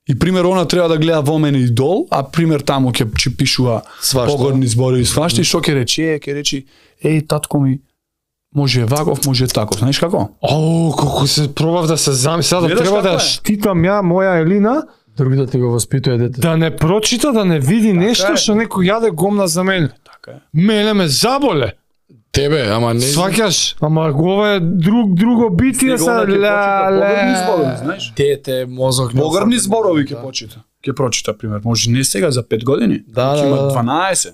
и пример она треба да гледа во мене идол, а пример таму ќе ќе пишува погорни зборови, свашта и што ќе рече, ќе речи, еј татко ми може ваков, може таков, знаеш како? О, колку се пробав да се замислам, да треба да штитам ја моја Елина, другите ти го воспитува дете. Да не прочита, да не види така нешто што некој јаде гомна за мене. Така е. Мене ме заболе. Тебе, ама не. Сваќаш, ама ова е друг друго битие са ла погребни зборови, знаеш? Дете, мозок. Погребни зборови ќе почита. Ќе прочита пример, може не сега за пет години, да, ќе да, има да. дванаесет.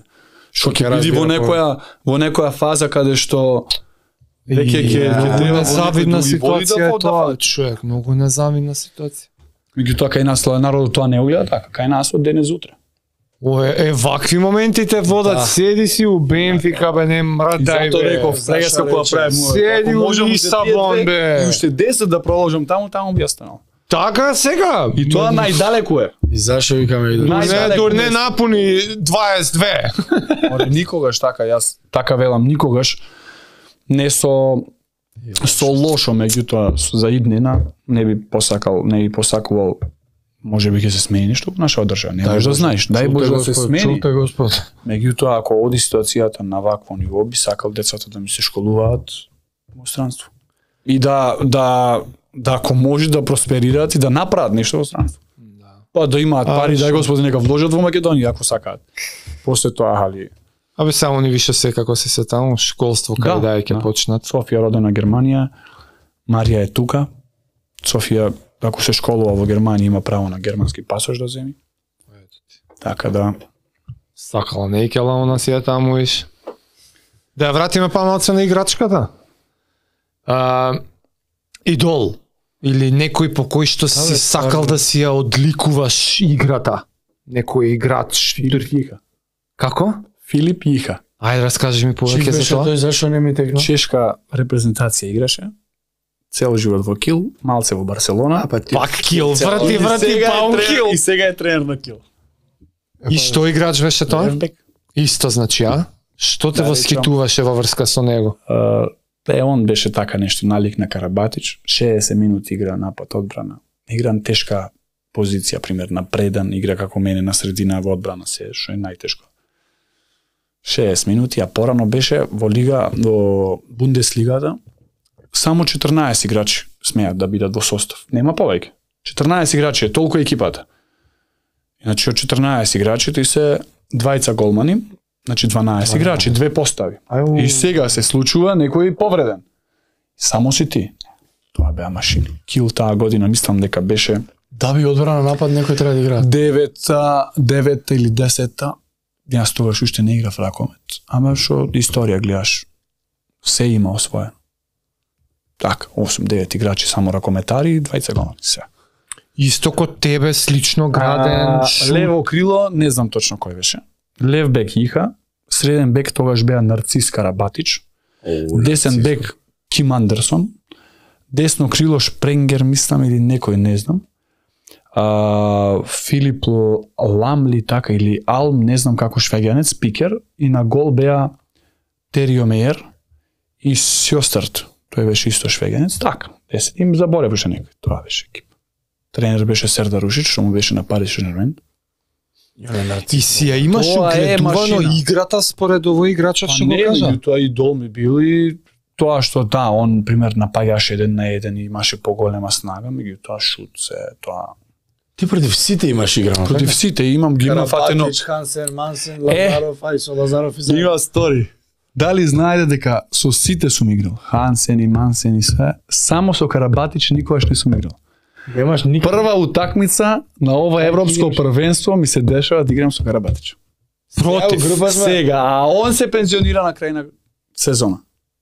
Што ќе види во некоја во некоја фаза каде што веќе ќе ќе треба незавидна ситуација е тоа, човек, многу незавидна ситуација. Меѓутоа кај нас народот тоа не уѓа така, кај нас од денес утре. О, е, е вакви моменти те водат, да. Седи си у Бенфика, бе, не мрадај, бе. Зато реков, сега се која правим. Седи у Лисабон, бе. И уште десет да продолжам таму, таму би останал. Така сега. И тоа најдалеку е. И зашо викаме и не, дур не напуни дваесет две. Оре, никогаш така, јас така велам, никогаш не со со лошо, меѓутоа за иднина не би посакал, не би посакувал, може би ќе се смени нешто во нашата држава. Не можеш да знаеш, дај Боже да се смени. Чуте Господ. Меѓутоа ако оди ситуацијата на вакво ниво, би сакал децата да ми се школуваат во странство. И да да да ако може да просперираат и да направат нешто во странство. Да. Па да имаат пари, дај Господи нека вложат во Македонија ако сакаат. После тоа хали. Абе само ни више се како се се таму школство кај да ќе почнат. Софија родена Германија, Марија е тука. Софија ако се школува во Германија има право на германски пасош да земи. Така да сакала не икела она си е таму иш. Да ја вратиме па малце на играчката. А, идол или некој по кој што си сакал да си ја одликуваш играта. Некој играч. Филип Јиха. Како? Филип Јиха. Ајде раскажи ми повеќе за тоа. Тој зашо не ми текна? Чешка репрезентација играше. Цел живот во Кил, малце во Барселона. Пак Кил, врати, врати, па он Кил. И сега е тренер на Кил. И што играч беше тоа? Левбек. Исто значи, а? Што те Да, восхитуваше во врска со него? Uh, е, он беше така нешто налик на Карабатич, шеесет минути игра напад одбрана. Игра на тешка позиција, пример на предан, игра како мене на средина во одбрана се, што е најтешко. шеесет минути, а порано беше во лига, во Бундеслигата, само четрнаесет играчи смеат да бидат во состав. Нема повеќе. четрнаесет играчи е толку екипата. Значи од четрнаесет играчи ти се двајца голмани, значи дванаесет играчи, две постави. Ају. И сега се случува некој повреден. Само си ти. Тоа беа машини. Кил таа година, мислам дека беше Да би одбрана напад некој треба да игра. девета, девета или десета. Јас тогаш уште не играв ракомет. Ама што историја гледаш, се има освоено. Така, осум девет играчи само ракометари и двајца голмани. Се. Исто ко тебе, слично граден, А, шут. лево крило, не знам точно кој беше. Лев бек Иха, среден бек тогаш беа Нарцис Карабатич, десен бек Ким Андерсон, десно крило Шпренгер, мислам, или некој, не знам. А, Филип Ламли, така, или Алм, не знам како швеѓанец, пикер, и на гол беа Терио Мејер и Сјострт. Тој беше исто швеѓанец, така, десет. Им заборев уште некој, тоа беше екип. Тренер беше Сердар Рушич, што му беше на Парис Сен-Жермен. И си ја имаш Тоа е угледувано машина. играта според овој играчот што го кажа? Тоа и Дол ми бил и тоа што да, он пример напаѓаше еден на еден и имаше поголема снага, меѓутоа шут се тоа. Ти против сите имаш играно. Против сите имам ги има фатено. Карабатич, Хансен, Мансен, Лазаров, ај со Лазаров и Има стори. Дали знаете дека со сите сум играл, Хансен и Мансен и све, само со Карабатич никогаш не сум играл. Немаш никој. Прва утакмица на ова европско првенство ми се дешава да играм со Карабатич. Против. Група сме. Сега, а он се пензионира на крај на сезона.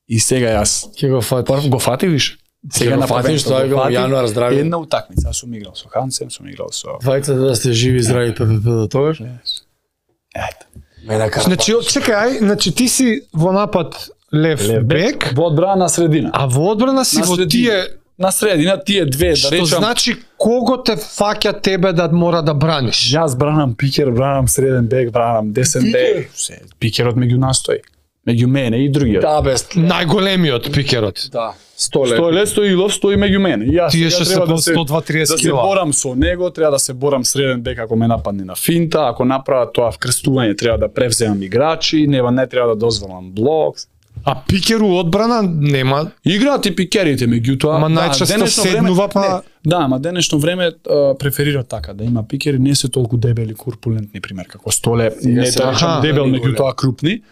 И сега јас Ќе го фатиш. Прв го фати виш. Сега на фатиш, првенство тоа е го во фати. јануар здрави. Една утакмица, аз сум играл со Хансен, сум играл со Двајца да сте живи, здрави, ППП до тогаш. Ето. Мене Значи, чекај, ај, значи ти си во напад лев, Лев бек, во одбрана на средина. а во одбрана си На во средина. тие, На средина тие две, да што речам. значи кого те фаќа тебе да мора да браниш? Јас бранам пикер, бранам среден бек, бранам десен Пикер? бек. Се, пикерот меѓу нас стои. Меѓу мене и другиот. Да, без. Најголемиот пикерот. Да. Столе. Стоилет Стоилов стои меѓу мене. И јас Тие сега што се треба по да се сто два триесет да се кила. борам со него, треба да се борам среден бек ако ме нападне на финта, ако направа тоа вкрстување треба да превземам играчи, нема не треба да дозволам блок. А пикер у одбрана нема. Играат и пикерите, меѓутоа, Ама најчесто денешно седнува, па- не, да, ама денешно време а, преферира така да има пикери, не се толку дебели, курпулентни пример како Столе, не се- тоа аха, дебел, не меѓутоа крупни.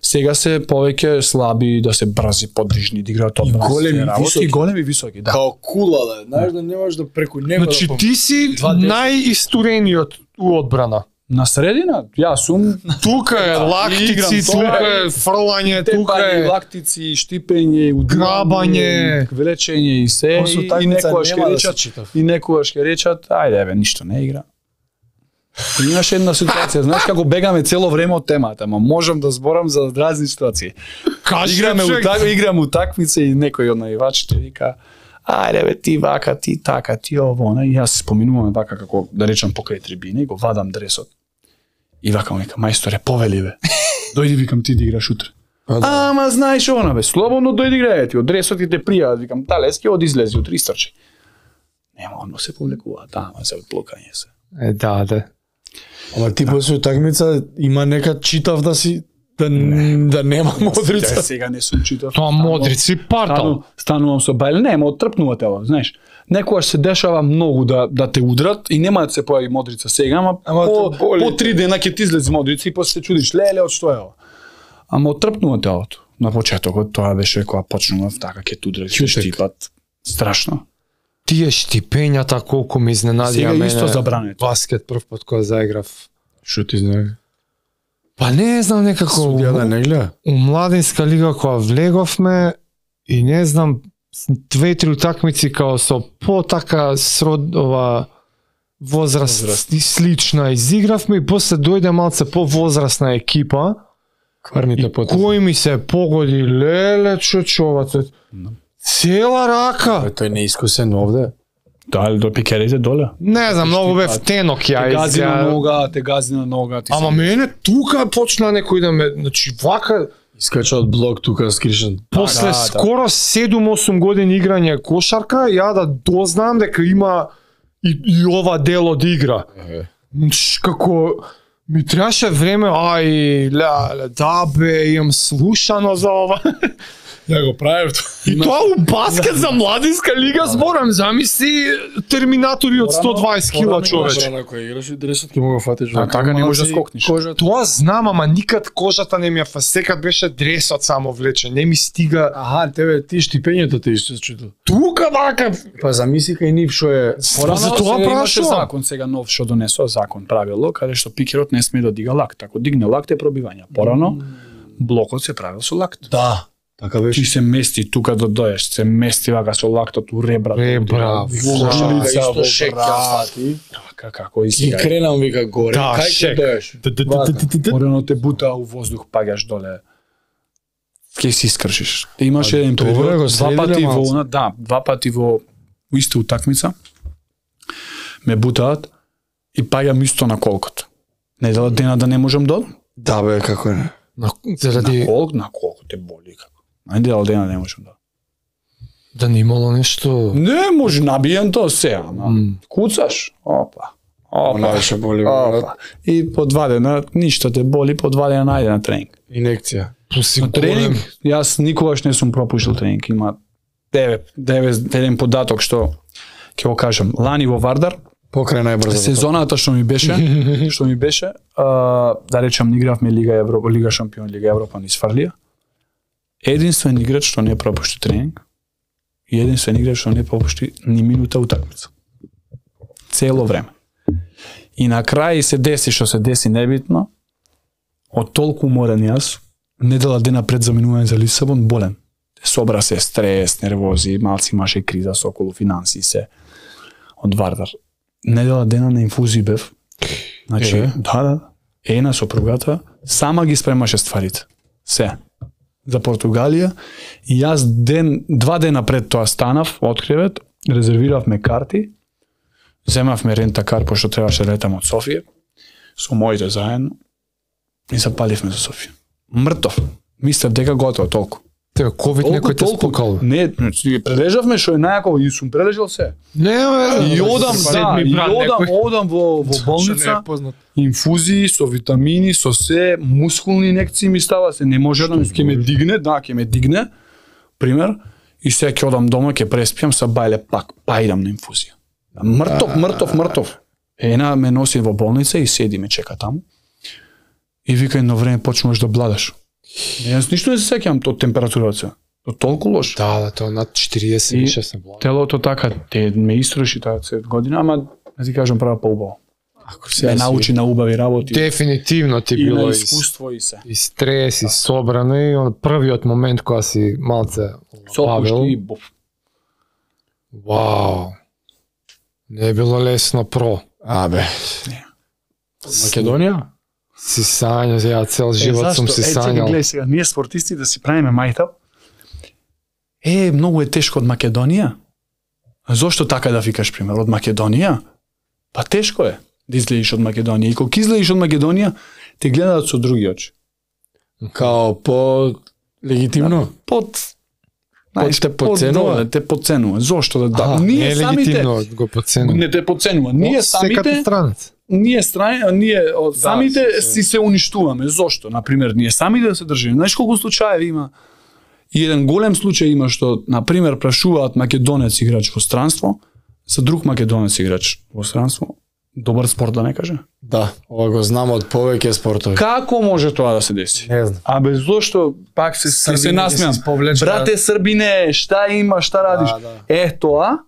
Сега се повеќе слаби, да се брзи, подвижни, да играат одбрана. големи, се работи, високи. и големи високи, да. Као кула, да. Знаеш да не можеш да преку него Значи да ти си Два десет. најистурениот у одбрана. На средина, јас сум Тука е лактици, играм, тука тоа е фрлање, тука тепање, е лактици, штипење, Грабање. влечење и се, После и, и утакмица некогаш нема ќе да речат, се читав. и некогаш ќе речат, ајде бе, ништо не игра. И имаше една ситуација, знаеш како бегаме цело време од темата, ама можам да зборам за разни ситуации. Кажи, Играме човек. утак, играм утакмица и некој од наивачите вика, ајде бе, ти вака, ти така, ти ово, она, и јас споминуваме вака како да речам покрај трибина и го вадам дресот. И вака му вика, мајсторе, повели бе. Дојди, викам, ти да играш утре. Ама знаеш она бе, слободно дојди играј ти, од дресот ти те пријават, викам, талески од излези утре истрчи. Нема, оно се повлекува, да, ама се одблокање се. Е, да, да. Ама ти после утакмица има нека читав да си да да нема Модрица. Сега не сум читав. Тоа Модрици партал. Стану, станувам со Бајле, нема, оттрпнува те ова, знаеш. Некогаш се дешава многу да да те удрат и нема да се појави Модрица сега, ама, Ама по, те боли. по три дена ќе ти излезе Модрица и после се чудиш, леле, од што е ова? Ама оттрпнува те овото. На почетокот тоа беше кога почнував така ќе те удрат, ќе Чутек. штипат. Страшно. Тие штипењата колку ме изненадија Сега мене. исто забрането. Баскет прв пат кога заиграв. Што ти знае? Па не знам некако Судија да не гледа. у младинска лига кога влеговме и не знам две-три утакмици као со по така срод ова возраст, Возраст. и слична изигравме и после дојде малце по возрастна екипа Кварните и потези. кој ми се погоди леле чочовата. Цела рака. Тој не е искусен овде. Дали до пикерите доле? Не знам, многу бев тенок ја. Те гази на нога, те гази на нога. Ама мене тука почна некој да ме, значи вака искача од блок тука скришен. После да, скоро седум-осум години играње кошарка, ја да дознам дека има и, и ова дел од игра. Е. Како ми требаше време, ај, ля, ля, да бе, имам слушано за ова. Ја го правев И тоа у баскет за младинска лига зборам, замисли терминатори од сто дваесет кила човече. Порано кој играш и дресот ќе мога фатиш. А така не може да скокнеш. Тоа знам, ама никад кожата не ми ја фа, секад беше дресот само влече, не ми стига. Аха, тебе ти штипењето те исто чуто. Тука вака. Па замислика и нив што е. Порано за тоа имаше прашувам. закон сега нов што донесува закон правило каде што пикерот не смее да дига лакт. Ако дигне лакт е пробивање. Порано блокот се правил со лакт. Да. Така беше. Ти се мести тука да дојдеш, се мести вака со лактот у ребра. Ребра, Во исто шек ја фати. Така како и И сега. кренам вика горе. Да, Кај шек. ќе дојдеш? Порано те бута у воздух, паѓаш доле. Ке си искршиш. Те имаше еден добро, период, го два следиле пати во малце. она, да, два пати во у иста утакмица ме бутаат и паѓам исто на колкот. Недела дена да не можам да одам. Да бе, како не. На, заради На колк, на колко те боли како. Недела дена не можам да. да не имало нешто. Не може набиен тоа се, ама М. куцаш. Опа. Она Опа. беше боли. Опа. И по два дена ништо те боли, по два дена најде на тренинг. Инекција. На Тренинг, јас никогаш не сум пропуштил тренинг. Има девет, девет, еден податок што ќе го кажам. Лани во Вардар, Покрај најбрзо. сезоната што ми беше, што ми беше, а, да речам, игравме Лига Европа, Лига Шампион, Лига Европа низ Фрлија. Единствен играч што не пропушти тренинг и единствен играч што не пропушти ни минута утакмица. Цело време. И на крај се деси што се деси небитно. Од толку уморен јас, недела дена пред заминување за Лисабон, болен. Собра се стрес, нервози, малци имаше криза со околу финанси се од Вардар. Недела дена на инфузии бев. Значи, Е. да, да. Ена сопругата сама ги спремаше стварите. Се. За Португалија и јас ден, два дена пред тоа станав од кревет, резервиравме карти, земавме рента кар пошто требаше да летам од Софија со моите заедно и запаливме за Софија. Мртов. Мислев дека готово толку. Тебе ковид некој те спокал. Не, значи, прележавме што е најако и сум прележал се. Не, бе. И одам, да, Седми и брат одам, некој. одам во, во Што не болница, е познат. инфузии со витамини, со се, мускулни инекции ми става се, не може да ќе ме дигне, да, ќе ме дигне, пример, и сега ќе одам дома, ќе преспијам, са бајле пак, па идам на инфузија. Мртов, мртов, мртов. Ена ме носи во болница и седи ме чека таму. И вика едно време почнуваш да бладаш. Јас ништо не се сеќавам од температурата. Тоа толку лош. Да, да, тоа над четириесет И више се блага. Телото така, те ме истроши таа цет година, ама да ти кажам права поубаво. Ако Ме научи на убави работи. Дефинитивно ти и било на и, искуство и се. и стрес, и собрано, и он првиот момент кога си малце Сопушти бавил. и буф. Вау. Не е било лесно про. А бе. Македонија? Си сањал, ја цел живот сум си Е, чекай, сањал. гледај сега, ние спортисти да си правиме мајтап. Е, многу е тешко од Македонија. А зошто така да викаш пример од Македонија? Па тешко е да излезеш од Македонија. И кога излезеш од Македонија, те гледаат со други очи. Као по легитимно? Под Под те подценува? под- Те подценува. Зошто да да? Аха, не ние е самите легитимно го подценува. не те подценува. Ние Секата самите странец. ние страни, ние од самите се- се- си се уништуваме. Зошто? Например, ние самите да се држиме. Знаеш колку случаеви има? И еден голем случај има што, например, прашуваат македонец играч во странство, за друг македонец играч во странство, добар спорт да не каже. Да, ова го знам од повеќе спортови. Како може тоа да се деси? Не знам. Абе зошто пак се се, се Србине се насмеам. сповлече- Брате Србине, шта има, шта радиш? Да, да. Е тоа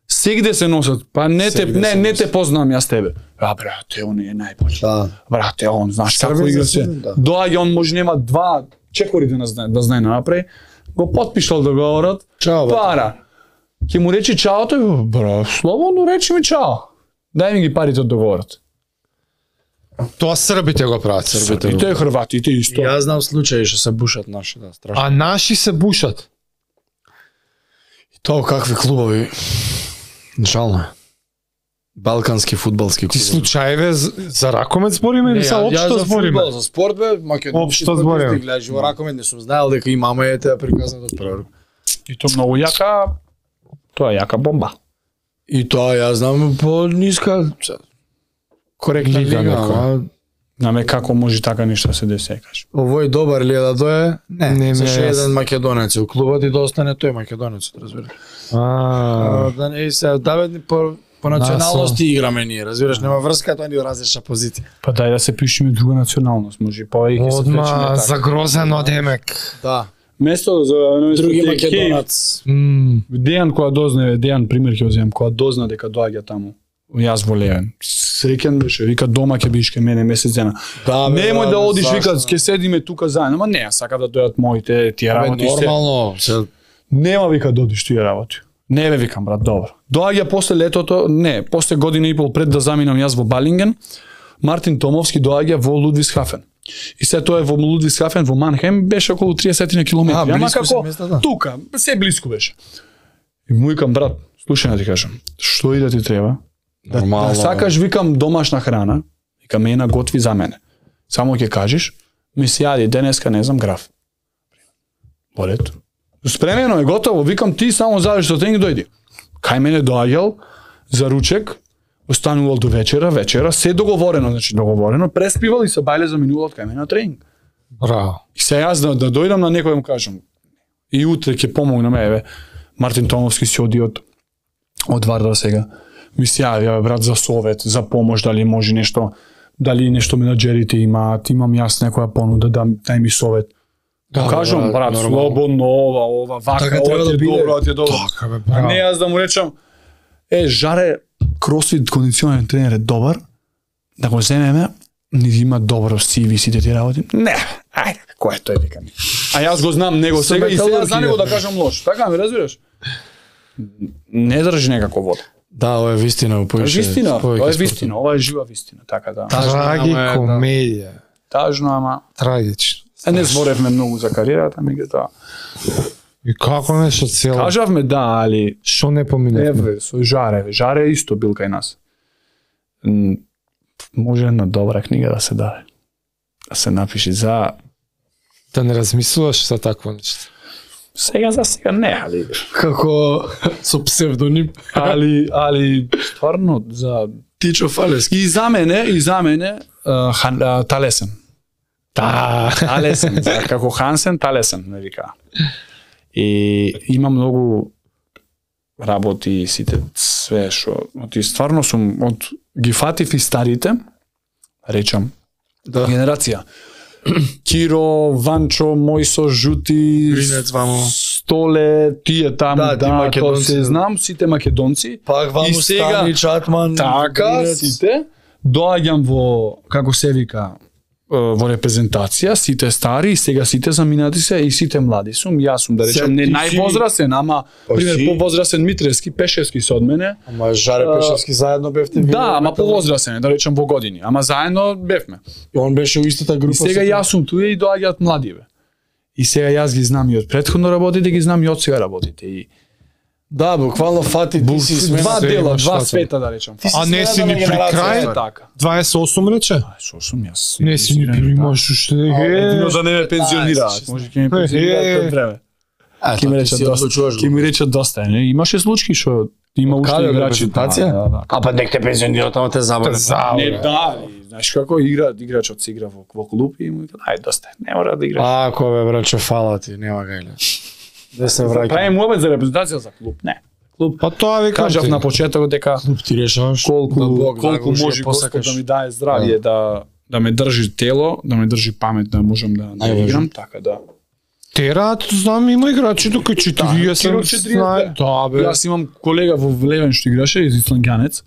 сегде се носат. Па не те Сегде не се не носат. те познам јас тебе. А брате, он е најбољ. Да. Брате, он знаеш Србин како игра за се. Србин, да. Доаѓа он може нема два чекори да знае да знае напре. Го потпишал договорот. Чао, брате. Пара. Ќе му речи чао тој, бра, слободно речи ми чао. Дај ми ги парите од договорот. Тоа србите го прават. Србите. И тој хрватите исто. Јас знам случаи што се бушат наши, да, страшно. А наши се бушат. И тоа какви клубови. Жално е. Балкански фудбалски Ти клуб. случајве за ракомет збориме или са општо збориме? За спорт бе, македонски Општо збориме. гледаш во ракомет, не сум знаел дека имаме ете приказна од прва рука. И тоа многу јака, тоа е јака бомба. И тоа ја знам по ниска коректна Лига лига, некоја. ама Наме како може така нешто да се десе, кажеш. овој добар ли е да дое? Не, Не не ми се е ше јасно. еден македонец у клубот и да остане тој македонец, разбираш. А, А, да не се даве по по националности играме ние, разбираш, нема врска тоа ни различна позиција. Па дај да се пишеме друга националност, може повеќе се одма вречеме така. загрозено демек. Да, Место за други место македонец. М, Дејан кога дозна, Дејан пример ќе земам, кога дозна дека доаѓа таму. Јас во Левен. Среќен беше, вика дома ќе бидеш ке мене месец дена. Да, бе, Немој да одиш, зашто? вика, ќе седиме тука заедно. Ма не, сака да дојдат моите тие Бе, работи се. нормално, се Нема вика да одиш тие работи. Не бе викам брат, добро. Доаѓа после летото, не, после година и пол пред да заминам јас во Балинген, Мартин Томовски доаѓа во Лудвисхафен. И се тоа е во Лудвисхафен во Манхем беше околу триесет километри. А, Ама близко се како местата? тука, се близко беше. И му викам брат, слушај да ти кажам, што и да ти треба? Да, Нормално, да сакаш викам домашна храна, вика мена готви за мене. Само ќе кажеш, ми се јади денеска не знам граф. Болето. Спремено е готово, викам ти само завиш до тренинг дојди. Кај мене доаѓал за ручек, останувал до вечера, вечера, се договорено, значи договорено, преспивал и се бајле заминувал кај мене на тренинг. браво. И се јас да, да дојдам на некој да му кажам, и утре ќе помогнам, еве, Мартин Томовски си оди од, од Вардар сега. Ми се јави, брат, за совет, за помош, дали може нешто, дали нешто менаџерите имаат, имам јас некоја понуда, да, дај ми совет. Да, кажам, брат, брат, нормално. слободно, ова, ова, вака, Така ова треба ти е да биде. добро, ова ти е добро. Така бе, А браво. не јас да му речам, е, жаре, кросфит кондиционен тренер е добар, да го земеме, ни има добро си ви сите ти работи. Не, ајде, кој е тој вика ми. А јас го знам него сега и сега за него да кажам лош. Така ми разбираш? Не држи некако вода. Да, ова е вистина, Тоа е повеќе. вистина, повеќе тоа е спортот. вистина, ова е жива вистина, така да. Трагикомедија. Тажно, ама Трагично. е, не зборевме многу за кариерата, меѓутоа. И како нешто цело? Кажавме да, али Што не поминавме? еве со Жаре, бе, Жаре исто бил кај нас. М, Може една добра книга да се даде. Да се напиши за Да не размислуваш за такво нешто. сега за сега не, али Како со псевдоним али али стварно за Тичо Фалески. и за мене и за мене а, хан, а, Талесен. Та, Талесен, за, како Хансен Талесен, ме вика. И има многу работи сите све што оти стварно сум од ги фатив и старите, речам, Да. генерација. Киро, Ванчо, Мојсо, Жути, Гринец, вамо. Столе, тие таму, Да, да, ти да македонци, то се да. знам, сите македонци. Пак ваму И сега- Стани, Чатман, Така, Гринец. сите. Доаѓам во, како се вика, е, во репрезентација, сите стари, и сега сите заминати се и сите млади сум. Јас сум, да речем, Се, не ти си- највозрасен, ама, Па пример, си. повозрасен Митревски, Пешевски со од мене. Ама Жаре А, Пешевски заедно бевте ви. Да, ама повозрасен, да речем во години. Ама заедно бевме. Он беше у истата група. И сега со- јас сум туе и доаѓаат млади бе. И сега јас ги знам и од претходно работите, ги знам и од сега работите. И Да, буквално фати ти си смена. два се дела, имаш два фатено. света да речем. Ти си А не смена си на ни при генерација, крај? тоа е. Така. дваесет и осум рече? Ај, со сум јас. Не си ни примаш уште. Едино Е, да не ме пензионираат, може ќе ме Е, пензионираат е. пред време. А, Ќе ми тоа ти речат си доста. одлучуваш Ќе го. ми речат доста. Не, имаше случаи што има уште Каде, играчи. репрезентација? Да, да. А па нек те пензионира, тamo те забаве. Не, да, али, знаеш како игра, играчот се игра во, во клуб и му вика, ајде доста, не мора да играш. Ако бе, браче, фала ти, нема гајле. Да се враќам. Правим обед за репрезентација за клуб, не. Клуб. па тоа ви Кажав кажав на почетокот дека Клуб ти решаваш. колку да Бог, колку да го може Господ посакаш. да ми даде здравје да да ме држи тело, да ме држи памет да можам да, да Најважно. играм, така да. Тераат, знам, има играчи тука Киро четириесет. четириесет, знае- Да, бе. Јас имам колега во Левен што играше, исландјанец,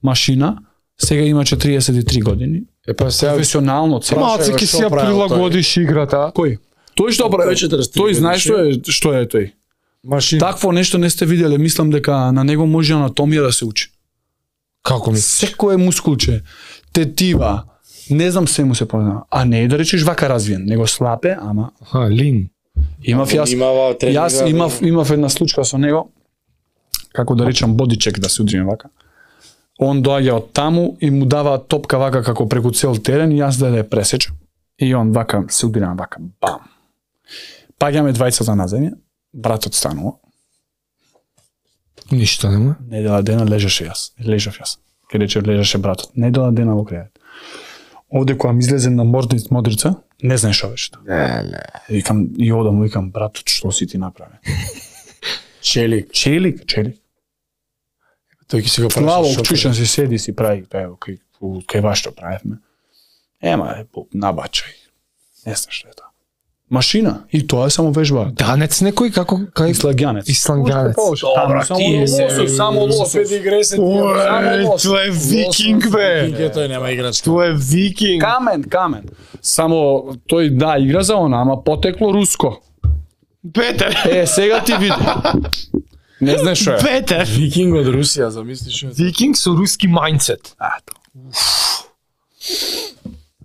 машина, сега има четириесет и три години. Е па сега Професионално цел. Малце ќе што си ја правил тој? прилагодиш играта. Кој? Тој што прави? Тој четириесет и три Тој знае годишен. што е што е тој. машина. Такво нешто не сте виделе, мислам дека на него може анатомија да се учи. Како ми? Секое мускулче, тетива, не знам се му се познава. А не е да речеш вака развиен, него слабе, ама Ха, лин. имав јас Имава тренинга. јас имав имав една случка со него како да речам бодичек да се удриме вака. Он доаѓа од таму и му дава топка вака како преку цел терен и јас да ја пресечам. И он вака се удрам вака, бам. Паѓаме двајцата на земја, братот станува. Ништо нема. Недела дена лежеше јас, лежав јас. Ке рече лежеше братот. Недела дена во крејат. Овде кога ми излезе на мордниц модрица, не знаеш што беше. Не, не. Викам и одам, викам братот, што си ти направи? Челик. Челик, челик. Тој ќе си го Слава, праша. чушам се седи си прави, пео, кај кај вас што правевме. Ема, е, набачај. Не знам што е тоа. Машина, и тоа е само вежба. Данец некој како кај Ислагјанец. Ислагјанец. Добра, само лосос, само лосос. Ой, тоа е викинг бе. Викинг тој нема играчка. Тоа е викинг. Камен, камен. Само тој да игра за она, ама потекло руско. Петер. Е, сега ти види. Не знаеш што е. Петер. Викинг од Русија, замислиш што е? Викинг со руски мајндсет. Ато.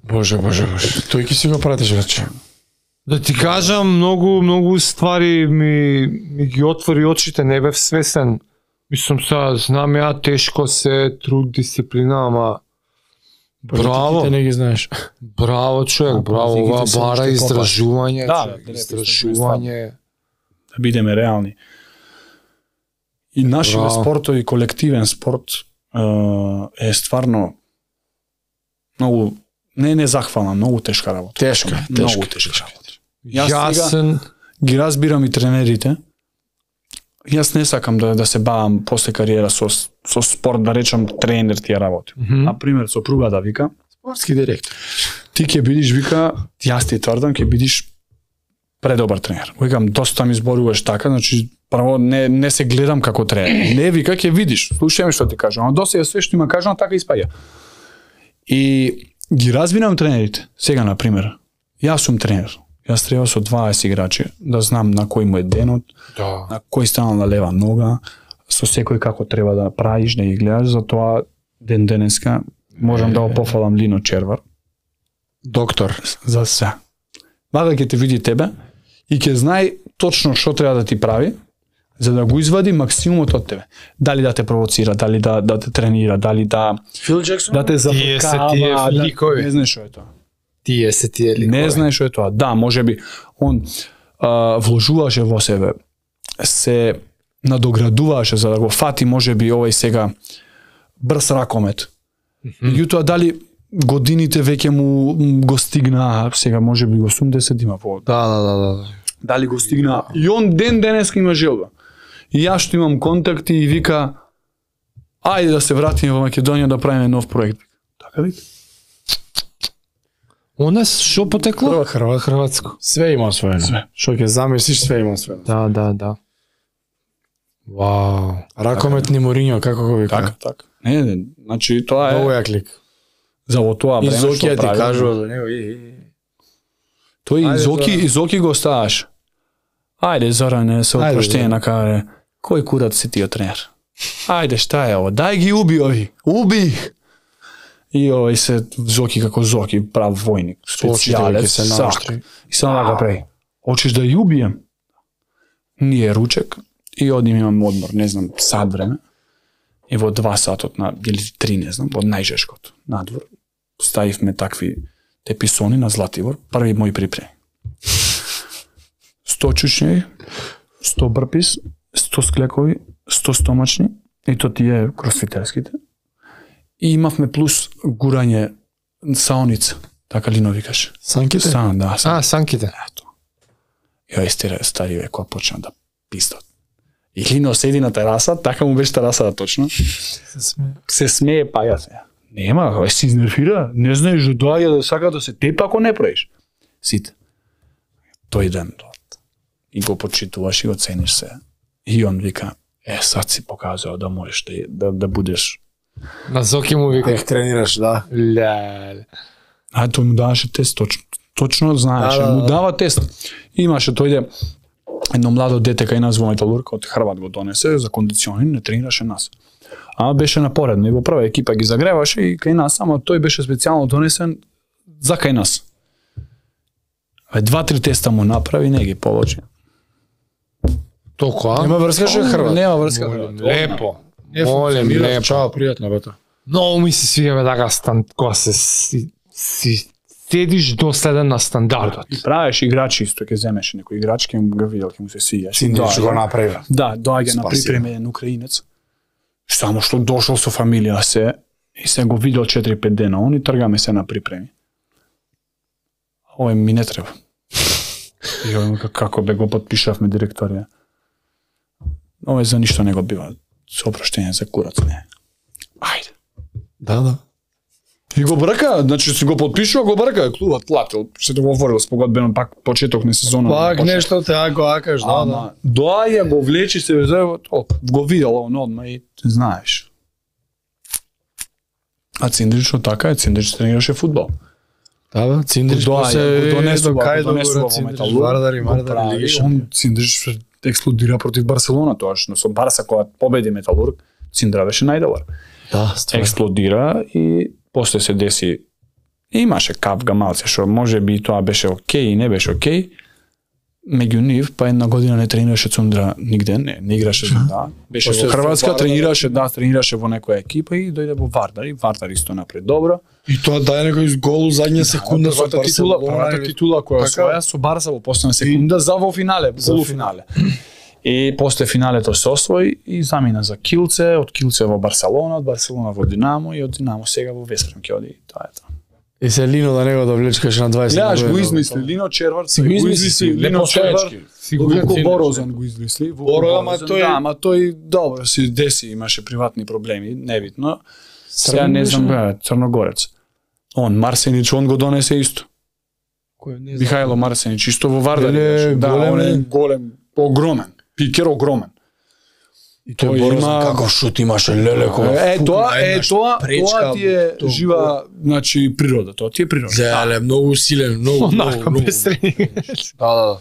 Боже, боже, боже. Тој ќе си го пратиш рече. Да ти кажам, многу многу ствари ми ми ги отвори очите, не бев свесен. Мислам са, знам ја тешко се, труд, дисциплина, ама браво. Ти не ги знаеш. Браво човек, браво, политиките ова се бара уште издржување, Да, човек, да, издржување. Да бидеме реални. И нашите Браво. спортови, колективен спорт е, е стварно многу не не захвална, многу тешка работа. Тешка, Многу тешка. тешка работа. Јас Јасен, Ги разбирам и тренерите. Јас не сакам да да се бавам после кариера со со спорт, да речам тренер ти ја работи. Мгм. На пример со пругата вика, Спортски директор. ти ќе бидиш вика, јас ти тврдам ќе бидиш предобар тренер. Викам доста ми зборуваш така, значи прво не не се гледам како тренер. Не вика ќе видиш. Слушај ме што ти кажам. Ама досега све што има кажано така испаѓа. И ги разбирам тренерите. Сега на пример, јас сум тренер. Јас треба со дваесет играчи да знам на кој му е денот, да. на кој станал на лева нога, со секој како треба да правиш, да ги гледаш, затоа ден денеска можам да го пофалам Лино Червар Доктор. за се. Вака ќе те види тебе и ќе знае точно што треба да ти прави за да го извади максимумот од тебе. Дали да те провоцира, дали да да те тренира, дали да Фил Джексон? да те Тие се зафркава, тие да, ликови. не знаеш што е тоа. Тие се тие ликови. Не знаеш што е тоа. Да, можеби он а, вложуваше во себе, се надоградуваше за да го фати можеби овој сега брз ракомет. Меѓутоа дали годините веќе му го стигна, сега можеби осумдесет има по. Да, да, да, да. Дали го стигна. И он ден денеска има желба. И јас што имам контакти и вика ајде да се вратиме во Македонија да правиме нов проект. Така вика. У нас што потекло? Хрва, хрва, Хрватско. Све има своје. Све. Што ќе замислиш, све има своје. Да, да, да. Вау. Ракомет ни Мориньо, како го вика? Така, така. Не, не, значи тоа Многу е јак лик. за во тоа И време Зокија што ти прави. кажува за него. и, и, и. Тој Ајде, и Зоки, Зоран. и Зоки го ставаш. Ајде, Зоране, со Ајде, опроштение Зоран. на каре. Кој курат си ти тренер? Ајде, шта е ово? Дај ги уби ови. Уби! И овој се Зоки како Зоки, прав војник, Очите ќе специјалец, се сак. наоштри. И само така прави. Очиш да ја убием? Ние ручек и одим имам одмор, не знам, сат време. И во два сатот на или три, не знам, во најжешкото надвор ставивме такви теписони на Златибор, први мој припреми. сто чучњеви, сто брпис, сто склекови, сто стомачни, и то тие кросфитерските. И имавме плюс гурање саоница, така Лино викаше. Санките? Сан, да, сан. А, санките. Ето. Ја истера стари ве кога почна да пистат. И Лино седи на тераса, така му беше терасата точно. Се смее паја се. Нема, ај се изнервира, не знаеш да доаѓа да сака да се тепа ако не правиш. Сите. Тој ден и го почитуваш и го цениш се. И он вика, е, сад си показува да можеш да, да, да будеш. На Зоки му вика. Тех тренираш, да. Леле. А тој му даваше тест, точно, точно знаеше, Да, да, да. му дава тест. Имаше тој едно младо дете кај нас во Металург, од Хрват го донесе за кондициони, не тренираше нас. А беше напоредно и во прва екипа ги загреваше и кај нас, само тој беше специјално донесен за кај нас. Два-три теста му направи, не ги положи. Токо, а? Нема врска што е Хрват. Нема врска. Лепо. Не Молем, функционира. лепо. Чао, пријатно бе тоа. Многу ми се свија бе така стан, кога се си, си седиш доследен на стандардот. И правиш играчи исто, ќе земеш некој играч, ќе го видел, ќе му се свиѓаш. Синдич го направи. Да, доаѓа на припреме еден украинец. Само што дошол со фамилија се и се го видел четири-пет дена, он и тргаме се на припреми. Ој ми не треба. И ој како бе го потпишавме директорија. Ој за ништо не го бива. Со опроштение за курац, не. Ајде. Да, да. И го брка, значи си го потпишува, го брка, клубот платил, се договорил спогодбено пак почеток на сезона. Пак почеток. нешто те ако акаш, да, да. Ама, доаѓа, го влечи се, везе, го видел он одма и знаеш. А Циндрич така е, Циндрич тренираше фудбал. Да, бе, Циндрич Доаѓа, се го донесува, кај го донесува до во Циндрич, Металург, Вардар и го Вардар прави, Лиги он шампион. Циндрич експлодира против Барселона тоаш, но со Барса кога победи Металург, Циндра беше најдобар. Да, стварно. Експлодира и после се деси имаше капга малце што може би тоа беше окей и не беше окей. Меѓу нив па една година не тренираше Цундра нигде, не, не играше за да. Беше После во Хрватска, Вардар, тренираше, да, тренираше во некоја екипа и дојде во Вардар и Вардар исто напред добро. И тоа дај некој гол задња секунда со Првата титула, Барселона. првата титула која Така? освоја со Барса во последна секунда за во финале, полуфинале. И после финалето се освои и замина за Килце, од Килце во Барселона, од Барселона во Динамо и од Динамо сега во Вестрем ќе оди. Тоа е тоа. И се Лино да него да влечкаш на дваесет. Гледаш, го година. измисли Лино Червар, Си го измисли, Лино лепо Червар, стоечки. Си го Вуко измисли. Борозан го измисли. Вуко Боро, ама Борозан, тој- да, ама тој добро си деси, имаше приватни проблеми, небитно. Сега не знам, бе, Црногорец. Он Марсенич, он го донесе исто. Кој не знам. Михајло Марсенич исто во Вардар. Еле, играше. Да, голем он е. е голем, огромен. Пикер огромен. И тој тој Борозан има- како шут имаше леле кога. Е, тоа, е, тоа, пречка, тоа ти е тоа- жива, значи, природа, тоа ти е природа. Леле, многу силен, многу, многу, Онака многу. без тренинг. Да, да.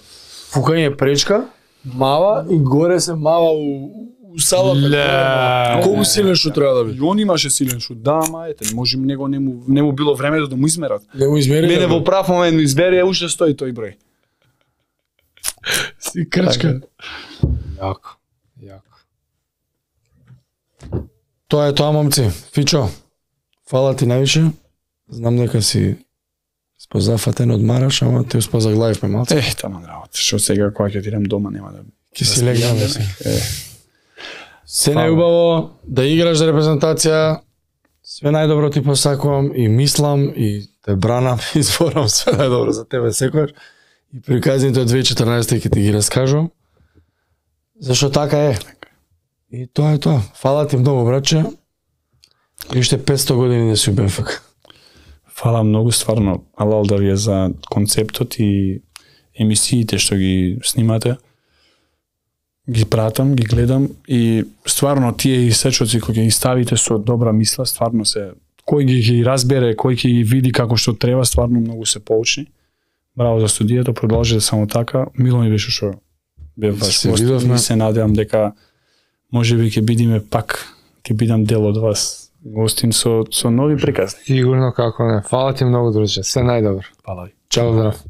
Фукање пречка, мава и горе се мава у, у салата. Ле. Колку силен шут треба да биде? И он имаше силен шут, да, ама ете, може него не му, не му било времето да му измерат. Не го измери. Мене во прав момент ми избере, уште стои тој број. Си крчка. Јако. Јако. Тоа е тоа, момци. Фичо, фала ти највише. Знам дека си спозафатен од Мараш, ама ти успозаглавивме малце. Е, таман работа, што сега кога ќе отидем дома нема да... Ке си легнаме се. Е, Се најубаво да играш за репрезентација. Све најдобро ти посакувам и мислам и те бранам и зборам све најдобро за тебе секојаш. И приказните од две илјади и четрнаесета ќе ти ги раскажувам. Зашто така е. И тоа е тоа. Фала ти многу, братче. И уште петсто години да си у БНФК. Фала многу, стварно, алал да ви е за концептот и емисиите што ги снимате. Ги пратам, ги гледам и стварно тие исечоци кои ги ставите со добра мисла, стварно се кој ги, ги разбере, кој ќе ги види како што треба, стварно многу се поучни. Браво за студијето, продолжете само така. Мило ми беше што бев ваш Се гост видовме. и се надевам дека можеби ќе бидиме пак, ќе бидам дел од вас. Гостин со со нови приказни. Сигурно како не. Фала ти многу, друже. Се најдобро. Фала ви. Чао, здрав.